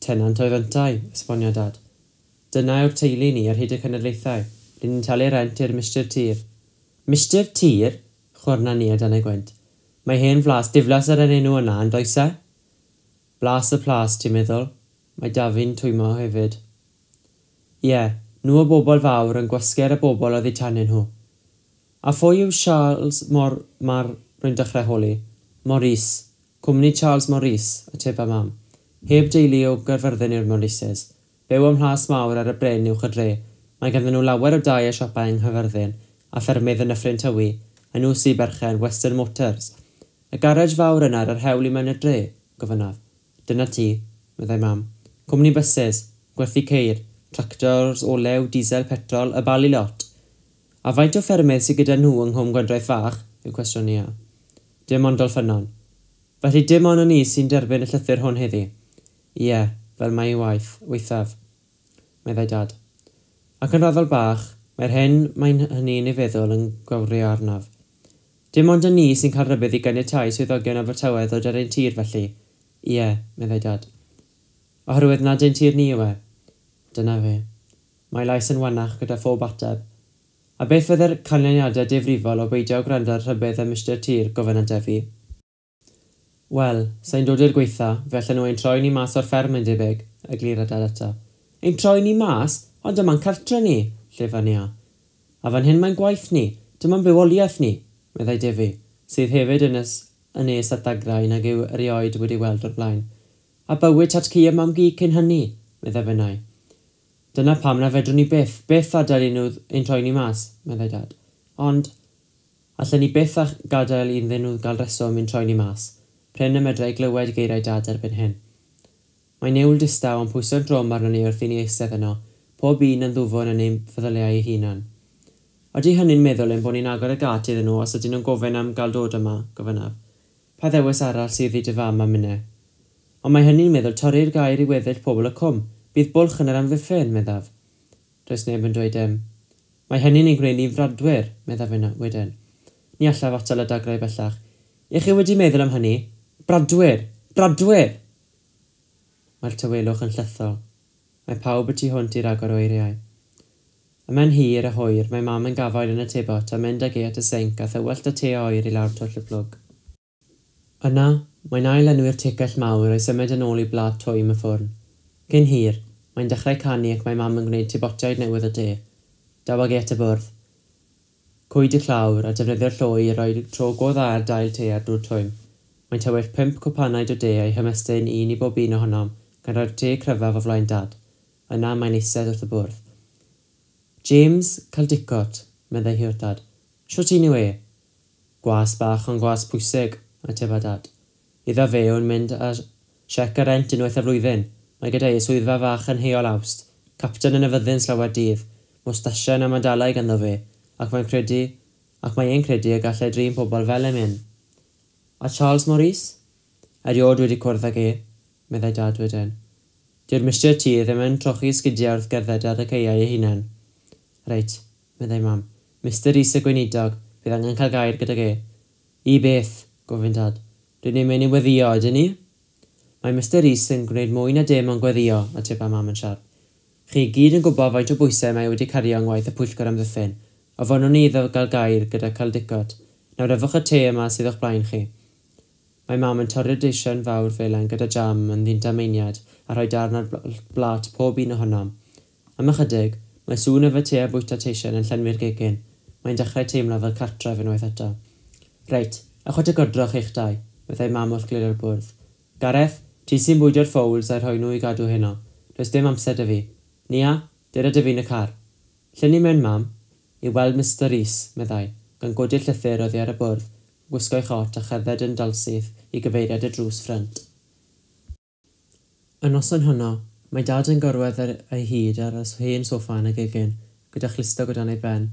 Tenant oedd yntau, esbonio Dad. Dyna yw'r teulu ni ar hyd y cenedlaethau. Rydyn ni'n talu rent i'r Mistar Tir. Mistar Tir? Chwyrna ni a dan ei gwynt. Mae hen flas diflas ar yr enw yna, yn does e? Blas y plas, ti'n meddwl? Mae Dafi'n twymo hefyd. Ie, nhw o bobl fawr yn gwasgu ar y bobl oddi tanyn nhw. A phwy yw Charles Mor... Mar... Rwy'n dechrau holi. Maurice. Cwmni Charles Maurice, ateba Mam. Heb deulu o Gaerfyrddin yw'r Maurices. Byw ym Mhlas Mawr ar y bryn uwch y dre. Mae ganddyn nhw lawer o dai a siopau yng Nghaerfyrddin, a ffermydd yn Nyffryn Tywi, a nhw sy'n berchen Western Motors. Y garej fawr yna ar yr hewl i mewn i'r dre, gofynnaf. Dyna ti, meddai Mam. Cwmni buses, gwerthu ceir, tractors, olew, diesel, petrol, y bali lot. A faint o ffermydd sydd gyda nhw yng Nghwm Gwendraeth Fach, yw cwestiwn Nia. Dim ond Dolffynon. Felly dim ond ni sy'n derbyn y llythyr hwn heddi. Ie, fel mae ei waith, waethaf, meddai Dad. Ac yn raddol bach, mae'r hyn mae'n hynny'n ei feddwl yn gwawrio arnaf. Dim ond y ni sy'n cael rhybudd i ganiatáu swyddogion Abertawe ddod ar ein tir felly. Ie, meddai Dad. Oherwydd nad ein tir ni yw e. Dyna fe. Mae lais yn wanach gyda phob ateb. A beth fydde'r canlyniadau difrifol o beidio gwrando ar rhybudd y Mistar Tir, gofynna Defi. Wel, sa'n dod i'r gweitha, fe allan nhw ein troi ni mas o'r fferm yn debyg, eglura Dad eto. Ein troi ni mas? Ond dyma'n cartre ni, llefa Nia. A fan hyn mae'n gwaith ni, dyma'n bywoliaeth ni, meddai Defi, sydd hefyd yn ys, yn nes at ddagrau nag yw erioed wedi weld o'r blaen. A bywyd tad-cu a mam-gu cyn hynny, meddai finnau. Dyna pam na fedrwn ni byth, byth adael i nhw ein troi ni mas, meddai Dad. Ond, allen ni byth a gadael iddyn nhw gael reswm i'n troi ni mas. Prin y medrai glywed geiriau Dad erbyn hyn. Mae niwl distaw yn pwyso'n drwm arnon ni wrth i ni eistedd yno, pob un yn ddwfwn yn ein feddyliau ei hunan. Ydy hynny'n meddwl ein bod ni'n agor y gât iddyn nhw os ydyn nhw'n gofyn am gael dod yma, gofynnaf. Pa ddewis arall sydd i dy fam a minne? Ond mae hynny'n meddwl torri'r gair i weddill pobl y cwm. Bydd bwlch yn yr amddiffyn, meddaf. Does neb yn dweud dim. Mae hynny'n ein gwneud ni'n fradwyr, meddaf wedyn. Ni allaf atal y dagrau bellach. Ych chi wedi meddwl am hynny? Bradwyr! Bradwyr! Mae'r tawelwch yn llethol. Mae pawb y tu hwnt i ragor o eiriau. Ymhen hir a hwyr, mae Mam yn gafael yn y tebot a mynd ag e at y sinc a thywallt y te oer i lawr twll y plwg. Yna, mae'n ail-lenwi'r tegell mawr a'i symud yn ôl i blât twym y ffwrn. Cyn hir, mae'n dechrau canu ac mae Mam yn gwneud tebotiaid newydd o de. Daw ag e at y bwrdd. Cwyd y clawr a defnyddio'r llwy i roi tro go dda ar dail te ar dŵr twym. Mae'n tywallt pump cwpanaid o de a'i hymestyn un i bob un ohonom, gan roi'r te cryfaf o flaen Dad. Yna mae'n eistedd wrth y bwrdd. James Caldicott, meddai hi wrth Dad. Shwt un yw e? Gwas bach ond gwas pwysig, ateba Dad. Iddo fe yw'n mynd â siec y rent unwaith y flwyddyn. Mae gyda ei swyddfa fach yn Heol Awst, capten yn y fyddin slawer dydd, mwstasiau a medalau ganddo fe, ac mae'n credu, ac mae e'n credu y gallai drin pobl fel emyn. A Charles Maurice? Erioed wedi cwrdd ag e, meddai Dad wedyn. Dyw'r Mistar Tir ddim yn trochi sgidiau wrth gerdded ar y caeau ei hunan. Reit, meddai Mam. Mistar Rees y gweinidog, bydd angen cael gair gydag e. I beth, gofyn Dad. Rydyn ni'n mynd i weddïo, ydyn ni? Mae Mistar Rees yn gwneud mwy na dim ond gweddïo, ateba Mam yn siarp. Chi gyd yn gwybod faint o bwysau mae wedi cario yng ngwaith y pwyllgor amddiffyn. Ofynnwn ni iddo gael gair gyda Caldicott. Nawr yfwch y te yma sydd o'ch blaen chi. Mae Mam yn torri'r deisen fawr felen gyda jam yn ddindameiniad a rhoi darn ar blât pob un ohonom. Am ychydig, mae sŵn yfed te a bwyta teisen yn llenwi'r gegin. Mae'n dechrau teimlo fel cartref unwaith eto. Reit, Ewch at y godroch eich dau, meddai mam wrth glirio'r bwrdd. Gareth, ti sy'n bwydio'r ffowls a'i rhoi nhw i gadw heno. Does dim amser 'da fi. Nia, dere 'da fi yn y car. Lle ni'n mynd, mam? I weld Mister Rees, meddai, gan godi'r llythyr oddi ar y bwrdd, gwisgo'i chot a cherdded yn dalsyth i gyfeiriad y drws ffrynt. Y noson honno, mae dad yn gorwedd ar ei hyd ar y hen soffa yn y gegin, gyda chlustog o dan ei ben.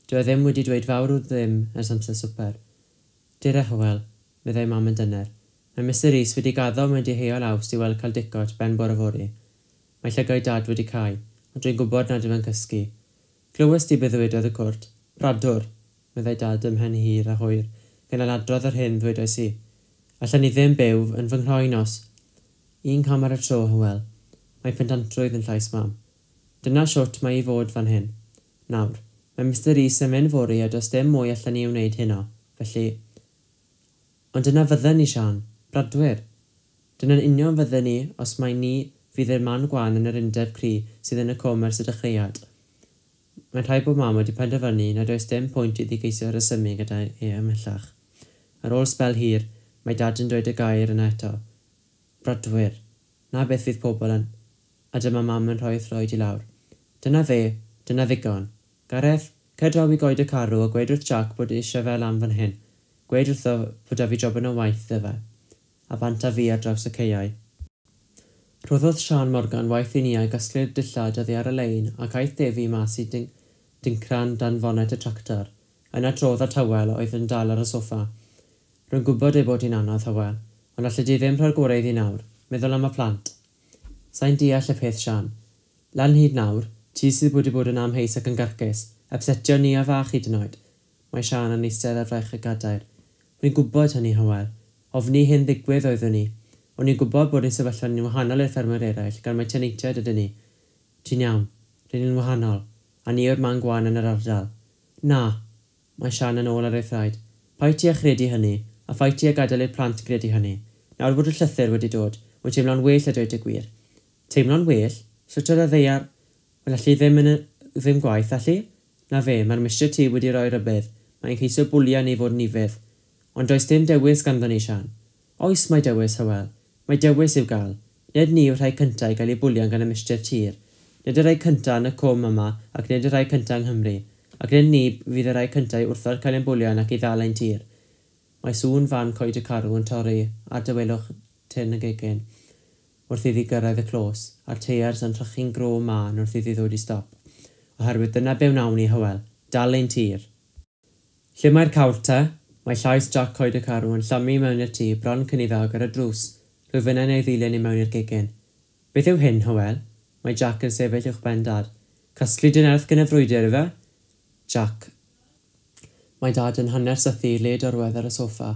Dyw e ddim wedi dweud fawr o ddim ers amser swper. Dere, Hywel, meddai mam yn dyner. Mae Mister Rees wedi gaddo mynd i Heol Awst i weld Caldicott ben bore fory. Mae llygaid dad wedi cau, ond dwi'n gwybod nad yw e'n cysgu. Glywes di beth ddywedodd y cwrt? Bradwr, meddai dad ymhen hir a hwyr, gan ailadrodd yr hyn ddwedais i. Allan ni ddim byw yn fy nghroen os. Un cam ar y tro, Hywel. Mae pendantrwydd yn llais mam. Dyna shwt mae i fod fan hyn. Nawr, mae Mister Rees yn mynd fory a does dim mwy allan ni wneud heno, felly... Ond dyna fydden ni, Siân. Bradwyr. Dyna'n union fydden ni os mai ni fydd yr man gwan yn yr undeb cry sydd yn y cwm ers y dechreuad. Mae'n rhaid bod mam wedi penderfynu nad oes dim pwynt iddi geisio rhesymu gyda e ymhellach. Ar ôl sbel hir, mae dad yn dweud y gair yna eto. Bradwyr. Na beth fydd pobl yn... A dyma mam yn rhoi throed i lawr. Dyna fe, dyna ddigon. Gareth, cer draw i goed y carw a gweud wrth Jack bod eisiau fe lan fan hyn. Gweud wrtho fod 'da fi jobyn o waith iddo fe. A bant â fi ar draws y caeau. Rhoddodd Siân Morgan waith i Nia gasglu'r dillad oddi ar y lein ac aeth Defi mas i dincran dan fonet y tractor. Yna trodd at Hywel oedd yn dal ar y soffa. Rwy'n gwybod ei bod hi'n anodd, Hywel, ond allet ti ddim rhoi'r gorau iddi nawr. Meddwl am y plant. Sai'n deall y peth, Siân. Lan hyd nawr, ti sydd wedi bod yn amheus ac yn garcus, upsetio Nia fach hyd yn oed. Mae Siân yn eistedd ar fraich y gadair. Rwy'n gwybod hynny, Hywel. Ofni hyn ddigwydd oeddwn i. O'n i'n gwybod bod ein sefyllfa ni'n wahanol i'r ffermwyr eraill, gan mai tenantiaid ydyn ni. Ti'n iawn. Rydyn ni'n wahanol. A ni yw'r man gwan yn yr ardal. Na. Mae Siân yn ôl ar ei thraed. Paid ti â chredu hynny, a phaid ti â gadael i'r plant gredu hynny. Nawr bod y llythyr wedi dod, wy'n teimlo'n well a dweud y gwir. Teimlo'n well? Sut oedd y ddaear? Wel, allu ddim yn y, ddim gwaith, allu? Na fe, mae'r Mister T wedi rhoi rhybudd. Mae'n ceisio bwlio ni fod yn ufudd. Ond does dim dewis ganddo ni, Siân. Oes mae dewis, Hywel. Mae dewis i'w gael. Nid ni yw'r rhai cyntaf i gael eu bwlian gan y Mister Tir. Nid y rhai cyntaf yn y cwm yma ac nid y rhai cyntaf yng Nghymru. Ac nid ni fydd y rhai cyntaf i wrthod cael ein bwlian ac i ddal ein tir. Mae sŵn fan coed y carw yn torri ar dawelwch tyn y gegin wrth iddi gyrraedd y clos, a'r teiars yn trychu'n gro mân wrth iddi ddod i stop. Oherwydd dyna be wnawn ni, Hywel. Dal ein tir. Lle mae'r cawr te? Mae llais Jack Coed y Carw yn llamu mewn i'r tŷ bron cyn iddo agor y drws. Rwyf yna'n ei ddilyn i mewn i'r gegin. Beth yw hyn, Hywel? Mae Jack yn sefyll uwch ben dad. Casglu dy nerth gan y frwydr, ife? Jack. Mae dad yn hanner sythu led orwedd ar y soffa.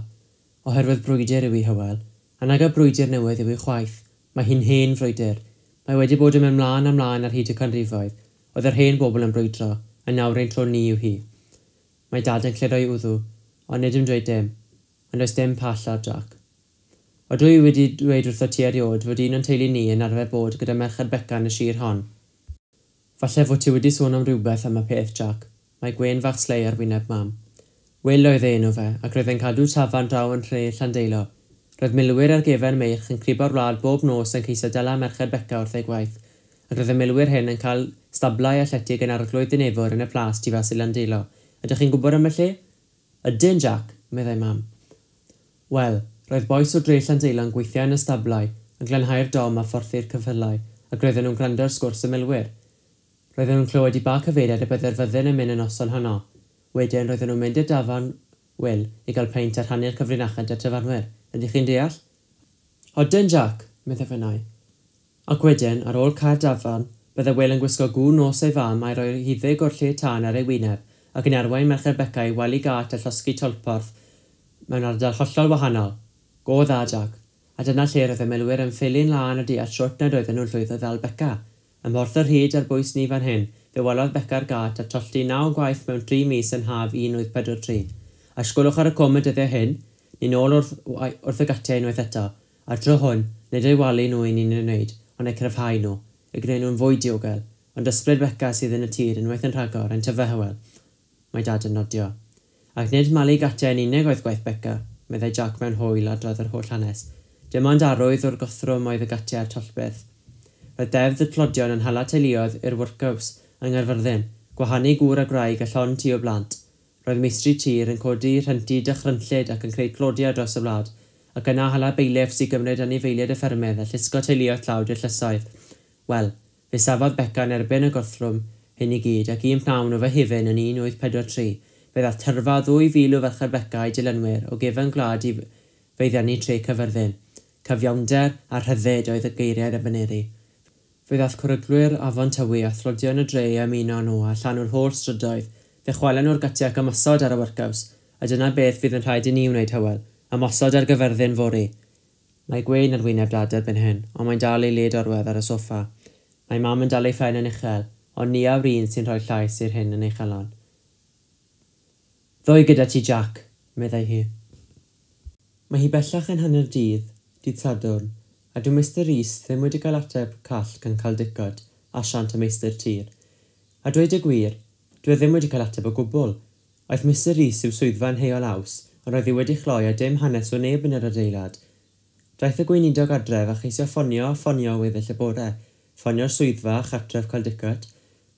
Oherwydd brwydr yw i, Hywel. A nag y brwydr newydd yw i chwaith. Mae hi'n hen frwydr. Mae wedi bod yn mynd mlaen a mlaen ar hyd y canrifoedd. Oedd yr hen bobl yn brwydro, a nawr ein tro ni yw hi. Mae dad yn clirio'i wddw, ond nid yn dweud dim. Ond does dim pall ar Jack. Ydw i wedi dweud wrtho ti erioed fod un o'n teulu ni yn arfer bod gyda Merched Beca yn y sir hon. Falle fod ti wedi sôn am rhywbeth am y peth, Jack. Mae gwên fach slei ar wyneb mam. Wil oedd ei enw fe, ac roedd e'n cadw tafarn draw yn nhre Llandeilo. Roedd milwyr ar gefen meirch yn cribo'r wlad bob nos yn ceisio dala Merched Beca wrth ei gwaith, ac roedd y milwyr hyn yn cael stablau a llety gan arglwydd Dinefwr yn y plas tu fas i Landeilo. Ydych chi'n gwybod am y lle? Ydyn, Jack, meddai mam. Wel, roedd bois o dre Llandeilo yn gweithio yn y stablau, yn glanhau'r dom a phorthu'r ceffylau, ac roedden nhw'n gwrando ar sgwrs y milwyr. Roedden nhw'n clywed i ba cyfeiriad y byddai'r fyddin yn mynd y noson honno. Wedyn roedden nhw'n mynd i'r dafarn Wil i gael peint a rhannu'r cyfrinachau 'da'r tafarnwyr. Ydych chi'n deall? Odyn, Jack, meddai Fenai. Ac wedyn, ar ôl cau'r dafarn, byddai Wil yn gwisgo gŵn nos ei fam a'i roi huddug o'r lle tân ar ei wyneb, ac yn arwain Merched Beca i wely gât a llosgi tolporth mewn ardal hollol wahanol. Go dda, Jack. A dyna lle roedd y milwyr yn ffili'n lân o deall shwt nad oedden nhw'n llwyddo ddal Beca. Ym Mhorth yr Hyd ar bwys ni fan hyn, fe walodd Beca'r gât a tollti naw gwaith mewn tri mis yn haf un wyth pedwar tri. A sgwlwch ar y cwm y dyddiau hyn, ni'n ôl wrth, wrth y gatiau unwaith eto, a'r tro hwn, nid eu walu nhw i ni'n ei wneud, ond eu cryfhau nhw, eu gwneud nhw'n fwy diogel, ond ysbryd Beca sydd yn y tir unwaith yn rhagor, yn tyfu Hywel. Mae dad yn nodio. Ac nid malu gatiau yn unig oedd gwaith Beca. meddai Jack mewn hwyl a adrodd yr holl hanes. Dim ond arwydd o'r gothrwm oedd y gatiau a'r tollbyrth. Roedd deddf y tlodion yn hala teuluoedd i'r workhouse yng Nghaerfyrddin, gwahanu gŵr a gwraig a llond tŷ o blant. Roedd meistri tir yn codi rhenti dychrynllyd ac yn creu tlodi ar draws y wlad, ac yna hala bailiffs i gymryd anifeiliaid y ffermydd a llusgo teuluoedd tlawd i'r llysoedd. Wel, fe safodd Beca yn erbyn y gorthrwm hyn i gyd, ac un pnawn o Fehefin yn un wyth pedwar tri, fe ddaeth tyrfa ddwy fil o ferched Beca a'i dilynwyr o gefen gwlad i feiddiannu tre Caerfyrddin. Cyfiawnder a rhyddid oedd y geiriau a baneri. Fe ddaeth cwryglwyr afon Tywi a thlodion y dre i ymuno â nhw a llanw'r holl strydoedd. Fe chwalen nhw'r gatiau ac ymosod ar y workhouse, a dyna beth fydd yn rhaid i ni wneud, Hywel, ymosod ar Gaerfyrddin fory. Mae gwên ar wyneb Dad erbyn hyn, ond mae'n dal ei led orwedd ar y soffa. Mae Mam yn dal ei phen yn uchel, ond ni yw'r un sy'n rhoi llais i'r hyn yn ei chalon. Ddoi gyda ti, Jack, meddai hi. Mae hi bellach yn hanner dydd, dydd Sadwrn, a dyw Mister Rees ddim wedi cael ateb call gan Caldicott, asiant y meistr tir. A dweud y gwir, dwi e ddim wedi cael ateb o gwbl. Aeth Mister Rees i'w swyddfa yn Heol Aws, ond roedd hi wedi chloi a dim hanes o neb yn yr adeilad. Daeth y gweinidog adref a cheisio ffonio a ffonio weddill y bore, ffonio'r swyddfa a chartref Caldicott,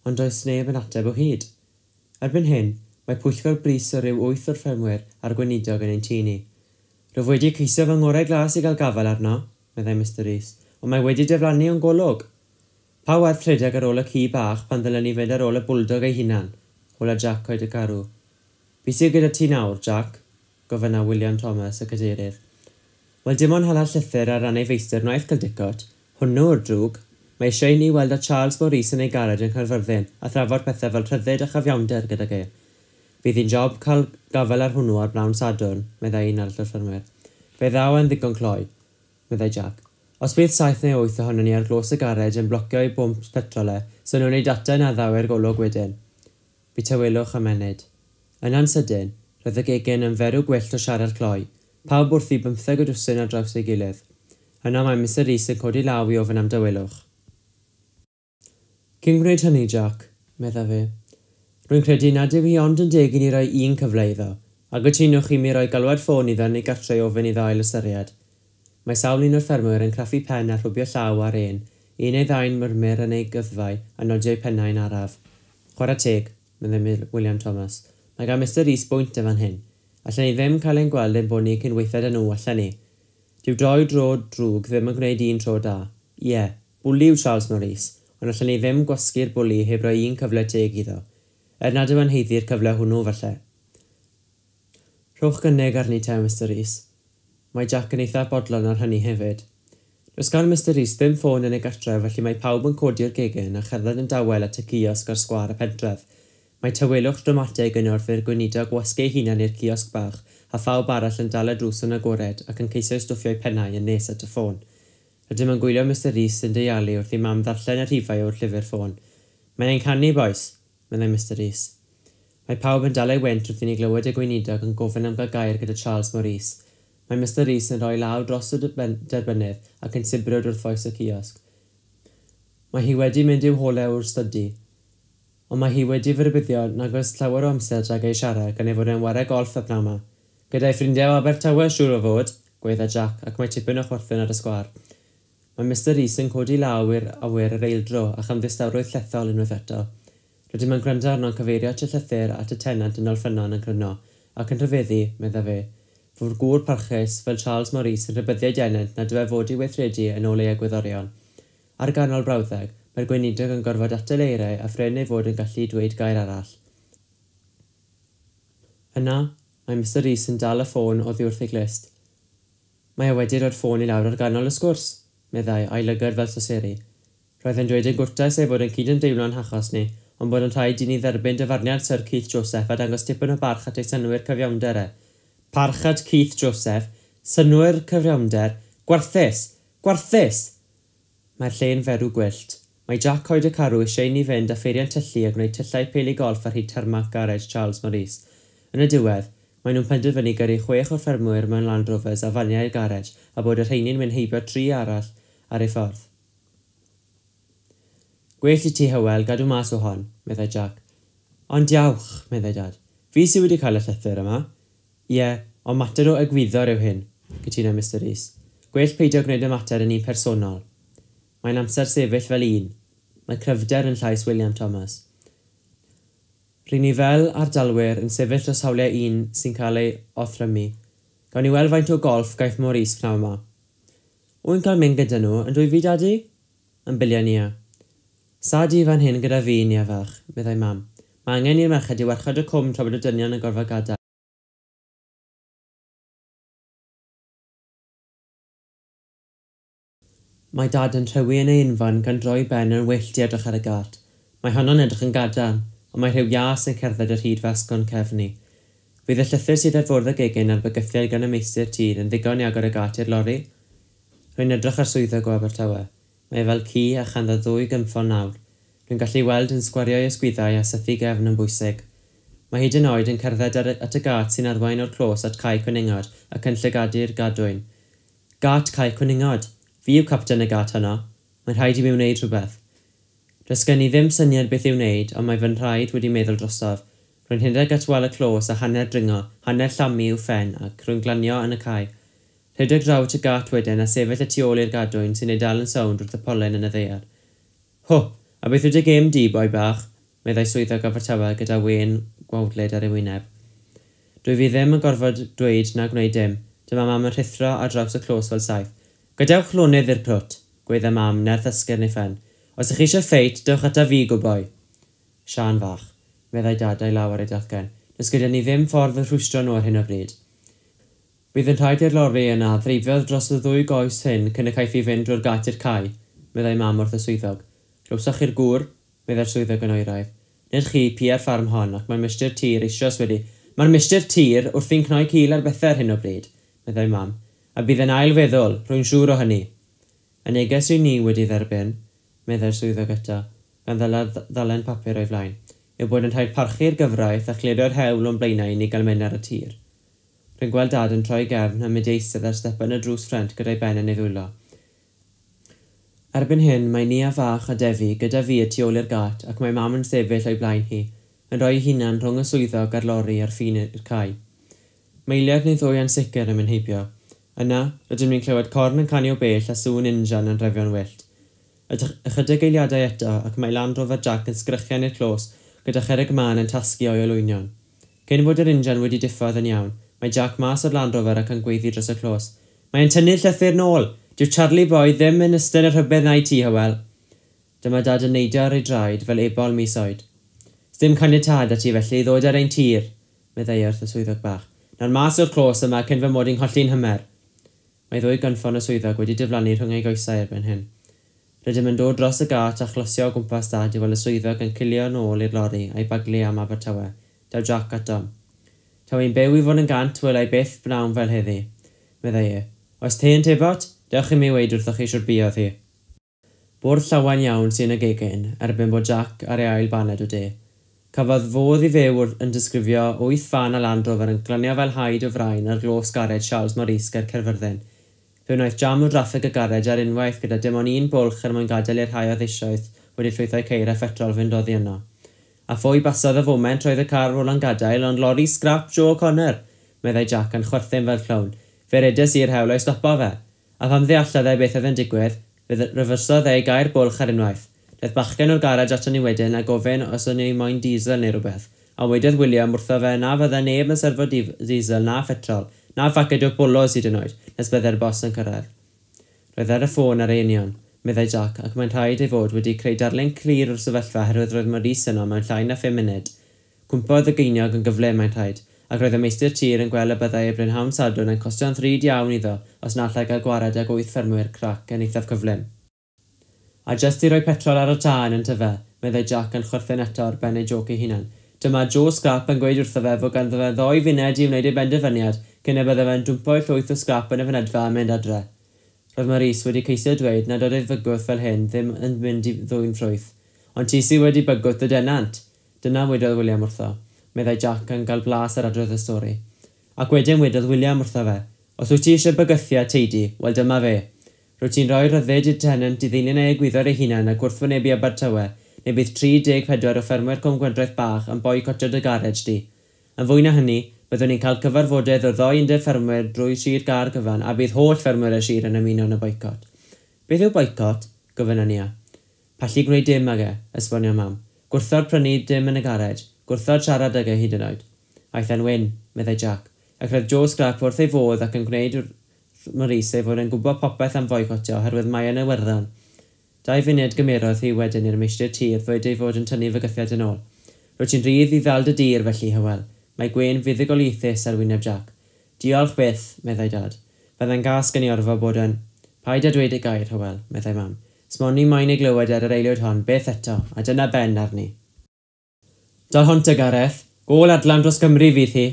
ond does neb yn ateb o hyd. Erbyn hyn, mae pwyllgor brys o ryw wyth o'r ffermwyr a'r gweinidog yn ein tŷ ni. Rwyf wedi ceisio fy ngorau glas i gael gafael arno, meddai Mister Rees, ond mae wedi diflannu o'n golwg. Pa werth rhedeg ar ôl y ci bach pan ddylen ni fynd ar ôl y bwldog ei hunan? Hola Jack Coed y Carw. Be sydd gyda ti nawr, Jack? Gofynna William Thomas, y cadeirydd. Wel, dim ond hala llythyr ar ran ei feistr wnaeth Caldicott. Hwnnw yw'r drwg. Mae eisiau i ni weld â Charles Maurice yn ei garej yn Caerfyrddin a thrafod pethau fel rhyddid a chyfiawnder gydag e. Bydd hi'n job cael gafael ar hwnnw ar bnawn Sadwrn, meddai un arall o'r ffermwyr. Fe ddaw e'n ddigon cloi, meddai Jack. Os bydd saith neu wyth ohonon ni ar glos y garej yn blocio ei bwmp petrol e, so nhw'n ei data na ddaw i'r golwg wedyn. Bu tawelwch am ennyd. Yna'n sydyn, roedd y gegin yn ferw gwyllt o siarad cloi, pawb wrthi bymtheg o dwsin ar draws ei gilydd. Yna mae Mister Rees yn codi law i ofyn am dawelwch. Cyn gwneud hynny, Jack, meddai fe, rwy'n credu nad yw hi ond yn deg i ni roi un cyfle iddo, a gytunwch i mi roi galwad ffôn iddo neu gartre i ofyn iddo ail ystyried. Mae sawl un o'r ffermwyr yn craffu pen a rhwbio llaw ar un, un neu ddau'n murmur yn ei gyddfau a nodio eu pennau'n araf. Chwarae teg, meddai William Thomas. Mae gan Mister Rees bwynt yn fan hyn. Allen ni ddim cael ein gweld ein bod ni cyn weithiau â nhw, allen ni. Dyw doi dro drwg ddim yn gwneud un tro da. Ie, bwli yw Charles Maurice, ond allen ni ddim gwasgu'r bwli heb roi un cyfle teg iddo. Er nad yw yn haeddu'r cyfle hwnnw, falle. Rhowch gynnig arni te, Mister Rees. Mae Jack yn eithaf bodlon ar hynny hefyd. Does gan Mister Rees ddim ffôn yn ei gartref, felly mae pawb yn codi'r gegin a cherdded yn dawel at y kiosg ar sgwâr y pentref. Mae tawelwch dramatig yn wrth i'r gweinidog wasgu ei hunan i'r kiosg bach, a phawb arall yn dal y drws yn agored ac yn ceisio stwffio'u pennau yn nes at y ffôn. Rydym yn gwylio Mister Rees yn deialu wrth i mam ddarllen y rhifau o'r llyfr ffôn. Mae'n ein canu, bois, meddai Mister Rees. Mae pawb yn dal ei wynt wrth i ni glywed y gweinidog yn gofyn am gael gair gyda Charles Maurice. Mae Mister Rees yn rhoi law dros y derbynnydd ac yn sibrwd wrth foes y kiosg. Mae hi wedi mynd i'w holau o'r stydi, ond mae hi wedi fy rhybuddio nag oes llawer o amser rhag ei siarad gan ei fod e'n ware golff y pnawn 'ma. Gyda'i ffrindiau o Abertawe siŵr o fod, gweidda Jack, ac mae tipyn o chwerthin ar y sgwâr. Mae Mister Rees yn codi law i'r awyr yr eildro a chamddistawrwydd llethol unwaith eto. Rydym yn gwrando arno'n cyfeirio at y llythyr at y tenant yn Olffynnon yn cryno, ac yn rhyfeddu, meddai fe, fod gŵr parchus fel Charles Maurice yn rhybuddiau denant nad yw e fod i weithredu yn ôl ei egwyddorion. Ar ganol brawddeg, mae'r gweinidog yn gorfod atal eiriau a phrin ei fod yn gallu dweud gair arall. Yna, mae Mister Rees yn dal y ffôn oddi wrth ei glust. Mae e wedi rhoi'r ffôn i lawr ar ganol y sgwrs, meddai, a'i lygad fel soseri. Roedd e'n dweud yn gwrtais ei fod yn cydymdeimlo'n hachos ni, ond bod yn rhaid i ni dderbyn dyfarniad Sir Keith Joseph a dangos tipyn o barch at ei synnwyr cyfiawnder e. Parch at Keith Joseph, synnwyr cyfiawnder, gwarthus! Gwarthus! Mae'r lle'n ferw gwyllt. Mae Jack Coed y Carw eisiau i ni fynd â pheiriant tyllu a gwneud tyllau peli golff ar hyd tarmac garej Charles Maurice. Yn y diwedd, maen nhw'n penderfynu gyrru chwech o'r ffermwyr mewn Land Rovers a faniau i'r garej a bod y rheini'n mynd heibio tri arall ar ei ffordd. Gwell i ti, Hywel, gadw mas o hon, meddai Jack. Ond diawch, meddai Dad. Fi sydd wedi cael y llythyr yma. Ie, Ond mater o egwyddor yw hyn, cytuno Mister Rees. Gwell peidio gwneud y mater yn un personol. Mae'n amser sefyll fel un. Mae cryfder yn llais William Thomas. Ry'n ni fel ardalwyr yn sefyll dros hawliau un sy'n cael ei othrymu. Gawn ni weld faint o golff gaiff Maurice pnawn yma. Wy'n cael mynd gyda nhw, yn dwy fi, Dadi? Yn bilio Nia. Sa di fan hyn gyda fi, Nia fach, meddai mam. Mae angen i'r merched i warchod y cwm tra bod y dynion yn gorfod gadael. Mae Dad yn rhewi yn ei unfan gan droi ben yn wyllt i edrych ar y gât. Mae honno'n edrych yn gadarn, ond mae rhyw ias yn cerdded ar hyd fy asgwrn cefn i. Fydd y llythyr sydd ar fwrdd y gegin a'r bygythiad gan y meistr tir yn ddigon i agor y gât i'r lori? Rwy'n edrych ar swyddog o Abertawe. Mae e fel ci a chanddo ddwy gynffon nawr. Rwy'n gallu weld yn sgwario'i ysgwyddau a sythu gefn yn bwysig. Mae hyd yn oed yn cerdded ar, at y gât sy'n arwain o'r clos at Cae Cwningod ac yn llygadu'r gadwyn. Gât Cae Cwningod! Fi yw capten y gât honno. Mae'n rhaid i mi wneud rhywbeth. Does gen i ddim syniad beth i'w wneud, ond mae fy nhraed wedi meddwl drosof. Rwy'n rhedeg at wal y clos a hanner dringo, hanner llamu i'w phen ac rwy'n glanio yn y cae. Rhedeg draw at y gât wedyn a sefyll y tu ôl i'r gadwyn sy'n ei dal yn sownd wrth y polyn yn y ddaear. Ho! A beth yw dy gêm di, boi bach? Meddai swyddog Abertawe gyda wên gwawdlyd ar ei wyneb. Dwi fi ddim yn gorfod dweud na gwneud dim. Dyma mam yn rhuthro ar draws y clos fel saeth. Gadewch lonydd i'r crwt, gweidda mam, nerth esgyrn ei phen. Os ych chi eisiau ffeit, dewch ata fi, gwboi. Siân fach, meddai Dad a'i law ar ei dalcen. Does gyda ni ddim ffordd o rhwystro nhw ar hyn o bryd. Bydd yn rhaid i'r lori yna ddreifio dros y ddwy goes hyn cyn y caiff ei fynd drwy'r gât i'r cae, meddai mam wrth y swyddog. Glywsoch chi'r gŵr, meddai'r swyddog yn oeraidd. Nid chi pia'r ffarm hon, ac mae'r meistr tir eisoes wedi... Mae'r meistr tir wrthi'n cnoi cil ar bethau ar hyn o bryd, meddai mam. A bydd yn ail feddwl, rwy'n siŵr o hynny. Y neges yw ni wedi dderbyn, meddai'r swyddog eto, gan ddalen papur o'i flaen, yw bod yn rhaid parchu'r gyfraith a chlirio'r hewl o'n blaenau i ni gael mynd ar y tir. Rwy'n gweld Dad yn troi gefn a mynd i eistedd ar stepen y drws ffrent gyda'i ben yn ei ddwylo. Erbyn hyn, mae Nia fach a Defi gyda fi y tu ôl i'r gât ac mae mam yn sefyll o'i blaen hi, yn rhoi ei hunan rhwng y swyddog a'r lori ar ffin i'r cae. Meiliad neu ddwy ansicr yn mynd heibio. Yna, rydym ni'n clywed corn yn canu o bell a sŵn injan yn refio'n wyllt. Ychydig eiliadau eto ac mae Land Rover Jack yn sgrechian i'r clos gyda cherrig mân yn tasgu o'i olwynion. Cyn bod yr injan wedi diffodd yn iawn, mae Jack mas o'r Land Rover ac yn gweiddi dros y clos. Mae'n tynnu'r llythyr nôl! Dyw Charlie Boy ddim yn ystod y rhybudd na i ti, Hywel. Dyma Dad yn neidio ar ei draed fel ebol mis oed. Sdim caniatâd at ti felly i ddod ar ein tir, meddai wrth y swyddog bach. Nawr mas o'r clos yma cyn fy mod i'n colli'n hymer. Mae ddwy gynffon y swyddog wedi diflannu rhwng ei goesau erbyn hyn. Rydym yn dod dros y gât a chlosio o gwmpas Dad i weld y swyddog yn cilio nôl i'r lori a'i baglu am Abertawe. Daw Jack atom. Taw i'n byw i fod yn gant welai byth bnawn fel heddi, meddai e. Oes te yn tebot? Dewch i mi weud wrthoch chi siwr buodd hi. Bwrdd llawen iawn sy'n y gegin, erbyn bod Jack ar ei ail baned o de. Cafodd fodd i fyw yn disgrifio wyth fan a Land Rover yn glanio fel haid o frain ar glos garej Charles Maurice ger Caerfyrddin. Fe wnaeth jam o draffig y garej ar unwaith gyda dim ond un bwlch er mwyn gadael i'r rhai oedd eisoes wedi llwythau ceir a phetrol fynd oddi yno. A phwy basodd y foment roedd y car Roland gadael ond lori scrap Joe O'Connor, meddai Jack yn chwerthin fel clown. Fe redes i'r hewl o'i stopo fe. A pham ddeallodd e beth oedd yn digwydd, fe refersodd e i gau'r bwlch ar unwaith. Daeth bachgen o'r garej aton ni wedyn a gofyn os o'n i moyn diesel neu rhywbeth. A wedodd William wrtho fe na fydde neb yn serfo diesel na phetrol, na phaced o bolos hyd yn oed, nes bydde'r bos yn cyrraedd. Roedd ar y ffôn ar ei union, meddai Jack, ac mae'n rhaid ei fod wedi creu darlun clir o'r sefyllfa oherwydd roedd Maurice yno mewn llai na phum munud. Cwmpodd y geiniog yn gyflym, mae'n rhaid, ac roedd y meistr tir yn gweld y byddai ei brynhawn Sadwrn yn costio'n ddrud iawn iddo os na allai gael gwared ag wyth ffermwyr crac yn eithaf cyflym. A jyst i roi petrol ar y tân yn tyfe, meddai Jack yn chwerthin eto ar ben ei joc ei hunan. Dyma Joe Scrap yn gweud wrtho fe fod ganddo fe ddoi funed i wneud ei benderfyniad cyn y bydde fe'n dwmpo'i llwyth o scrap yn y fynedfa a mynd adre. Roedd Maurice wedi ceisio dweud nad oedd ei fygwth fel hyn ddim yn mynd i ddwyn ffrwyth. Ond ti sydd wedi bygwth y denant. Dyna wedodd William wrtho, meddai Jack yn cael blas ar adrodd y stori. Ac wedyn wedodd William wrtho fe, os wyt ti eisiau bygythiad teidi, wel dyma fe. Rwyt ti'n rhoi rhyddid i'r tenant i ddilyn ei egwyddor ei hunan a gwrthwynebu Abertawe, neu bydd tri deg pedwar o ffermwyr Cwm Gwendraeth bach yn boicotio dy garej di. Yn fwy na hynny, Byddwn ni'n cael cyfarfodydd o'r ddou undeb ffermwyr drwy Sir Gâr gyfan a bydd holl ffermwyr y sir yn ymuno yn y boicot. Beth yw boicot? Gofynnon Nia. Pallu gwneud dim ag e, esbonio mam. Gwrthod prynu dim yn y garej, gwrthod siarad ag e hyd yn oed. Aeth e'n wyn, meddai Jack, ac roedd Joe Scrap wrth ei fodd ac yn gwneud Maurice ei fod yn gwybod popeth am foicotio oherwydd mae yn Iwerddon. Dau funud gymerodd hi wedyn i'r meistr tir ddweud ei fod yn tynnu fygythiad yn ôl. Rwyt ti'n rhydd i ddal dy dir felly, Hywel. Mae gwên fuddugoliaethus ar wyneb Jack. Diolch byth, meddai Dad. Byddai'n gas gen i orfod bod yn... Paid â dweud y gair, Hywel, meddai Mam. Smoni moyn ei glywed ar yr aelwyd hon, beth eto, a dyna ben arni. Dal hwn te, Gareth. Gôl adlam dros Gymru fydd hi.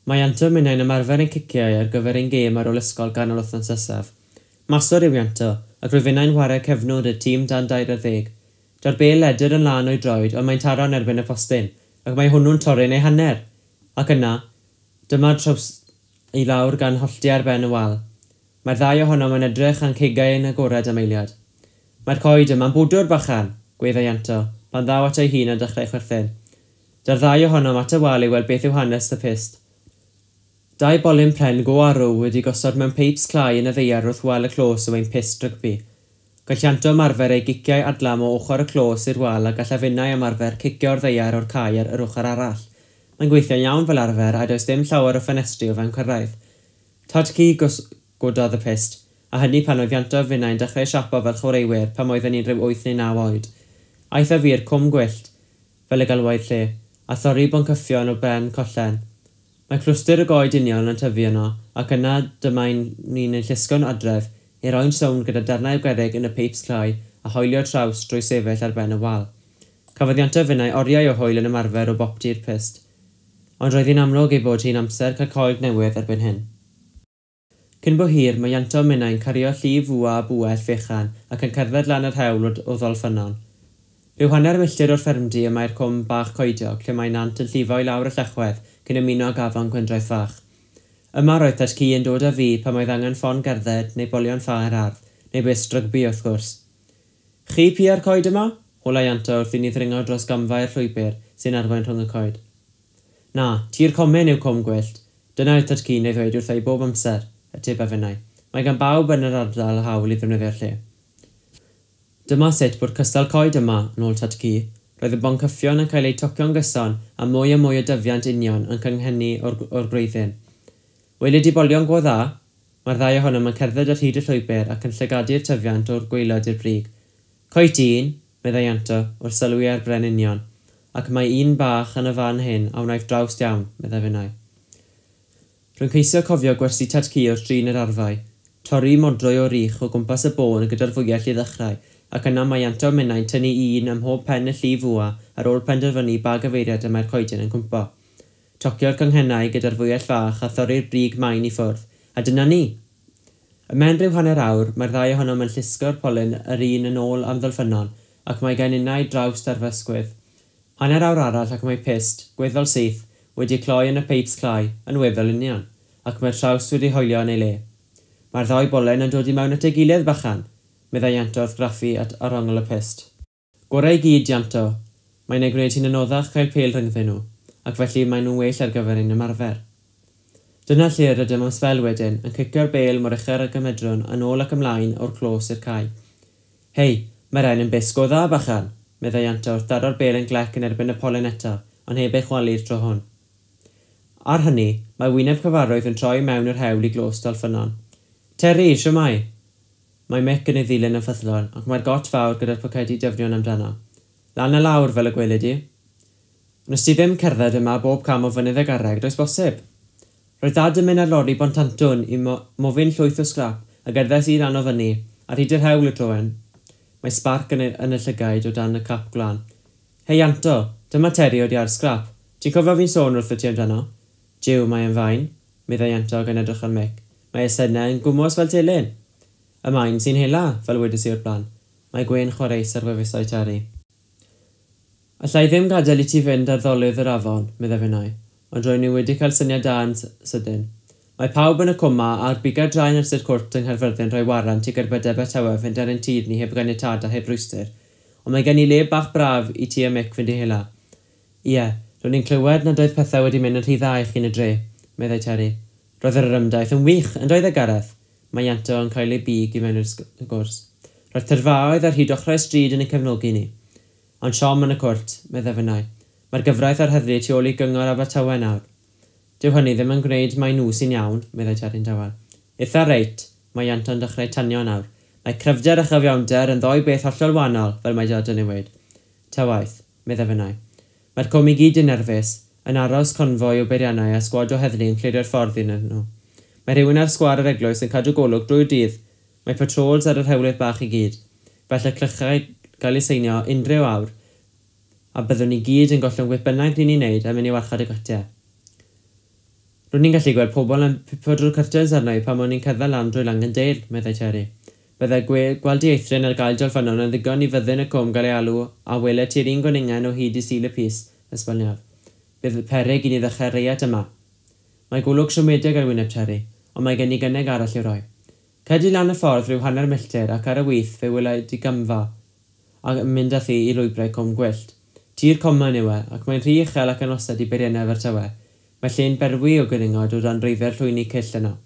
Mae Ianto minnau'n ymarfer ein ciciau ar gyfer ein gêm ar ôl ysgol ganol wythnos nesaf. Maswr yw Ianto, ac rwyf innau'n chwarae cefnwr y tîm dan dair ar ddeg. Daw'r bêl ledr yn lân o'i droed, ond mae'n taro'n erbyn y postyn, ac mae hwnnw'n torri'n ei hanner. Ac yna, dyma'r traws i lawr gan hollti ar ben y wal. Mae'r ddau ohonom yn edrych a'n cegau yn agored am eiliad. Mae'r coed yma'n bwdwr bachan, gweddai Ianto, pan ddaw at ei hun a dechrau chwerthin. Da'r ddau ohonom at y wal i weld beth yw hanes y pyst. Dau bolyn pren go arw wedi gosod mewn peips clai yn y ddaear wrth wal y clos yw ein pyst rygbi. Gall Ianto ymarfer ei giciau adlam o ochr y clos i'r wal a gall afinnau ymarfer cicio'r ddaear o'r cae ar yr ochr arall. Mae'n gweithio'n iawn fel arfer a does dim llawer o ffenestri o fewn cyrraedd. Tad-cu gododd y pyst, a hynny pan oedd Ianto a finnau'n dechrau siapo fel chwaraewyr pan oedden ni'n rhyw wyth neu naw oed. Aeth â fi i'r cwm gwyllt, fel y galwai'r lle, a thorri boncyffion o ben collen. Mae clwstwr y goed union yn tyfu yno, ac yna dyma ni'n ein llusgo'n adref i roi'n sownd gyda darnau o gerrig yn y peips clai a hoelio traws drwy sefyll ar ben y wal. Cafodd Ianto finnau oriau o hwyl yn ymarfer o boptu'r pyst, ond roedd hi'n amlwg ei bod hi'n amser cael coed newydd erbyn hyn. Cyn bo hir, mae Ianto minnau'n cario llif fwa a bwell fechan ac yn cerdded lan yr hewl o Ddolffynnon. Rhyw hanner milltir o'r ffermdy y mae'r cwm bach coediog lle mae nant yn llifo i lawr y llechwedd cyn ymuno ag afon Gwendraeth Fach. Yma roedd tad-cu yn dod â fi pan oedd angen ffon gerdded neu bolion ffa i'r ardd, neu byst rygbi wrth gwrs. Chi pia'r coed yma? Holai Ianto wrth i ni ddringo dros gamfau'r llwybr sy'n arwain rhwng y coed. Na, tir comin yw cwm gwyllt. Dyna oedd tad-cu'n ei ddweud wrtha i bob amser, ateb a finnau. Mae gan bawb yn yr ardal hawl i ddefnyddio'r lle. Dyma sut bod cystal coed yma, yn ôl tad-cu. Roedd y boncyffion yn cael eu tocio'n gyson a mwy a mwy o dyfiant union yn cynghennu o'r, o'r gwreiddyn. Welid i bolion go dda? Mae'r ddau ohonom yn cerdded ar hyd y llwybr ac yn llygadu'r tyfiant o'r gwaelod i'r brig. Coed un, meddai Ianto, wrth sylwi ar bren union, ac mae un bach yn y fan hyn a wnaiff drawst iawn, meddai finnau. Rwy'n ceisio cofio gwersi tad-cu wrth drin yr arfau, torri modrwy o rych o gwmpas y bôn gyda'r fwyell i ddechrau, ac yna mae Ianto minnau'n tynnu un ym mhob pen y llif fwa ar ôl penderfynu ba gyfeiriad y mae'r coeden yn cwmpo. Tocio'r canghennau gyda'r fwyell fach a thorri'r brig main i ffwrdd, a dyna ni! Ymhen rhyw hanner awr, mae'r ddau ohonom yn llusgo'r polyn yr un yn ôl am Ddolffynnon, ac mae gen innau drawst ar fy ysgwydd. Hanner awr arall ac mae pyst, gweddol syth, wedi cloi yn y peips clai, yn weddol union, ac mae'r trawst wedi hoelio yn ei le. Mae'r ddau bolen yn dod i mewn at ei gilydd bachan, meddai Ianto wrth graffu at arongl y pyst. Gorau i gyd, Ianto. Mae'n ei gwneud hi'n anoddach cael pêl rhyngddyn nhw, ac felly maen nhw'n well ar gyfer ein ymarfer. Dyna lle rydym am sbel wedyn, yn cicio'r bêl mor uchel ag y medrwn yn ôl ac ymlaen o'r clos i'r cae. Hei, mae'r ein yn bys go dda, bachan, meddai Ianto wrth daro'r bêl yn glec yn erbyn y polen eto, ond heb ei chwalu'r tro hwn. Ar hynny, mae wyneb cyfarwydd yn troi mewn yr hewl i glos Dolffynnon. Terry, shwmae? Mae Mick yn ei ddilyn yn ffyddlon, ac mae'r got fawr gyda'r pocedi dyfnion amdano. Lan a lawr fel y gwelid i. Nes ti ddim cerdded yma bob cam o fynydd y garreg, does bosib? Roedd dad yn mynd ar lori Bontantwn i mo mofyn llwyth o sgrap a gerddes i ran o fyny, ar hyd yr hewl y troen. Mae sbarc yn y, yn y llygaid o dan y cap gwlan. Hei Ianto, dyma Terry o'r iard sgrap. Ti'n cofio fi'n sôn wrtho ti amdano? Jiw, mae e'n fain, meddai Ianto gan edrych ar Mick. Mae ei synau yn gwmws fel telyn. Y maen sy'n hela, fel wedes i o'r blaen. Mae gwên chwareus ar wefusau Terry. Alla i ddim gadael i ti fynd ar ddolydd yr afon, meddai finnau, ond ro'n i wedi cael syniad da yn sydyn. Mae pawb yn y cwma a'r bigau draen ers i'r cwrt yng Nghaerfyrddin rhoi warant i gerbydau Abertawe fynd ar ein tir ni heb ganiatâd a heb rwystr, ond mae gen i le bach braf i ti a Mick fynd i hela. Ie, Ro'n i'n clywed nad oedd pethau wedi mynd yn rhy dda i chi yn y dre, meddai Terry. Roedd yr ymdaith yn wych, yn doedd e Gareth? Mae Ianto yn cael ei big i mewn i'r sgwrs. Roedd tyrfaoedd ar hyd ochrau stryd yn ein cefnogi ni. Ond siom yn y cwrt, meddai finnau. Mae'r gyfraith a'r heddlu tu ôl i gyngor Abertawe nawr. Dyw hynny ddim yn gwneud mai nhw sy'n iawn, meddai Terry'n dawel. Eitha reit, mae Ianto'n dechrau tanio nawr. Mae cryfder a chyfiawnder yn ddoi beth hollol wahanol, fel mae Dad yn ei weud. Ta waeth, meddai finnau. Mae'r cwm i gyd yn nerfus, yn aros confoi o beiriannau a sgwad o heddlu yn clirio'r ffordd iddyn nhw. Mae rhywun ar sgwâr yr eglwys yn cadw golwg drwy'r dydd. Mae patrols ar yr hewlydd bach i gyd. Fel y clychau gael eu seinio unrhyw awr, a byddwn ni gyd yn gollwng beth bynnag ni'n ei wneud a mynd i warchod y gatiau. Ro'n i'n gallu gweld pobl yn pipo drwy'r curtains arno i pan o'n i'n cerdded lan drwy Langandale, meddai Terry. Byddai gweld dieithryn ar gael dolffynnon yn ddigon i fyddin y cwm gael ei alw a weled ti'r un gwningen o hyd i Sul y Pys, esboniodd. Bydd peryg i ni ddechrau reiat yma. Mae golwg siomedig ar wyneb Terry, ond mae gen i gynnig arall i'w roi. Cedi lan y ffordd rhyw hanner milltir ac ar y wyth fe welai di gymfa a mynd â thi i lwybrau Cwm Gwyllt. Tir comen yw e, ac mae'n rhy uchel ac anosed i beiriannau Abertawe. Mae lle'n berwi o gwningod o dan reiddiau'r llwyni cyll yno.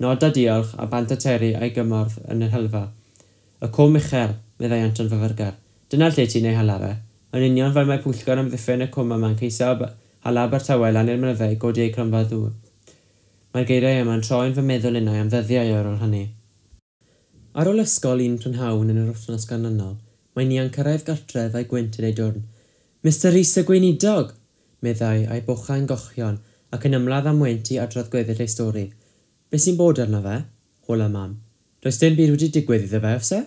Nod a diolch a bant a Terry a'i gymorth yn yr helfa. Y cwm uchel, meddai Anton fyfyrgar. Dyna lle ti'n ei hala fe. Yn union fel mae pwyllgor amddiffyn y cwm yma'n ceisio hala Abertawe lan i'r mynyddau i godi eu cronfa ddŵr. Mae'r geiriau yma'n troi'n fy meddwl innau am ddyddiau ar ôl hynny. Ar ôl ysgol un prynhawn yn yr wythnos ganlynol, mae Nia'n cyrraedd gartref a'i gwynt yn ei dwrn. Mister Rhys y gweinidog, meddai a'i bochau'n gochion ac yn ymladd am wynt i adrodd gweddill ei stori. Be sy'n bod arno fe? Hola mam. Does dim byd wedi digwydd iddo fe, oes e?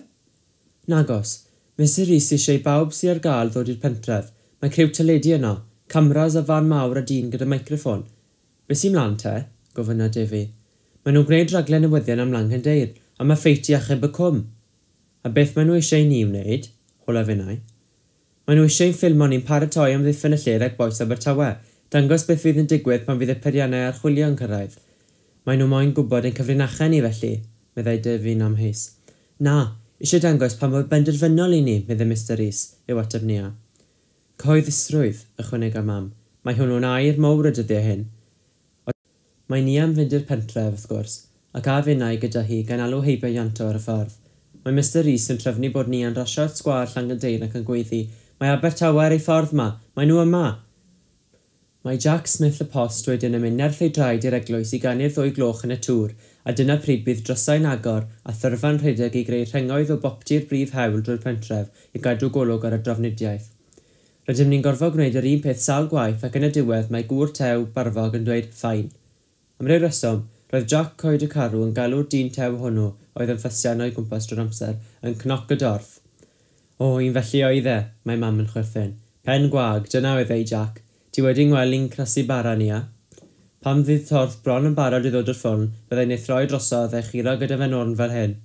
Nagos. Mister Rhys eisiau i bawb sydd ar gael ddod i'r pentref. Mae criw teledu yno, cameras a fan mawr a dyn gyda microffon. Be sy'n mlaen te? Gofynna Defi. Maen nhw'n gwneud rhaglen newyddion am Langandale, a mae ffeit i achub y cwm. A beth maen nhw eisiau i ni wneud? Hola finnau. Maen nhw eisiau ein ffilmo ni'n paratoi am ddiffyn y lle rhag bois Abertawe, dangos beth fydd yn digwydd pan fydd y peiriannau archwilio yn cyrraedd. Maen nhw moyn gwybod ein cyfrinachau ni felly, meddai Defi'n amheus. Na, eisiau dangos pa mor benderfynol i ni, meddai Mister Rhys, yw ateb Nia. Cyhoeddusrwydd, ychwanega mam. Mae hwnnw'n air mawr y dyddiau hyn. Mae Nia am fynd i'r pentref, wrth gwrs, ac a finnau gyda hi gan alw heibio Ianto ar y ffordd. Mae Mister Rhys yn trefnu bod Nia'n rasio'r sgwâr Llangyndeyrn ac yn gweiddi, mae Abertawe ar ei ffordd ma, mae nhw yma! Mae Jack Smith y post wedyn yn mynd nerth ei draed i'r eglwys i ganu'r ddwy gloch yn y tŵr, a dyna pryd bydd drysau'n agor a thyrfa'n rhedeg i greu rhengoedd o boptu'r brif hewl drwy'r pentref i gadw golwg ar y drafnidiaeth. Rydym ni'n gorfod gwneud yr un peth sawl gwaith ac yn y diwedd mae gŵr tew barfog yn dweud ffain. Am ryw reswm, roedd Jack Coed y Carw yn galw'r dyn tew hwnnw oedd yn ffysian o'i gwmpas drwy'r amser yn cnoc y dorth. O, un felly oedd e, mae mam yn chwerthin. Pen gwag, dyna oedd ei Jack. Ti wedi ngweld i'n crasu bara, Nia? Pan fydd torth bron yn barod i ddod o'r ffwrn, byddai'n ei throi drosodd a'i churo gyda fe'n orn fel hyn.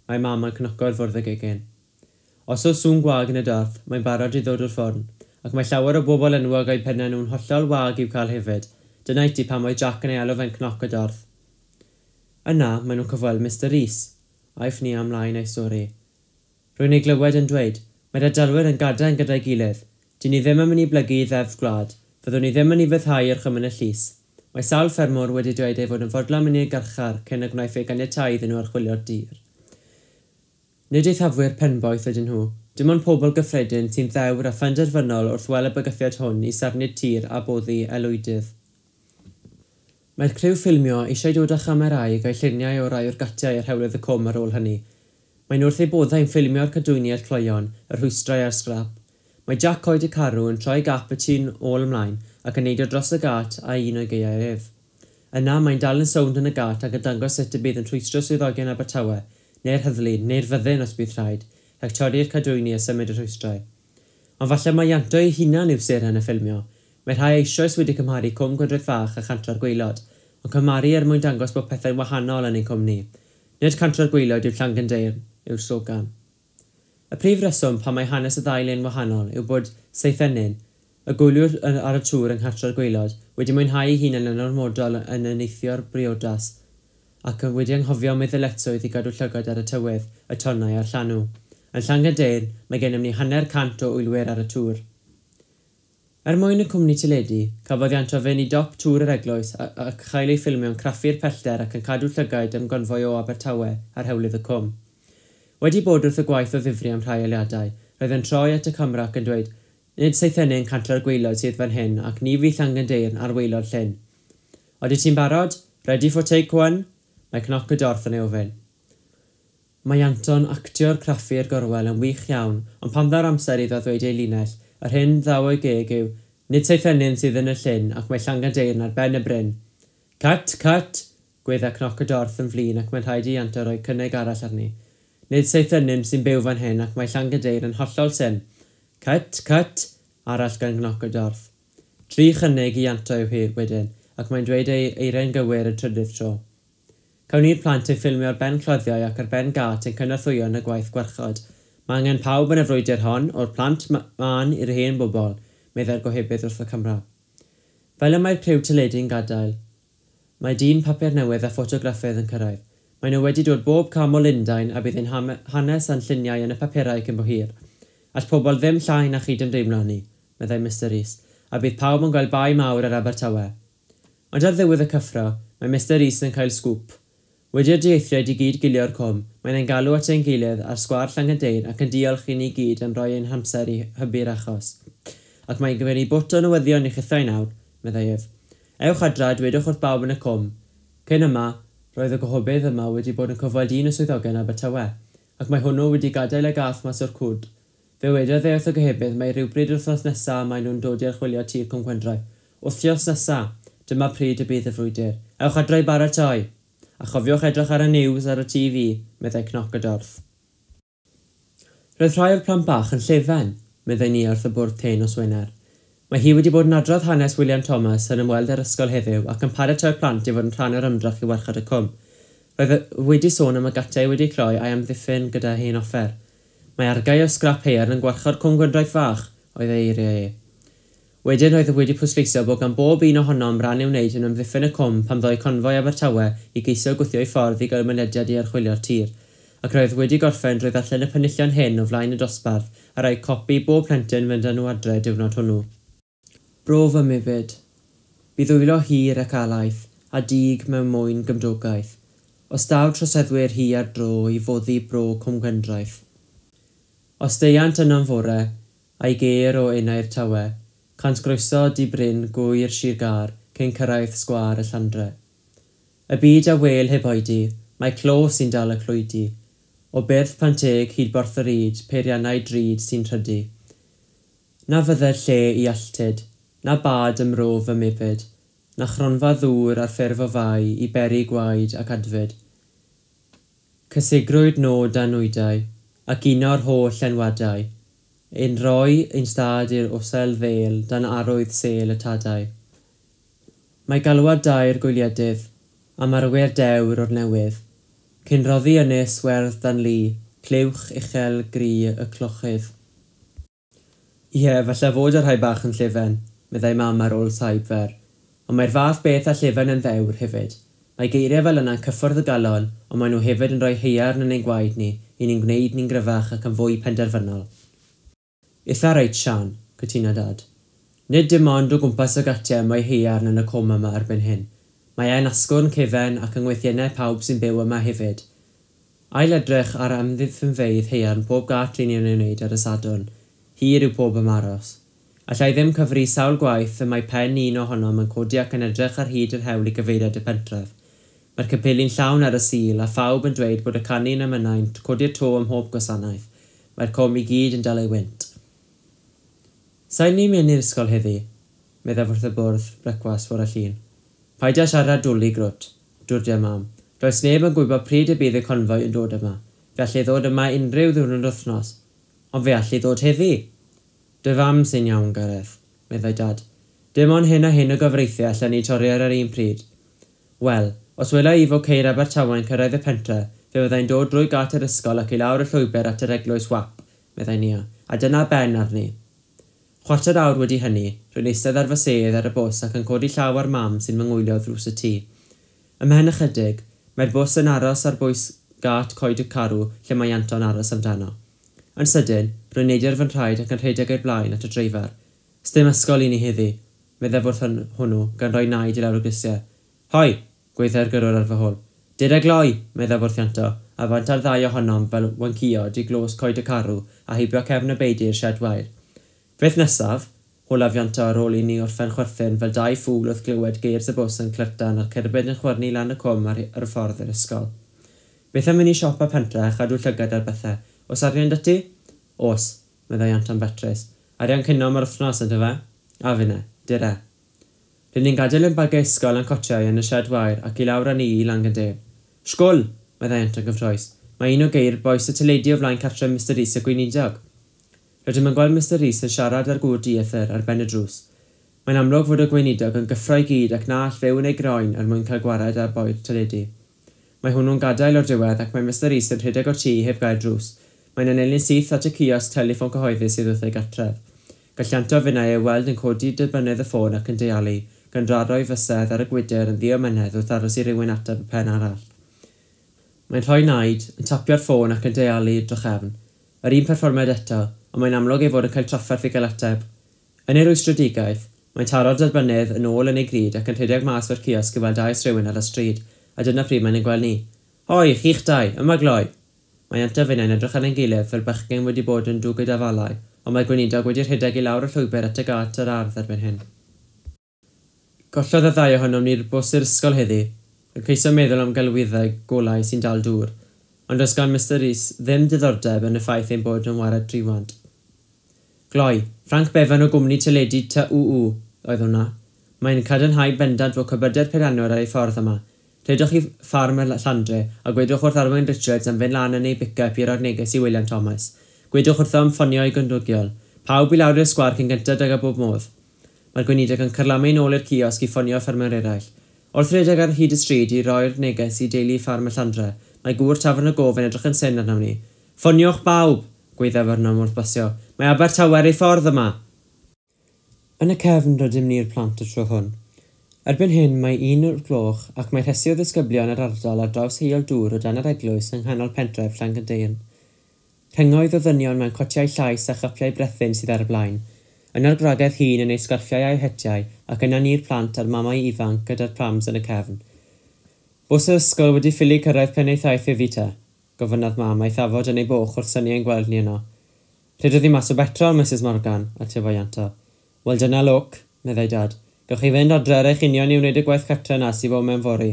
Mae mam yn cnoco'r fwrdd y gegin. Os oes sŵn gwag yn y dorth, mae'n barod i ddod o'r ffwrn, ac mae llawer o bobl enwog a'u pennau nhw'n hollol wag i'w cael hefyd. Dyna i ti pam oedd Jack yn ei alw fe'n cnoc y dorth. Yna, maen nhw'n cyfweld Mister Rhys. Aiff Nia ymlaen ei stori. Rwy'n ei glywed yn dweud, mae'r ardalwyr yn gadael gyda'i gilydd. Dyn ni ddim yn mynd i blygu i ddeddf gwlad. Fyddwn ni ddim yn ei fyddhau i'r chymyn y llys. Mae sawl ffermwr wedi dweud ei fod yn fodlon mynd i'r garchar cyn y gwnaeth ei ganiatáu iddyn nhw archwilio'r dir. Nid eithafwyr penboeth ydyn nhw, dim ond pobl gyffredin sy'n ddewr a phenderfynol wrth weld y bygythiad hwn i safni'r tir a boddi aelwydydd. Mae'r criw ffilmio eisiau dod â chamerâu i gael lluniau o rai o'r gatiau ar hewlydd y cwm ar ôl hynny. Maen nhw wrth eu boddau'n ffilmio'r cadwyni a'r cloeon, y rhwystrau a'r sgrap. Mae Jack Coed y Carw yn troi gap y tŷ'n ôl ymlaen ac yn neidio dros y gât a un o'i gaeau ef. Yna mae'n dal yn sownd yn y gât ac yn dangos sut y bydd yn rhwystro swyddogion Abertawe, neu'r heddlu, neu'r fyddin os bydd rhaid, rhag torri'r cadwyni a symud y rhwystrau. Ond falle mae Ianto ei hunan yw seren y ffilmio. Mae rhai eisoes wedi cymharu Cwm Gwendraeth Fach a Chantra'r Gwaelod, ond cymharu er mwyn dangos bod pethau'n wahanol yn ein cwmni. Nid Cantra'r Gwaelod yw Llangyndeyrn, yw'r slogan. Y prif reswm pan mae hanes y ddau le'n wahanol yw bod Seithenyn, y gwyliwr ar y tŵr yng Nghantra'r Gwaelod, wedi mwynhau ei hunan yn ormodol yn neithio'r briodas ac wedi anghofio am ei ddyletswydd i gadw llygad ar y tywydd, y tonnau a'r llanw. Yn Llangyndeyrn, mae gennym ni hanner cant o wylwyr ar y tŵr. Er mwyn y cwmni teledu, cafodd Ianto fynd i dop tŵr yr eglwys a, a chael ei ffilmio'n craffu'r pellter ac yn cadw llygaid am gonfoi o Abertawe ar hewlydd y cwm. Wedi bod wrth y gwaith o ddifri am rhai eiliadau, roedd yn troi at y camera ac yn dweud, "Nid Seithenyn cantre'r gwaelod sydd fan hyn ac ni fydd Llangynddeyrn ar waelod llyn. Odi ti'n barod? Ready for take one?" Mae Cnoc y Dorth yn ei ofyn. Mae Ianto'n actio'r craffu'r gorwel yn wych iawn, ond pan ddaw'r amser iddo ddweud ei linell, yr hyn ddaw o'i geg yw, "Nid Seithenyn sydd yn y llyn ac mae Llangynddeyrn ar ben y bryn." "Cut, cut!" Gweidda Cnoc y Dorth yn flin ac mae'n rhaid i Ianto roi cynnig arall arni. "Nid Seithenyn sy'n byw fan hyn ac mae Llangynddeyrn yn hollol syn." "Cut, cut!" Arall gan Gnoc y Dorth. Tri chynnig i Ianto yw hi wedyn, ac mae'n dweud ei eiriau'n gywir y trydydd tro. Cawn ni'r plant eu ffilmio ar ben cloddiau ac ar ben gât yn cynorthwyo yn y gwaith gwarchod. Mae angen pawb yn y frwydr hon, o'r plant mân i'r hen bobl, meddai'r gohebydd wrth y camera. Fel y mae'r criw teledu'n gadael, mae dyn papur newydd a ffotograffydd yn cyrraedd. Maen nhw wedi dod bob cam o Lundain a bydd ein hanes a'n lluniau yn y papurau cyn bo hir. "All pobl ddim llai na chydymdeimlo â ni," meddai Mister Rees, "a bydd pawb yn gweld bai mawr ar Abertawe." Ond ar ddiwedd y cyffro, mae Mister Rees yn cael sgŵp. Wedi'r dieithriaid i gyd gilio'r cwm, mae'n ein galw at ein gilydd ar sgwâr Llangynddeyrn ac yn diolch i ni gyd am roi ein hamser i hybu'r achos. "Ac mae'n gyfer ni bwt o newyddion i chithau nawr," meddai ef. "Ewch adra a dwedwch wrth bawb yn y cwm. Cyn yma, roedd y gohebydd yma wedi bod yn cyfweld un o swyddogion Abertawe, ac mae hwnnw wedi gadael y gath mas o'r cwd. Fe wedodd e wrth y gohebydd mai rhywbryd yr wythnos nesaf maen nhw'n dod i archwilio tir Cwm Gwendraeth. Wythnos nesaf! Dyma pryd y bydd y frwydr. Ewch adra i baratoi! A chofiwch edrych ar y news ar y T V," meddai Cnoc y Dorth. "Roedd rhai o'r plant bach yn llefen," meddai Nia wrth y bwrdd te nos Wener. "Mae hi wedi bod yn adrodd hanes William Thomas yn ymweld â'r ysgol heddiw ac yn paratoi'r plant i fod yn rhan o'r ymdrech i warchod y cwm. Roedd wedi sôn am y gatiau wedi cloi a'i amddiffyn gyda hen offer. Mae argae o sgrap haearn yn gwarchod Cwm Gwendraeth fach," oedd ei eiriau e. Wedyn roedd wedi pwysleisio bod gan bob un ohonom ran i'w wneud yn ymddiffyn y cwm pan ddoi confoi Abertawe i geisio gwthio'i ffordd i gael mynediad i archwilio'r tir, ac roedd wedi gorffen drwy ddarllen y penillion hyn o flaen y dosbarth a rhoi copi bob plentyn fynd â nhw adre diwrnod hwnnw. Bro fy mebyd. Bydd wylo hir ac alaeth, a dig mewn mwyn gymdogaeth. Os daw troseddwyr hi ar dro i foddi bro Cwm Gwendraeth. Os deuant yno'n fore, a'i ger o enau'r tawe, cant groeso di bryn gwyr Sir Gâr cyn cyrraedd sgwâr y Llandre. Y byd a wel heb oedi, mae clo sy'n dal y clwydi. O byrth Panteg hyd Borth yr Yd, peiriannau drud sy'n rhydu. Na fydde'r lle i alltud, na bad ym mro fy mebyd, na chronfa ddŵr ar ffurf o fai i beri gwaed ac adfyd. Cysegrwyd nod a nwydau, ac uno'r holl enwadau, ein rhoi ein stad i'r osel ddêl dan arwydd sêl y tadau. Mae galwad dair gwyliedydd, am arwyr dewr o'r newydd, cyn roddi ynys werdd dan lu, clywch uchel gri y clochydd. "Ie, falle fod y rhai bach yn llefen," meddai mam ar ôl saib fer, "ond mae'r fath beth â llefen yn ddewr hefyd. Mae geiriau fel yna'n cyffwrdd y galon, ond maen nhw hefyd yn rhoi haearn yn ein gwaed ni, i ni'n gwneud ni'n gryfach ac yn fwy penderfynol." "Itha reit, Sian," cytuna Dad. "Nid dim ond o gwmpas y gatiau mae haearn yn y cwm yma erbyn hyn. Mae e'n asgwrn cefen ac yng ngweithiennau pawb sy'n byw yma hefyd. Ail edrych ar amddiffynfeydd haearn pob gât ry'n ni'n ei wneud ar y Sadwrn. Hir yw pob ymaros. Alla i ddim cyfri sawl gwaith y mae pen un ohonom yn codi ac yn edrych ar hyd yr hewl i gyfeiriad y pentref. Mae'r capeli'n llawn ar y Sul a phawb yn dweud bod y canu yn emynau'n codi'r to ym mhob gwasanaeth. Mae'r cwm i gyd yn dal ei wynt. Sa'n ni'n mynd i'r ysgol heddi," meddaf wrth y bwrdd brecwast fore Llun. "Paid â siarad dwli, grwt," dwrdia mam. "Does neb yn gwybod pryd y bydd y confoi yn dod yma. Fe all ei ddod yma unrhyw ddiwrnod wythnos. Ond fe all ei ddod heddi." "Dy fam sy'n iawn, Gareth," meddai Dad. "Dim ond hyn a hyn o gyfreithiau allan ni torri ar yr un pryd. Wel, os wela i fod ceir Abertawe'n cyrraedd y pentre, fe fyddai'n dod drwy gât yr ysgol ac i lawr y llwybr at yr eglwys wap," meddai Nia, "a dyna ben arni." Chwarter awr wedi hynny, rwy'n eistedd ar fy sedd ar y bws ac yn codi llaw ar mam sy'n fy ngwylio ddrws y tŷ. Ymhen ychydig, mae'r bws yn aros ar bwys gât Coed y Carw lle mae Ianto'n aros amdano. Yn sydyn, rwy'n neidio ar fy nhraed ac yn rhedeg i'r blaen at y dreifar. Sdim ysgol i ni heddi, meddai wrth hwnnw, gan roi naid i lawr y grisiau. Hoi, gweithiau'r gyrrwr ar fy hôl. Dere gloi, meddai wrth Ianto, a fant ar ddau ohonom fel wanciod i glos coed y carw a heibio cefn y beudy i'r sied wair. Beth nesaf? Holaf Ianto ar ôl i ni orffen chwerthin fel dau ffŵl wrth glywed geirs y bws yn clertan a'r cerbyd yn chwyrnu lan y cwm ar, ar y ffordd i'r ysgol. Beth am mynd i siop a pentre a chadw llygad ar bethau? Oes arian 'da ti? Oes, meddai Ianto'n betrus. Arian cinio am yr wythnos, yndyfe? A finne, dere. Rydyn ni'n gadael ein bagiau ysgol a'n cotiau yn y sied wair ac i lawr â ni i Langandale. Sgwl! Meddai Ianto'n gyffrous. Mae un o geir bois y teledu o flaen cartref Mister Rees y gweinidog. Rydym yn gweld Mister Rees yn siarad â'r gŵr dieithr ar ben y drws. Mae'n amlwg fod y gweinidog yn gyffro i gyd ac na all fyw yn ei groen er mwyn cael gwared ar boi'r teledu. Mae hwnnw'n gadael o'r diwedd ac mae Mister Rees yn rhedeg o'r tŷ heb gael drws. Mae'n anelu'n syth at y ciosg teliffon cyhoeddus sydd wrth ei gartref. Gall Ianto finnau ei weld yn codi derbynnydd y ffôn ac yn deialu, gan draro'i fysedd ar y gwydr yn ddiomynedd wrth aros i rywun ateb y pen arall. Mae'n rhoi naid, yn tapio'r ffôn ac yn deialu drachefn. Yr un perfformiad eto, ond mae'n amlwg ei fod yn cael trafferth i gael ateb. Yn ei rwystredigaeth, mae'n taro'r derbynnydd yn ôl yn ei gryd ac yn rhedeg mas o'r ciosg i weld oes rhywun ar y stryd, a dyna pryd mae'n ei gweld ni. Hoi, chi'ch dau, yma gloi! Mae Ianto finnau'n edrych ar ein gilydd fel bachgen wedi bod yn dwgyd afalau, ond mae'r gweinidog wedi rhedeg i lawr y llwybr at y gât yr ardd erbyn hyn. Gollodd y ddau ohonom ni'r bws i'r ysgol heddi, yn ceisio meddwl am gelwyddau golau sy'n dal dŵr, ond does gan Mister Rees ddim diddordeb yn y ffaith ein bod yn wared triwant. Gloi, Frank Bevan o gwmni teledu T U U oedd hwnna. Mae'n cadarnhau bendant fod cybydau'r peirianwr ar ei ffordd yma. Rhedwch i ffarm y Llandre a gwedwch wrth Arwyn Richards am fynd lan yn ei pick-up i roi'r neges i William Thomas. Gwedwch wrtho am ffonio ei gymdogion. Pawb i lawr i'r sgwâr cyn gynted ag a bob modd. Mae'r gweinidog yn carlamu nôl i'r ciosg i ffonio ffermwyr eraill. Wrth redeg ar hyd y stryd i roi'r neges i deulu ffarm y Llandre, mae gŵr tafarn y gof yn edrych yn syn arnom ni. Ffoniwch bawb! Gweithiaf arnom wrth basio. Mae Abertawe ar ei ffordd yma! Yn y cefn rydym ni'r plant y tro hwn. Erbyn hyn mae un o'r gloch ac mae rhesi o ddisgyblion yr ardal ar draws heol dŵr o dan yr eglwys yng nghanol pentref Llangyndeyrn. Rhengoedd o ddynion mewn cotiau llais a chapiau brethyn sydd ar y blaen. Yna'r gwragedd hŷn yn eu sgarffiau a'u hetiau ac yna ni'r plant a'r mamau ifanc gyda'r prams yn y cefn. Bws yr ysgol wedi ffili cyrraedd pen ei thaith iddi te, gofynnodd mam a'i thafod yn ei boch wrth synnu ein gweld ni yno. Rhedodd hi mas o betrol, Missus Morgan, atebodd Ianto. Wel dyna lwc, meddai dad. Gewch chi fynd adre ar eich union i wneud y gwaith cartre na sydd fod mewn fory.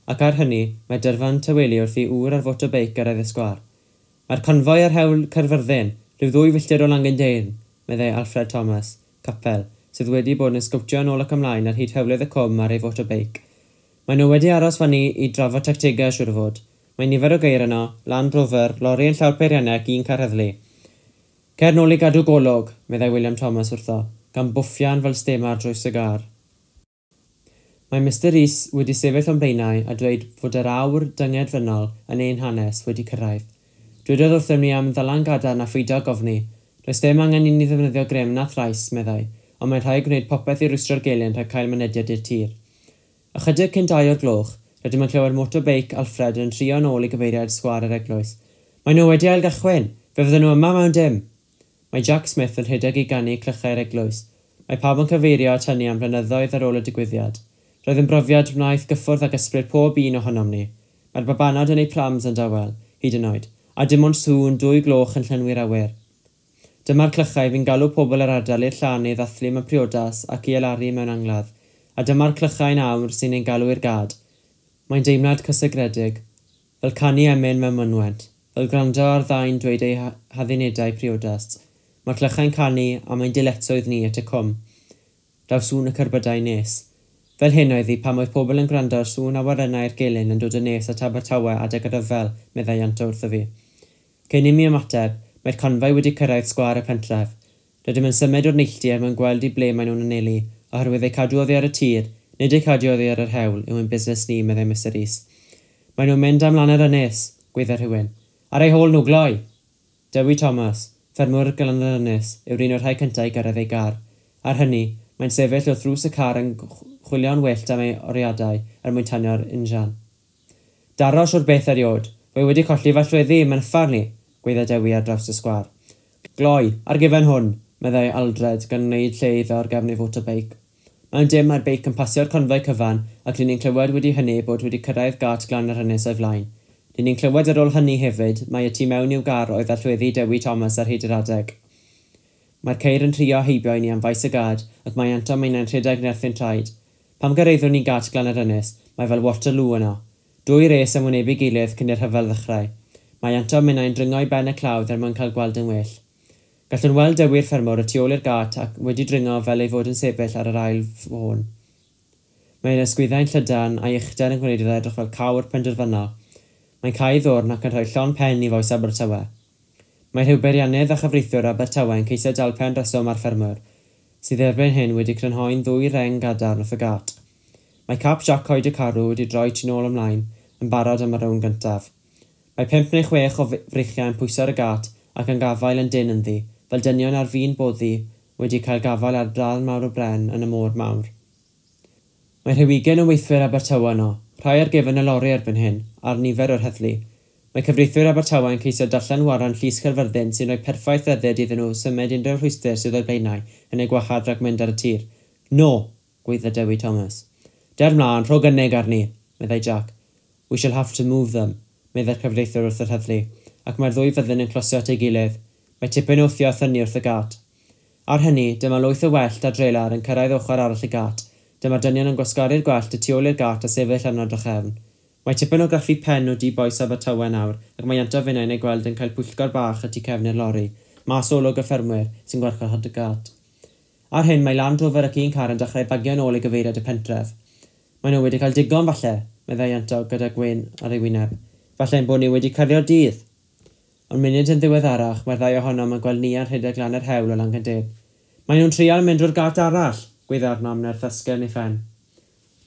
Ac ar hynny, mae dyrfa'n tawelu wrth i ŵr ar fotobeic gyrraedd y sgwâr. Mae'r confoi ar hewl Caerfyrddin, rhyw ddwy filltir o Langyndeyrn, meddai Alfred Thomas, capel, sydd wedi bod yn sgowtio yn ôl ac ymlaen ar hyd hewlydd y cwm ar ei fotobeic. Maen nhw wedi aros fyny i drafod tactegau siŵr o fod. Mae nifer o geir yno, Land Rover, lori yn llawr peiriannau ac un car heddlu. Cer nôl i gadw golwg, meddai William Thomas wrtho, gan bwffian fel stemar drwy sigar. Mae Mister Rees wedi sefyll o'n blaenau a dweud fod yr awr dyngedfennol yn ein hanes wedi cyrraedd. Dwedodd wrthym ni am ddalan gadarn a pheidio gofni. Does dim angen i ni ddefnyddio grym na thrais, meddai, ond mae'n rhaid gwneud popeth i rwystro'r gelyn rhag cael mynediad i'r tir. Ychydig cyn dau o'r gloch, rydym yn clywed motobeic Alfred yn trio yn ôl i gyfeiriad sgwâr yr eglwys. Mae nhw wedi ailgychwyn, fe fydden nhw yma mewn dim. Mae Jack Smith yn rhedeg i ganu clychau'r eglwys. Mae pawb yn cyfeirio at hynny am flynyddoedd ar ôl y digwyddiad. Roedd yn brofiad wnaeth gyffwrdd ag ysbryd pob un ohonom ni. Mae'r babanod yn eu prams yn dawel, hyd yn oed, a dim ond sŵn dwy gloch yn llenwi'r awyr. Dyma'r clychau fi'n galw pobl yr ardal i'r llan i ddathlu mewn priodas ac i alaru mewn angladd, a dyma'r clychau'n awr sy'n ein galw i'r gad. Mae'n deimlad cysegredig, fel canu emyn mewn mynwent, fel gwrando ar ddau'n dweud eu haddunedau priodas. Mae'r clychau'n canu a mae'n dyletswydd ni at y cwm. Daw sŵn y cerbydau nes. Fel hyn oedd hi pam oedd pobl yn gwrando ar sŵn awyrennau'r gelyn yn dod yn nes at Abertawe adeg y rhyfel, meddai Ianto wrtho fi. Cyn i mi ymateb, mae'r confoi wedi cyrraedd sgwâr y pentref. Rydym yn symud o'r neilltu er mwyn gweld i ble maen nhw'n anelu, oherwydd eu cadw oddi ar y tir, nid eu cadw oddi ar yr hewl, yw ein busnes ni, meddai Mister Rees. Maen nhw'n mynd am lan yr ynys, gweidda rhywun. Ar eu hôl nhw, gloi! Dewi Thomas, ffermwr Glan yr Ynys, yw'r un o'r rhai cyntaf i gyrraedd ei gar. Ar hynny, mae'n sefyll wrth ddrws y car yn chwilio'n wyllt am ei oriadau er mwyn tanio'r injan. Daros o'r beth erioed, fe wedi colli fy allweddi, mae'n uffarn i, gweidda Dewi ar draws y sgwâr. Gloi, ar gyfer hwn, Meddai Aldred gan wneud lle iddo ar gefn ei fotobeic. Mewn dim mae'r beic yn pasio'r confoi cyfan ac ry'n ni'n clywed wedi hynny ei bod wedi cyrraedd gât Glan yr Ynys o'i flaen. Ry'n ni'n clywed ar ôl hynny hefyd mai y tu mewn i'w gar oedd allweddi Dewi Thomas ar hyd yr adeg. Mae'r ceir yn rhuo heibio i ni am faes y gad ac mae Ianto a minnau'n rhedeg nerth ein traed. Pan gyrhaeddwn ni gât Glan yr Ynys, mae fel Waterloo yno. Dwy res yn wynebu'i gilydd cyn i'r rhyfel ddechrau. Mae Ianto a minnau'n dringo i ben y clawdd er mwyn cael gweld yn well. Gallwn weld Dewi'r ffermwr y tu ôl i'r gât ac wedi dringo fel ei fod yn sefyll ar yr ail fôn. Mae ei ysgwyddau'n llydan a'i uchder yn gwneud iddo edrych fel cawr penderfynol. Mae'n cau ei ddwrn ac yn rhoi llond pen i fois Abertawe. Mae rhyw beiriannydd a chyfreithiwr Abertawe yn ceisio dal pen reswm â'r ffermwr, sydd erbyn hyn wedi crynhoi'n ddwy reng gadarn wrth y gât. Mae cap Jac Coed y Carw wedi droi tu nôl ymlaen, yn barod am y rownd gyntaf. Mae pump neu chwech o freichiau yn pwyso ar y gât ac yn gafael yn dynn ynddi, fel dynion ar fin boddi wedi cael gafael ar ddarn mawr o bren yn y môr mawr. Mae rhyw ugain o weithwyr Abertawe yno, rhai ar gefn y lori erbyn hyn, a'r nifer o'r heddlu. Mae cyfreithwyr Abertawe yn ceisio darllen warant Llys Caerfyrddin sy'n rhoi perffaith ryddid iddyn nhw symud unrhyw rhwystr sydd o'u blaenau yn eu gwahardd rhag mynd ar y tir. No! gwaedda Dewi Thomas. Der mlaen, rho gynnig arni, meddai Jack. We shall have to move them, meddai'r cyfreithiwr wrth yr heddlu, ac mae'r ddwy fyddin yn closio at ei gilydd. Mae tipyn o wthio a thynnu wrth y gât. Ar hynny, dyma lwyth o wellt a drelar yn cyrraedd ochr arall y gât. Dyma'r dynion yn gwasgaru'r gwellt y tu ôl i'r gât a sefyll arno drachefn. Mae tipyn o graffu pen o du bois Abertawe nawr, ac mae Ianto a finnau'n eu gweld yn cael pwyllgor bach y tu cefn i'r lori, mas o olwg y ffermwyr, sy'n gwarchod y gât. Ar hyn, mae Land Rover ac un car yn dechrau bagio'n ôl i gyfeiriad y pentref. Maen nhw wedi cael digon, falle, meddai Ianto gyda gwên ar ei wyneb. Falle ein bod ni wedi cario'r dydd. Ond munud yn ddiweddarach, mae'r ddau ohonom yn gweld Nia'n rhedeg lan yr hewl o Langyndyn. Maen nhw'n trial mynd drwy'r gât arall, gweiddi arnom nerth esgyrn ei phen.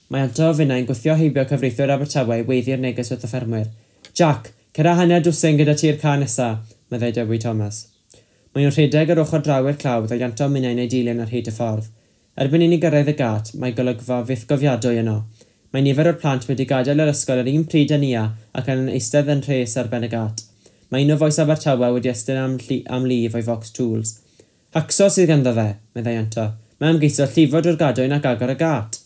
Mae Ianto a finnau'n gwthio heibio cyfreithiwr Abertawe i weiddi'r neges wrth y ffermwyr. Jack, cer â hanner dwsin gyda ti'r car nesa, meddai Dewi Thomas. Maen nhw'n rhedeg yr ochr draw i'r clawdd a Ianto a minnau'n eu dilyn ar hyd y ffordd. Erbyn i ni gyrraedd y gât, mae golygfa fythgofiadwy yno. Mae nifer o'r plant wedi gadael yr ysgol yr un pryd â Nia ac yn eistedd yn rhes ar ben y gât. Mae un o fois Abertawe wedi estyn am, lli, am lif o'i focs tools. Hacso sydd ganddo fe, meddai Ianto. Mae am geisio llifo drwy'r gadwyn ac agor y gât.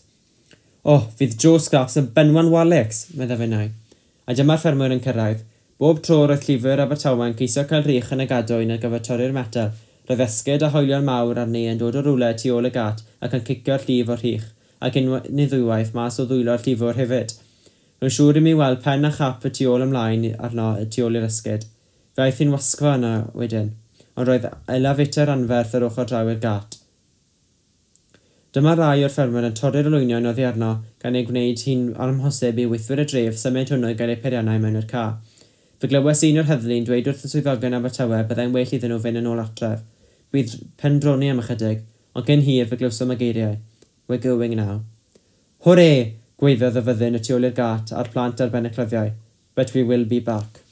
O, oh, fydd Joe Scraps yn benwan Walix, meddai finnau. A dyma'r ffermwyr yn cyrraedd. Bob tro roedd llifwyr Abertawe yn ceisio cael rhych yn y gadwyn ar gyfer torri'r metel. Roedd esgid a hoelion mawr arni yn dod o rywle tu ôl y gât ac yn cicio'r llif o'r rhych, ac unwaith neu ddwywaith mas o ddwylo'r llifwr hefyd. Rwy'n siŵr i mi weld pen a chap y tu ôl ymlaen arno y tu ôl i'r esgid. Fe aeth hi'n wasgfa yno wedyn, ond roedd elafeter anferth yr ochr draw i'r gât. Dyma rai o'r ffermwyr yn torri'r olwynion oddi arno gan ei gwneud hi'n amhosib i weithwyr y dref symud hwnnw i gael eu peiriannau mewn i'r ca. Fe glywes un o'r heddlu'n dweud wrth y swyddogion Abertawe byddai'n well iddyn nhw fynd yn ôl adref. Bydd pendroni am ychydig, ond cyn hir fe glywsom y geiriau. We're going now. Hwre! Gwaeddodd y fyddin y tu ôl i'r gât a'r plant ar ben y cloddiau. But we will be back.